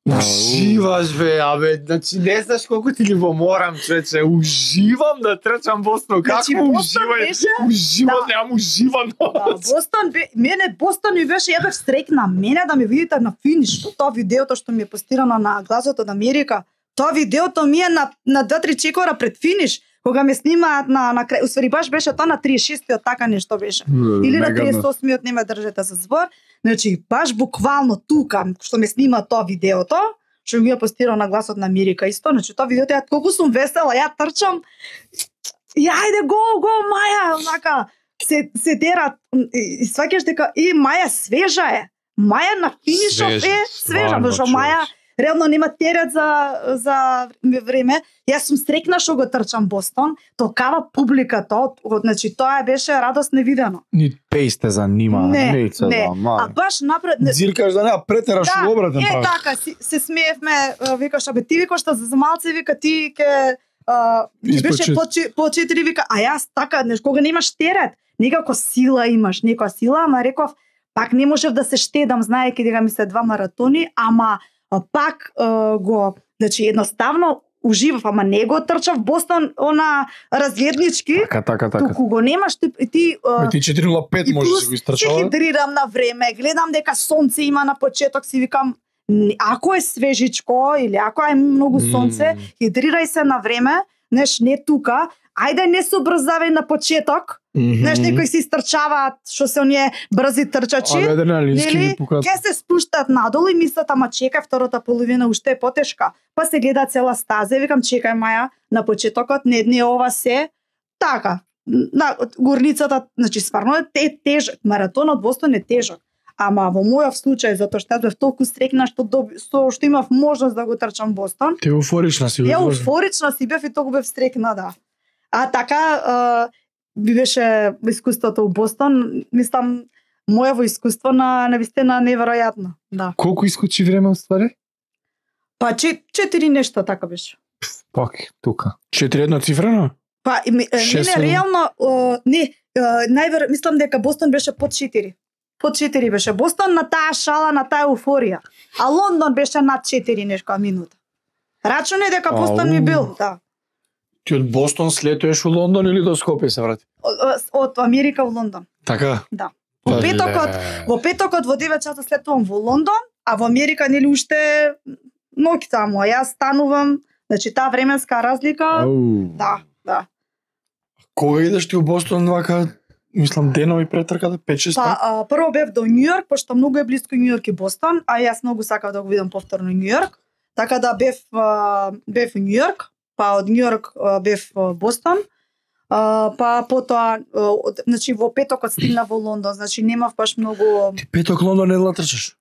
Уживаш бе, абе, значи не знаеш колку ти љубоморам, човече, уживам да трчам Бостон, како Значи, Бостон уживај, беше... уживам, Да. немам уживано. Да, Бостон, бе, мене Бостон ми беше, ја бев стрекна, мене да ме видите на финиш, тоа видеото што ми е постирано на Гласот од Америка, тоа видеото ми е на, на два-три чекора пред финиш, кога ме снимаат на, на крај, усвари баш беше тоа на триесет и шестиот, така нешто беше. Или на триесет и осмиот, не ме држете за збор. Значи, баш буквално тука, што ме снима тоа видеото, што ми ја постирал на Гласот на Америка исто, значи тоа видеото, ја колку сум весела, ја трчам, и ајде, го, го, Маја, онака, се, се дерат, и, и сваќаш дека, и Маја свежа е, Маја на финишов Свежа, е свежа, стварно, зашто човече. Маја реално нема терет за, за време. Јас сум стрекна што го трчам Бостон, токава публика, тоа, значи тоа беше радост невидено. Ни пејсте занима, Не, не, се не. да, мали. А баш напред... не- Зиркаш да нема претераш Да, у обратен е прав. така, си, се смеевме, а, викаш, абе ти викаш што за малце, вика ти ке а, ти Испод беше чет- по, че- по четири, вика, а јас така, неш, кога немаш терет, некако сила имаш, некоја сила, ама реков, пак не можев да се штедам, знаеки дека ми се два маратони, ама а, пак а, го, значи едноставно уживав, ама не го трчав Бостон она разгледнички. Така, така, така. Туку го немаш ти ти а, Ти четири нула пет и може да плюс си го се истрчава. хидрирам на време, гледам дека сонце има на почеток, си викам не, ако е свежичко или ако е многу сонце, Мм. хидрирај се на време, неш не тука, ајде не се обрзавај на почеток, неш некои се истрчаваат, што се оние брзи трчачи, Абе, адреналински нели? ги пукаат. Ке се спуштат надолу и мислат, ама чекај, втората половина уште е потешка. Па се гледа цела стаза и викам, чекај Маја, на почетокот не, не ова се. Така, на горницата, значи стварно е те, тежок. Маратонот Бостон е тежок. Ама во мојов случај, затоа што јас бев толку стрекна што, доби, што, што имав можност да го трчам Бостон, Ти еуфорична си. ја бе. уфорична си бев и толку бев стрекна, да. А така, а, би беше искуството у Бостон, мислам, мојово искуство на навистина неверојатно, да. Колку искочи време уствари? Па че, четири нешта така беше. Пак, тука. Четири едноцифрено? Па и, ми- е, Шест, не, не, седум? реално, о, не, е, највер, мислам дека Бостон беше под четири. Под четири беше Бостон на таа шала, на таа еуфорија. А Лондон беше над четири нешка минута. Рачуне дека Бостон ми Ау. бил, да. Ти од Бостон слетуваш у Лондон или до Скопје се врати? Од, од Америка во Лондон. Така? Во Па, петокот, во петокот во девет часа слетувам во Лондон, а во Америка нели уште ноќ таму, а јас станувам, значи таа временска разлика, Ау. да, да. Кога идеш ти у Бостон вака, мислам денови пред трката, пет шест Па а, прво бев до Њујорк, пошто многу е близко Њујорк и Бостон, а јас многу сакав да го видам повторно Њујорк. Така да бев а, бев во Њујорк, па од Њујорк а, бев во Бостон. А, па потоа, а, од- значи во петокот стигна во Лондон, значи немав баш многу. Ти петок Лондон не да трчаш?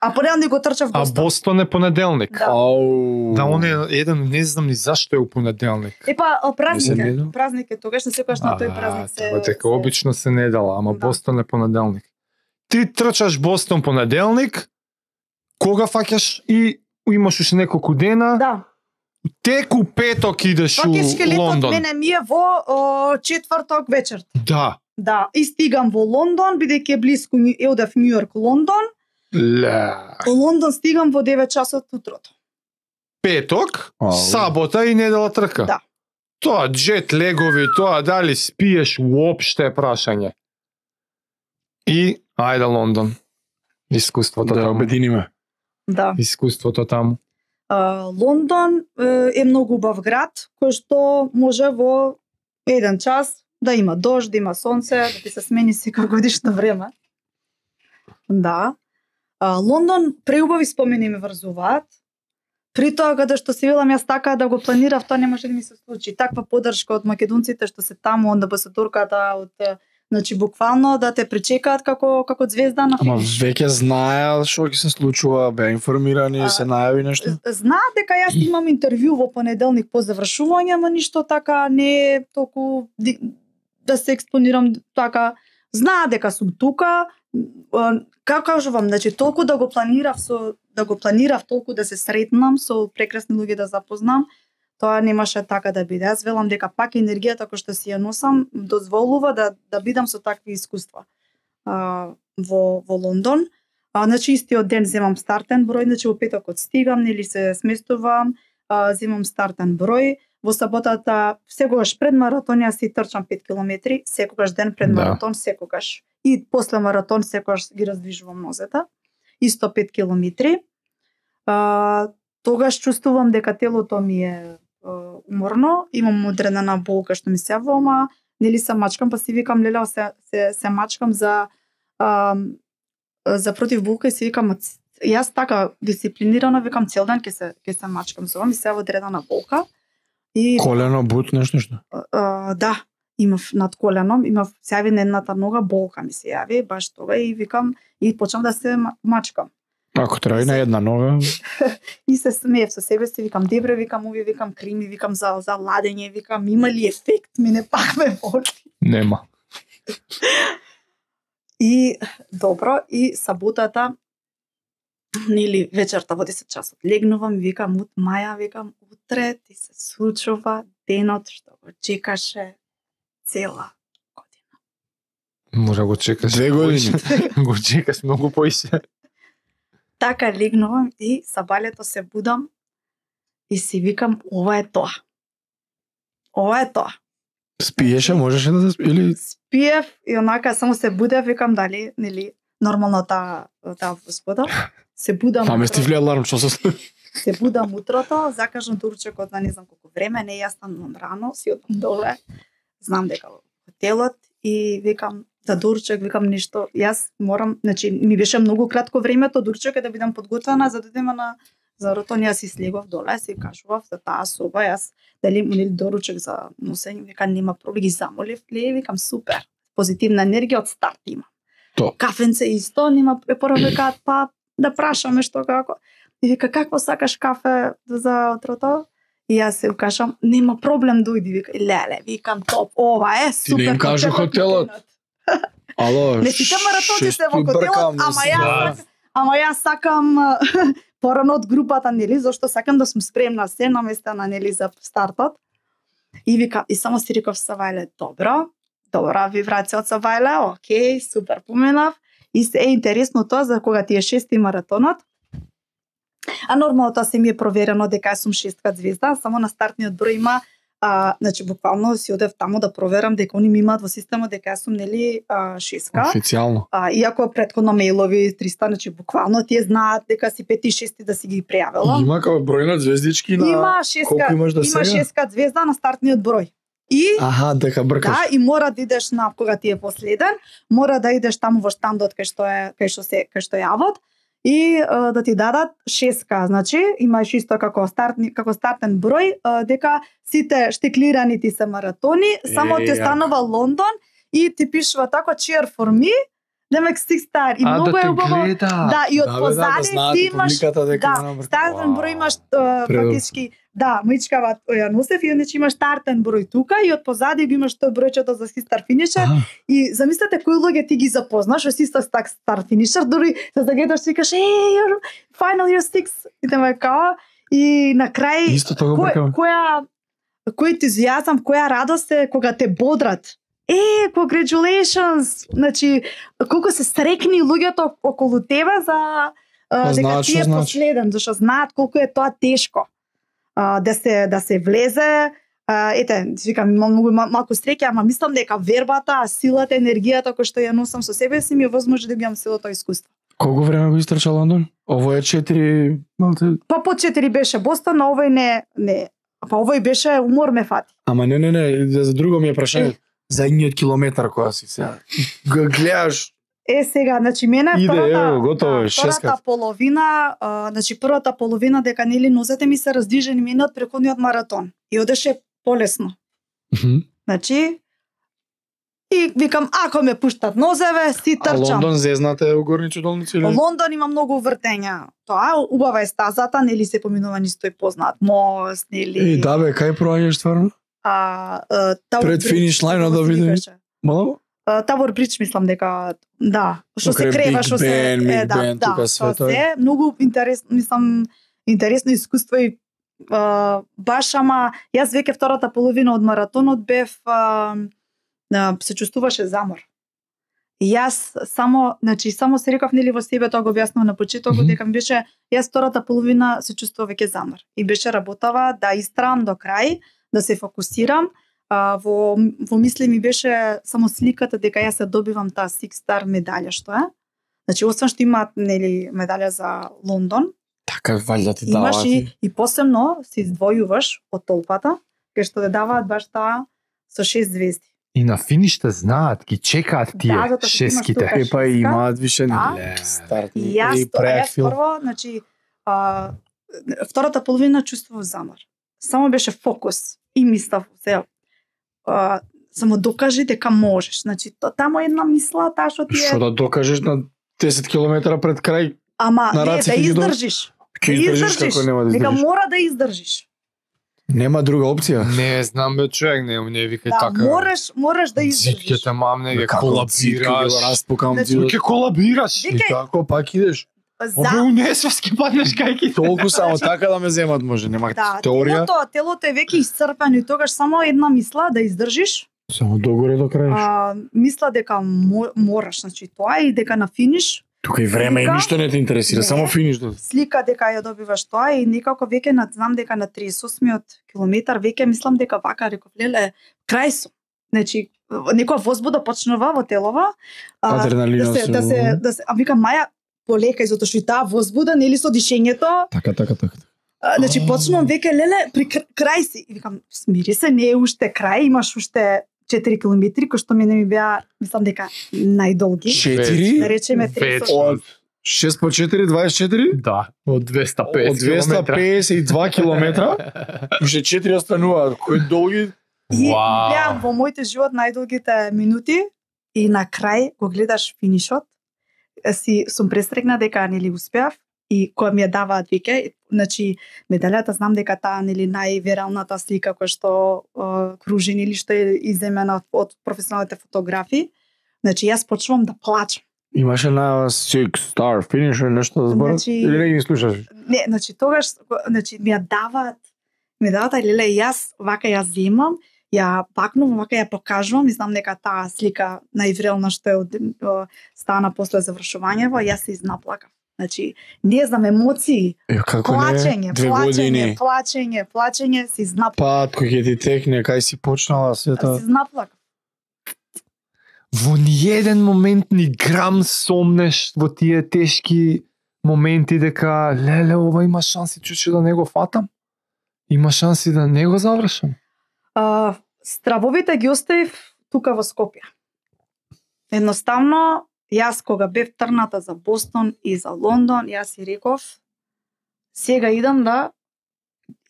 А понеделник го трчав А Бостон. Бостон е понеделник. Да. Ау. Да, он е еден, не знам ни зашто е у понеделник. Е па а, празник Не се е. недел? Празник е тогаш, не секогаш на тој празник се. Тоа дека се- обично се недела, ама Да. Бостон е понеделник. Ти трчаш Бостон понеделник, кога фаќаш и имаш уште неколку дена, Да. теку петок идеш у Фактички летот Лондон. мене ми е во о, четврток вечерта. Да. Да, и стигам во Лондон, бидејќи е близко Њу- е одев Њујорк, Лондон. Ле. Во Лондон стигам во девет часот утрото. Петок, Ау. сабота и недела трка. Да. Тоа джет легови, тоа дали спиеш уопште е прашање. И ајде Лондон. Искуството Да, таму. обединиме. Да. Искуството таму. А, Лондон е, е многу убав град, кој што може во еден час да има дожд, да има сонце, да ти се смени секогодишно време. Да. А, Лондон преубави спомени ми врзуваат. При тоа каде што се велам јас така да го планирав, тоа не може да ми се случи. Таква поддршка од македонците што се таму, онда амбасадорката од е, значи буквално да те пречекаат како како звезда на Ама веќе знаеа што ќе се случува, беа информирани, А, се најави нешто. Знаат дека јас имам интервју во понеделник по завршување, ама ништо така не е толку ди- да се експонирам така. Знаат дека сум тука, а, како кажувам, значи толку да го планирав со да го планирав толку да се сретнам со прекрасни луѓе да запознам, тоа немаше така да биде. Јас велам дека пак енергијата која што си ја носам дозволува да да бидам со такви искуства. А, во во Лондон. А, значи истиот ден земам стартен број, значи во петокот стигам, нели се сместувам, а, земам стартен број. Во саботата секогаш пред маратон јас си трчам пет километри, секогаш ден пред Да. маратон, секогаш. И после маратон секогаш ги раздвижувам нозете. Исто пет километри. А, тогаш чувствувам дека телото ми е а, уморно, имам одредена болка што ми се јавува, ама нели се мачкам, па си викам леле се се, се мачкам за а, за против болка и си викам «Ц- јас така дисциплинирано викам цел ден ќе се ќе се мачкам за ова, ми се јавува одредена болка и Колено, бут, нешто нешто. а, да, имав над коленом, имав се јави на едната нога болка ми се јави баш тога и викам и почнав да се ма- мачкам. Ако треба и на една нога, И се смеев со себе си, викам дебре, викам овие, викам крими, викам за за ладење, викам има ли ефект, мене пак ме боли. Нема. И добро, и саботата нели вечерта во десет часот легнувам, викам ут Маја, викам утре ти се случува денот што го чекаше цела година. Може го чекаш. Две години. го чекаш многу поише. Така легнувам и сабалето се будам И си викам, ова е тоа. Ова е тоа. Спиеше, можеше да се спи или Спиев и онака само се будев, викам дали, нели, нормално таа таа господа. Се будам. намести вли аларм, што се случи? Се будам утрото, закажам доручекот за не знам колку време, не јас станувам рано, си одам доле. Знам дека во хотелот и викам за доручек, викам нешто. Јас морам, значи ми беше многу кратко времето доручекот да бидам подготвена за да идеме на за ротон, јас си слегов доле, си кажував за таа соба, јас дали нели доручек за носење, вика нема проблем, ги замолив, ле, викам супер. Позитивна енергија од старт има. То. Кафенце исто, нема прво викаат па да прашаме што како. И вика какво сакаш кафе за утрото? И јас се кажам нема проблем дојди, вика леле, викам топ, ова е супер. Ти не им кажу хотелот. Ало, не сите маратонци се во хотелот, ама јас ама јас сакам порано од групата, нели, зашто сакам да сум спремна се наместена, нели, за стартот. И вика, и само си реков Савајле, добро, добра вибрација од Савајле, окей, супер поменав. И се е интересно тоа за кога ти е шести маратонот. А нормално тоа се ми е проверено дека сум шестка звезда, само на стартниот број има, а, значи буквално си одев таму да проверам дека они ми имаат во системот дека сум нели а, шестка. Официјално. А, иако претходно мејлови триста, значи буквално тие знаат дека си пети и шести да си ги прејавила. Има како број на звездички на Има шестка, колку имаш да има сега? шестка звезда на стартниот број. И Аха, дека бркаш. да, и мора да идеш на кога ти е последен, мора да идеш таму во штандот кај што е кај што се кај што јавот и а, да ти дадат шестка, значи имаш исто како стартни како стартен број, а, дека сите штеклирани ти се маратони, само Е, ти останува Лондон и ти пишува тако cheer for me, демек six star и А, многу да е те убаво. гледа. Да, и од Да, бе, да, да позади знаат ти и имаш публиката дека да, нема брка. стартен број имаш а, Предобро. фактички да, мичкава ја носев и иначе имаш стартен број тука и од позади го имаш тоа бројчето за стар финишер. Аха. И замислете кои луѓе ти ги запознаш, во си стар стар финишер, дури се загледаш и кажеш, "Hey, you're final you're six." И тема као и на крај Исто тоа го кој, бркам. која кој ентузијазам, која радост е кога те бодрат. Е, congratulations! Значи, колку се срекни луѓето околу тебе за а, Па дека знаат ти што е значи. последен, зашто знаат колку е тоа тешко. А, да се да се влезе, а, ете, викам имам многу мал- малку среќа, ама мислам дека вербата, силата, енергијата која што ја носам со себе си ми е возможно да ги имам целото искуство. Колку време го истрча Лондон? Ово е четири, малте. Па по четири беше Бостон, а овој не не. Па овој беше умор ме фати. Ама не, не, не, за друго ми е прашање. За едниот километар која си сега. Го гледаш. Е, сега, значи мене Иде, втората, ево, готово е, да, втората шескат. половина, а, значи првата половина дека нели нозете ми се раздвижени мене од претходниот маратон и одеше полесно. Мгм. Значи и викам ако ме пуштат нозеве, си А трчам. Лондон зезнате у горничи долници или? Лондон има многу вртења. Тоа убава е стазата, нели се поминува нисто и познат мост, нели. Е, да бе, кај проаѓаш стварно? А, а Tower Пред Bridge, финиш лајнот да како се видим. викаше. Мало? А, Tower Bridge мислам дека да, што се Покрај крева, Big што се Ben, Big е да, Ben, да, тука све тоа тоа. се многу интересно, мислам интересно искуство и а, баш ама јас веќе втората половина од маратонот бев а, а, се чувствуваше замор. И јас само, значи само се реков нели во себе тоа го објаснав на почетокот Мгм. дека ми беше јас втората половина се чувствував веќе замор. И беше работава да истрам до крај, да се фокусирам. А, во во мисли ми беше само сликата дека јас се добивам таа Six Star медаља што е. Значи освен што имаат нели медаља за Лондон, Така валјда ти имаш даваат. и, и посебно се издвојуваш од толпата, кај што те даваат баш таа со шест звезди. И на финиште знаат, ги чекаат тие Да, затоа што имаш шеските. тука. Е, па и имаат више Да. не старт. И јас, и тоа, јас преакфил. прво, значи, а, втората половина чувствував замор. Само беше фокус и мислав се а, само докажи дека можеш. Значи, то, тамо една мисла, таа што ти Што е... да докажеш на десет километра пред крај, Ама, на не, раците да ги до- издржиш. ќе Да издржиш како нема да Дека издржиш. мора да издржиш. Нема друга опција. Не знам бе човек, не не викај Да, така. мораш, мораш да издржиш. Зитките мамне ги Како цитка ги го колабираш. распукам Значи, зидот. Ќе колабираш. Вика- И како пак идеш? За... Обе унесвески паднеш кај ки. Толку само така да ме земат може, нема Да, теорија. телото, телото е веќе исцрпено и тогаш само една мисла да издржиш. Само догоре до крај. А, мисла дека мо, мораш, значи тоа и дека на финиш Тука и време и Слика? ништо не те интересира, Не. само финиш до. Слика дека ја добиваш тоа и некако веќе на знам дека на триесет и осмиот километар веќе мислам дека вака реков леле крај сум. Значи некоја возбуда почнува во телова, а, Адреналинот да се се- да се да се а викам Маја полека затоа што и таа возбуда нели со дишењето, Така, така, така. а, значи почнувам веќе леле при кр- крај си и викам смири се, не е уште крај, имаш уште четири километри кои што мене ми беа мислам дека најдолги. Да Четири? речеме триесет. Вечно. Од шест по четири, дваесет и четири? Да, од двеста и Од петдесет двеста километра. педесет и два километра, уште четири остануваат, кои долги. И Вау. беа во моите живот најдолгите минути и на крај го гледаш финишот. Си сум престрекна дека нели успеав и кога ми ја даваат веќе, значи медалјата знам дека таа нели највиралната слика која што е, кружи нели што е иземена од професионалните фотографи. Значи јас почнувам да плачам. Имаше на six star finish или нешто да зборат? Значи- Или не ги слушаш? Не, значи тогаш значи ми ја даваат ми даваат а леле јас вака ја земам, ја пакнувам, вака ја покажувам и знам дека таа слика највирална што е од о, стана после завршувањето, јас се изнаплакав. Значи, не знам емоции, Е, како плачење, не? Две плачење, години. плачење, плачење, се изнаплакав. Пат кој ќе ти текне, кај си почнала Се сета. изнаплакав. Во ниеден момент ни грам сомнеш во тие тешки моменти дека леле ова има шанси чуче да не го фатам? Има шанси да не го завршам? А, стравовите ги оставив тука во Скопје. Едноставно, јас кога бев трната за Бостон и за Лондон, јас си реков, сега идам да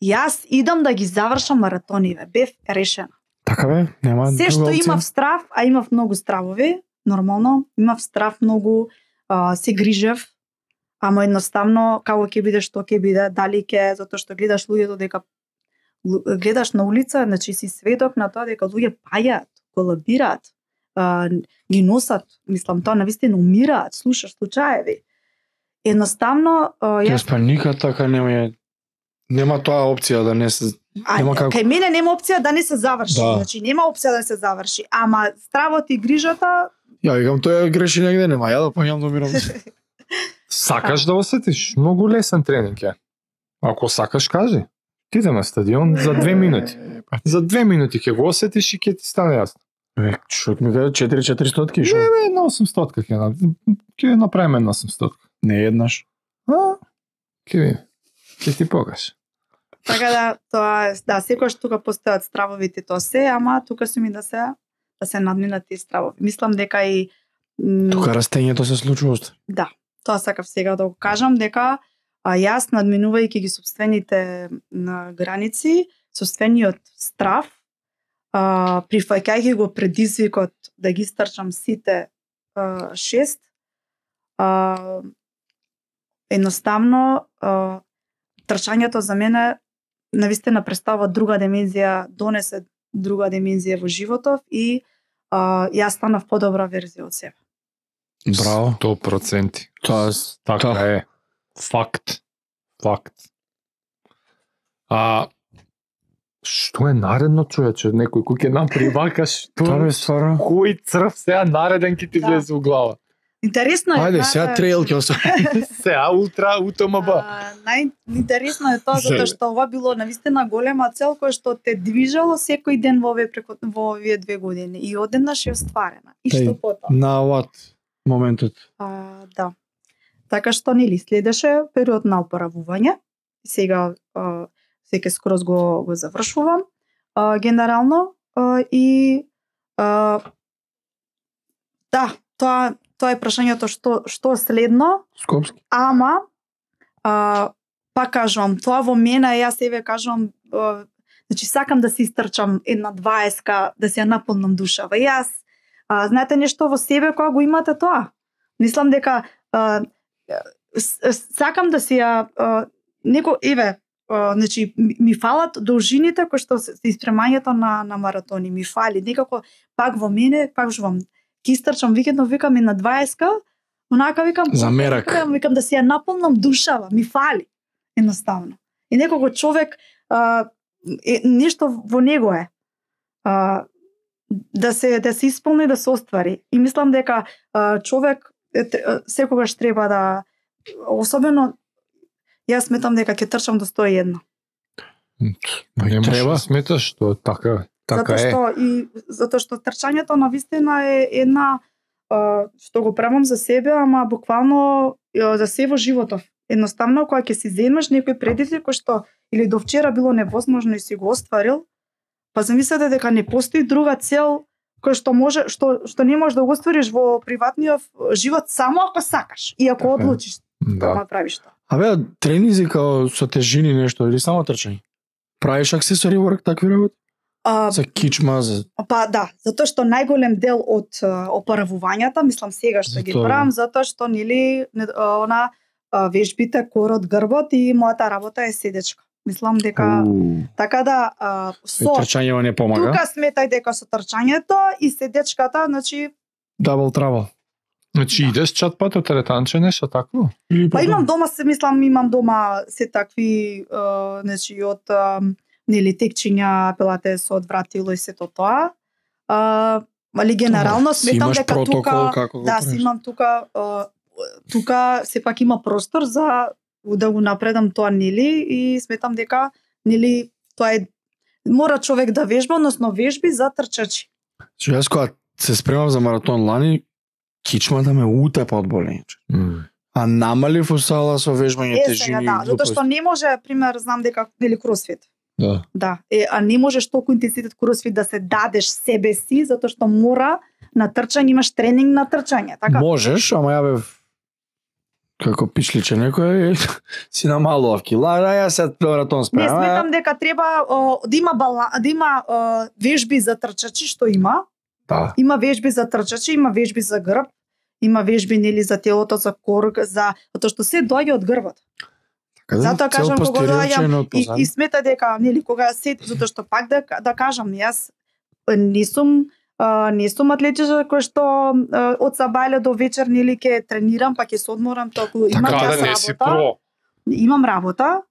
јас идам да ги завршам маратониве. Бев решена. Така бе, нема Се друга што опција? имав страв, а имав многу стравови, нормално, имав страв многу, а, се грижев, ама едноставно како ќе биде, што ќе биде, дали ќе, затоа што гледаш луѓето дека лу- гледаш на улица, значи си сведок на тоа дека луѓе паѓаат, колабираат, а, ги носат, мислам тоа навистина умираат, слушаш случаеви. Едноставно а, јас Јас па никад така нема ја- нема тоа опција да не се А, нема како. кај мене нема опција да не се заврши. Да. Значи нема опција да се заврши, ама стравот и грижата Ја викам тој греши негде, нема ја да појам да умирам. Сакаш да осетиш? Многу лесен тренинг е. Ако сакаш, кажи. Ти идем на стадион за две минути. За две минути ќе го осетиш и ќе ти стане јасно. Бе, што ми каде четири четиристотки шо? Не, бе, на осемстотка ќе на ќе направиме на осемстотка. Не еднаш. А? Ќе ви. Ќе ти покажа. така да тоа е- да секогаш тука постојат стравовите тоа се, ама тука сум и да се да се надминат тие стравови. Мислам дека и м, Тука растењето се случува уште. да, тоа сакав сега да го кажам дека а, јас надминувајќи ги собствените на граници, собствениот страв, а, прифаќајќи го предизвикот да ги стрчам сите а, шест, а, едноставно а, трчањето за мене навистина представува друга димензија, донесе друга димензија во животов и а, јас станав подобра верзија од себе. Браво. сто проценти. Тоа Така Та. е. Факт. Факт. А што е наредно, човече? Некој кој ќе направи вака, што? тоа бе стварно. Кој црв сега нареден ќе ти Да. влезе во глава? Интересно е. Ајде, знаете, сега трейл ќе остави. Сега ултра УТМБ. А, најинтересно е тоа затоа што ова било навистина голема цел која што те движало секој ден во овие преку во овие две години и одеднаш е остварена. И Тај. што потоа? На what моментот? А, да. Така што нели следеше период на опоравување. Сега а, секе скроз го го завршувам а, генерално а, и а, да, тоа тоа е прашањето што што следно. Скопски. Ама, а, пак кажувам, тоа во мене, јас себе кажувам, а, значи сакам да се истрчам една дваесетка, да се ја наполнам душава. Јас, а, знаете нешто во себе кога го имате тоа? Мислам дека а, с- с- сакам да се ја, а, неко, еве, а, значи, ми, ми фалат должините кои што се се испремањето на, на маратони, ми фали. Некако, пак во мене, пак кажувам, ки истрчам викендно, викам и на дваесетка, онака викам За мерак. Викам, викам да се ја наполнам душава, ми фали едноставно. И некако човек а, е, нешто во него е. А, да се да се исполни, да се оствари. И мислам дека а, човек секогаш треба да, особено јас сметам дека ќе трчам до сто и едно. Не Треба. треба сметаш што така така Затоа е. што и затоа што трчањето на вистина е една а, што го правам за себе, ама буквално а, за се во животов. Едноставно кога ќе си земеш некој предизвик кој што или до вчера било невозможно и си го остварил, па замислете дека не постои друга цел кој што може што што не можеш да го оствариш во приватниот живот само ако сакаш и ако Така е. одлучиш да Да. направиш тоа. Абе, тренинзи као со тежини нешто или само трчање? Правиш аксесори ворк такви работи? А, За кичма, за... Па да, затоа што најголем дел од а, опаравувањата, мислам сега што ги Затоа. правам, затоа што нели не- а, она а, вежбите корот, грбот и мојата работа е седечка. Мислам дека Уу. така да а, И со трчањето не помага. тука сметај дека со трчањето и седечката, значи Double trouble. Значи идеш чат пат од теретанче нешто такво? Или па имам дома се мислам имам дома се такви а, значи од а, нели текчиња, пилатес од вратило и сето тоа. А, али генерално Си сметам имаш дека протокол тука како го да, правиш. си имам тука а, тука сепак има простор за да го напредам тоа нели и сметам дека нели тоа е мора човек да вежба, односно вежби за трчачи. Што јас кога се спремав за маратон лани, кичмата ме утепа од болење. А намалив усала со вежбање Е, тежини. сега да, затоа што не може, пример, знам дека нели кросфит. Да. Да, е, а не можеш толку интензитет кросфит да се дадеш себе си, затоа што мора на трчање имаш тренинг на трчање, така? Можеш, ама ја бев како пичличе некој си намалував кила, а јас се маратон Не спремам. сметам дека треба о, да има бала, да има о, вежби за трчачи, што има. Да. Има вежби за трчачи, има вежби за грб, има вежби нели за телото, за корг, за затоа што се доаѓа од грбот. Така да, Затоа цел кажам, кога постериор доаѓам член од И, позади. и смета дека нели кога се затоа што пак да да кажам јас е, не сум а, не сум атлетичар кој што а, од сабајле до вечер нели ќе тренирам па ќе се одморам толку имам Така час да не си работа. про. Имам работа.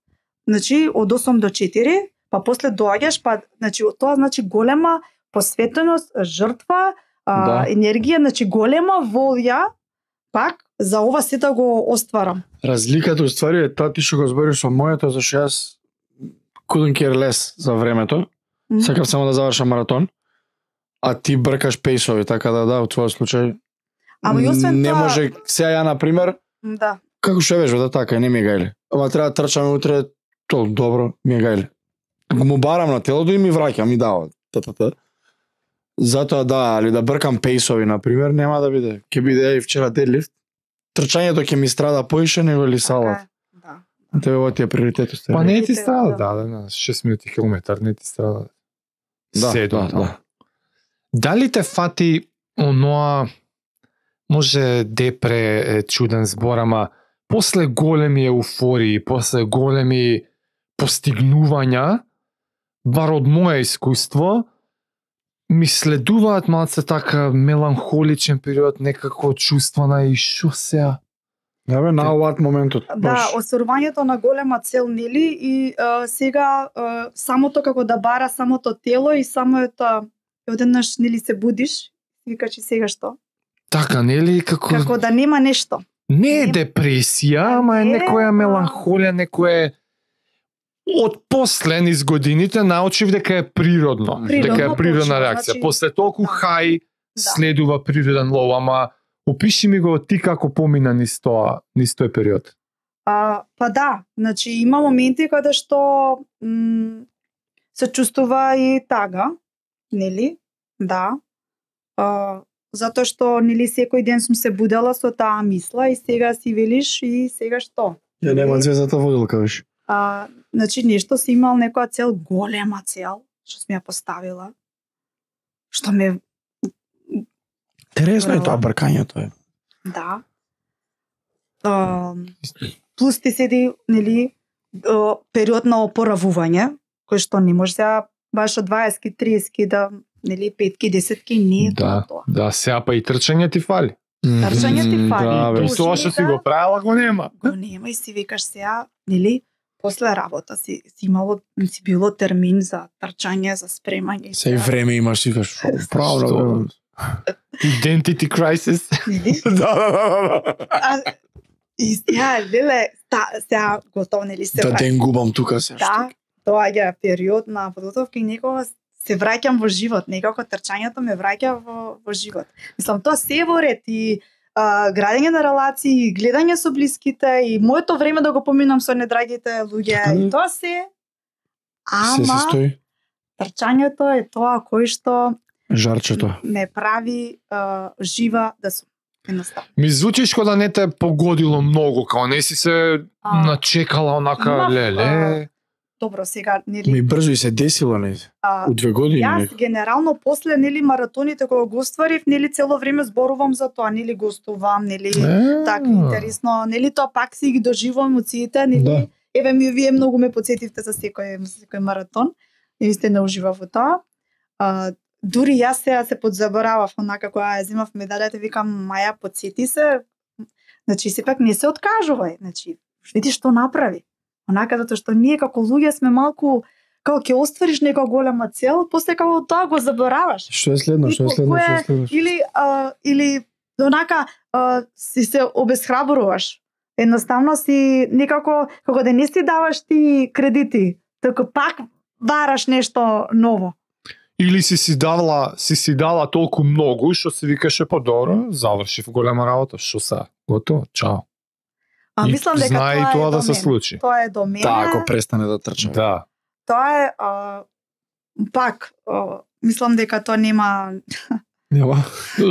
Значи од осум до четири, па после доаѓаш па значи тоа значи голема посветеност, жртва, а, Да. енергија, значи голема волја пак за ова се да го остварам. Разликата уствари е тоа ти што го збориш со моето, зашто јас couldn't care less за времето. Мгм. Сакав само да завршам маратон. А ти бркаш пейсови, така да да, во твојот случај. Ама и освен не тоа- може сега ја на пример, Да. како што вежба да така, не ми е гајле. Ама треба да трчаме утре, то добро, ми е гајле. Го му барам на телото и ми враќа, ми дава. Та, та, та. Затоа да, али да бркам пейсови на пример, нема да биде. Ќе биде и вчера дедлифт. Трчањето ќе ми страда поише него ли салат. Така е, Да. Тебе ова ти е приоритетот. Па не ти Видите, страда, да. да, да, на шест минути километар не ти страда. Да, Седум да, таму. да. Дали те фати оноа, може депре е чуден збор, ама после големи еуфории, после големи постигнувања, бар од моје искуство, ми следуваат малце така меланхоличен период, некако чувство на и шо сега. Да бе, на оваат моментот. Да, баш. остварувањето на голема цел нели и а, сега а, самото како да бара самото тело и самото одеднаш нели се будиш и викаш и сега што? Така, нели, како... Како да нема нешто. Не е Не- депресија, ама е Не, некоја а- меланхолија, некое од после низ годините научив дека е природно, Природно, дека е природна точно, реакција. значи- После толку Да. хај Да. следува природен лов, ама опиши ми го ти како помина низ тоа, низ тој период. А, па да, значи има моменти каде што м, се чувствува и тага, нели? Да. А, затоа што нели секој ден сум се будела со таа мисла и сега си велиш и сега што? Ја нема звездата водилка виш. А, значи нешто си имал некоја цел, голема цел, што сме ја поставила. Што ме, Интересно е Браво. тоа бркањето е. да. А, плюс ти седи, нели, а, период на опоравување, кој што не може сега баш од дваесет, тридесет да, нели, петки, десетки, не е тоа Да, тоа. да, сега па и трчање ти фали. Трчање ти фали. Да, бе. И тоа што си го правила го нема. Го нема и си викаш сега, нели, после работа си, си имало, си било термин за трчање, за спремање. и Се и сега. време имаш, си кажеш, право, Што? време. Identity crisis. Да, да, да, да. А, и сега, леле, та, сега готово, нели се Да враќам. ден губам тука се. Да, доаѓа период на подготовка и некогаш се враќам во живот, некако трчањето ме враќа во, во живот. Мислам, тоа се е во ред и а, градење на релации, гледање со блиските и моето време да го поминам со недрагите луѓе, и тоа се. Се се Ама стои. трчањето е тоа кој што Жарчето. ме прави а, жива да сум. Едноставно. Ми звучиш кога да не те погодило многу, као не си се А, начекала онака имав, леле. Добро, сега, нели, Ми брзо и се десило, не? а, У две години. Јас нека. генерално после нели маратоните кога го остварив, нели цело време зборувам за тоа, нели гостувам, нели така интересно, нели тоа пак си ги доживувам емоциите, нели. Да. Еве ми вие многу ме потсетивте за секој за секој маратон. И сте не уживав во тоа. А, дури јас сега се подзаборавав, онака кога ја земав медалјата, викам Маја, потсети се. Значи сепак не се откажувај, значи види што направи. Онака затоа што ние како луѓе сме малку како ќе оствариш нека голема цел, после како тоа го забораваш. Што е следно? Што е следно? Што е следно? Или а, или онака а, си се обесхрабруваш. Едноставно си некако како да не си даваш ти кредити, така пак бараш нешто ново. Или си си дала, си си дала толку многу што се викаше па добро, завршив голема работа, што са? Готово, чао. А И мислам дека знае тоа, и тоа е да до се мене. случи. Тоа е до мене. Да, ако престане да трча. Да. Тоа е а, пак а, мислам дека тоа нема Нема.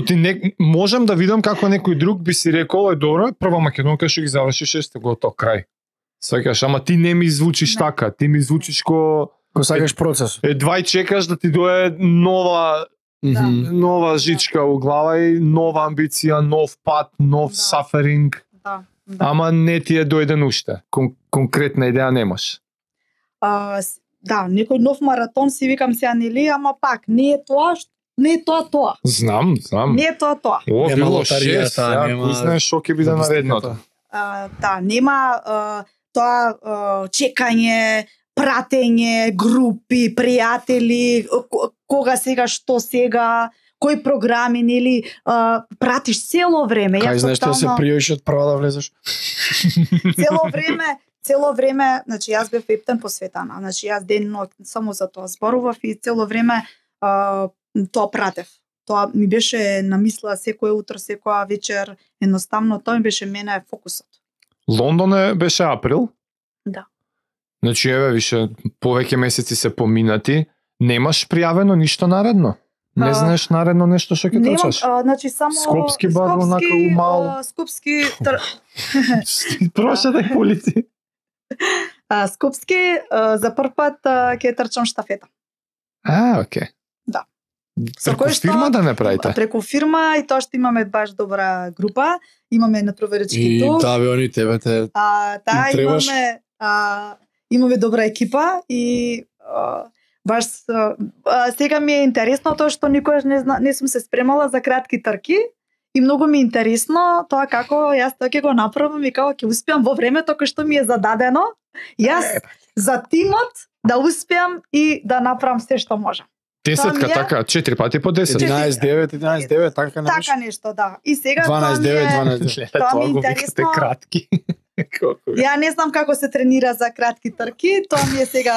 Ти не, можам да видам како некој друг би си рекол, е добро, прва Македонка што ги заврши шесте готово крај. Сваќаш, ама ти не ми звучиш Не. така, ти ми звучиш ко Го сакаш процес. едва и чекаш да ти дое нова Мгм. нова жичка у глава и нова амбиција, нов пат, нов Да. саферинг, да, да. ама не ти е дојден уште. Кон, конкретна идеја немаш. А, с- да, некој нов маратон си викам сега нели, ама пак не е тоа, што- не е тоа тоа. Знам, знам. Не е тоа тоа. О, Нема било лотаријата, шест, сега, нема кој знае што ќе биде наредното. А, да, нема а, тоа а, чекање, пратење, групи, пријатели, к- кога сега, што сега, кои програми, нели, а, пратиш цело време. Кај Јас знаеш што се тотално- пријоиш од прва да влезеш? цело време, цело време, значи јас бев ептен посветана. Значи јас ден ноќ само за тоа зборував и цело време а, тоа пратев. Тоа ми беше на мисла секое утро, секоја вечер, едноставно тоа ми беше мене фокусот. Лондон е беше април. Да. Значи еве више повеќе месеци се поминати, немаш пријавено ништо наредно. Не А, знаеш наредно нешто што ќе Немам, трчаш. а, значи само Скопски бар, онака, умал. а, Скопски тр... Прошете полици. а, Скопски а, за прв пат а, ќе трчам штафета. А, окей. Да. Со Преку кој што- фирма да не правите? Преку фирма и тоа што имаме баш добра група, имаме натпреварички И тур. да, бе, они тебе те... А, да, Им требаш? имаме а, имаме добра екипа и а, баш а, а, сега ми е интересно тоа што никогаш не зна, не сум се спремала за кратки трки и многу ми е интересно тоа како јас тоа ќе го направам и како ќе успеам во времето кое што ми е зададено. Јас за тимот да успеам и да направам се што можам. Десетка, Тоа ми е- така, четири пати по десет. единаесет девет, единаесет девет, така не беше? Така нешто, да. И сега тоа дванаесет ми девет, е... дванаесет девет. Тоа ми е го викате интересно. кратки. Колку е? Ја не знам како се тренира за кратки трки, тоа ми е сега...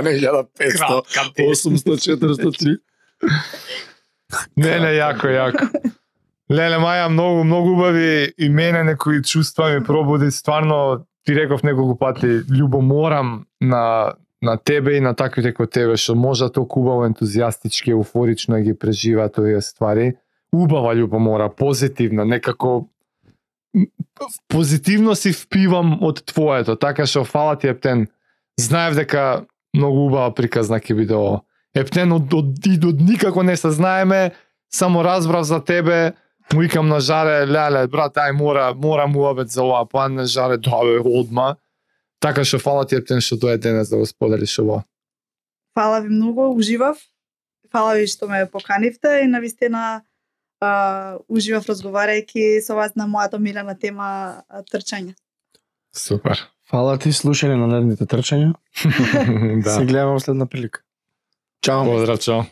Не, илјада петсто, осумсто, четиристо три. Не, не, јако, јако. Леле, Маја, многу, многу убави и мене некои чувства ми пробуди. Стварно, ти реков неколку пати, љубоморам на, на тебе и на таквите кој тебе, што може толку убаво, ентузијастички, еуфорично ги преживаат овие ствари. Убава љубомора, позитивна, некако позитивно си впивам од твоето, така што фала ти, Ептен. Знаев дека многу убава приказна ќе биде ово. Ептен, од, од, од, од никако не се знаеме, само разбрав за тебе, му викам на Жаре, леле, брат, ај мора, мора му обед за ова, па на Жаре, да бе, одма. Така што фала ти, Ептен, што дое денес да го споделиш ово. Фала ви многу, уживав. Фала ви што ме поканивте и навистина а, уживав разговарајќи со вас на мојата милена тема а, трчање. Супер. Фала ти, слушање на наредните трчања. Се Да. гледаме во следна прилика. Чао. Поздрав, чао.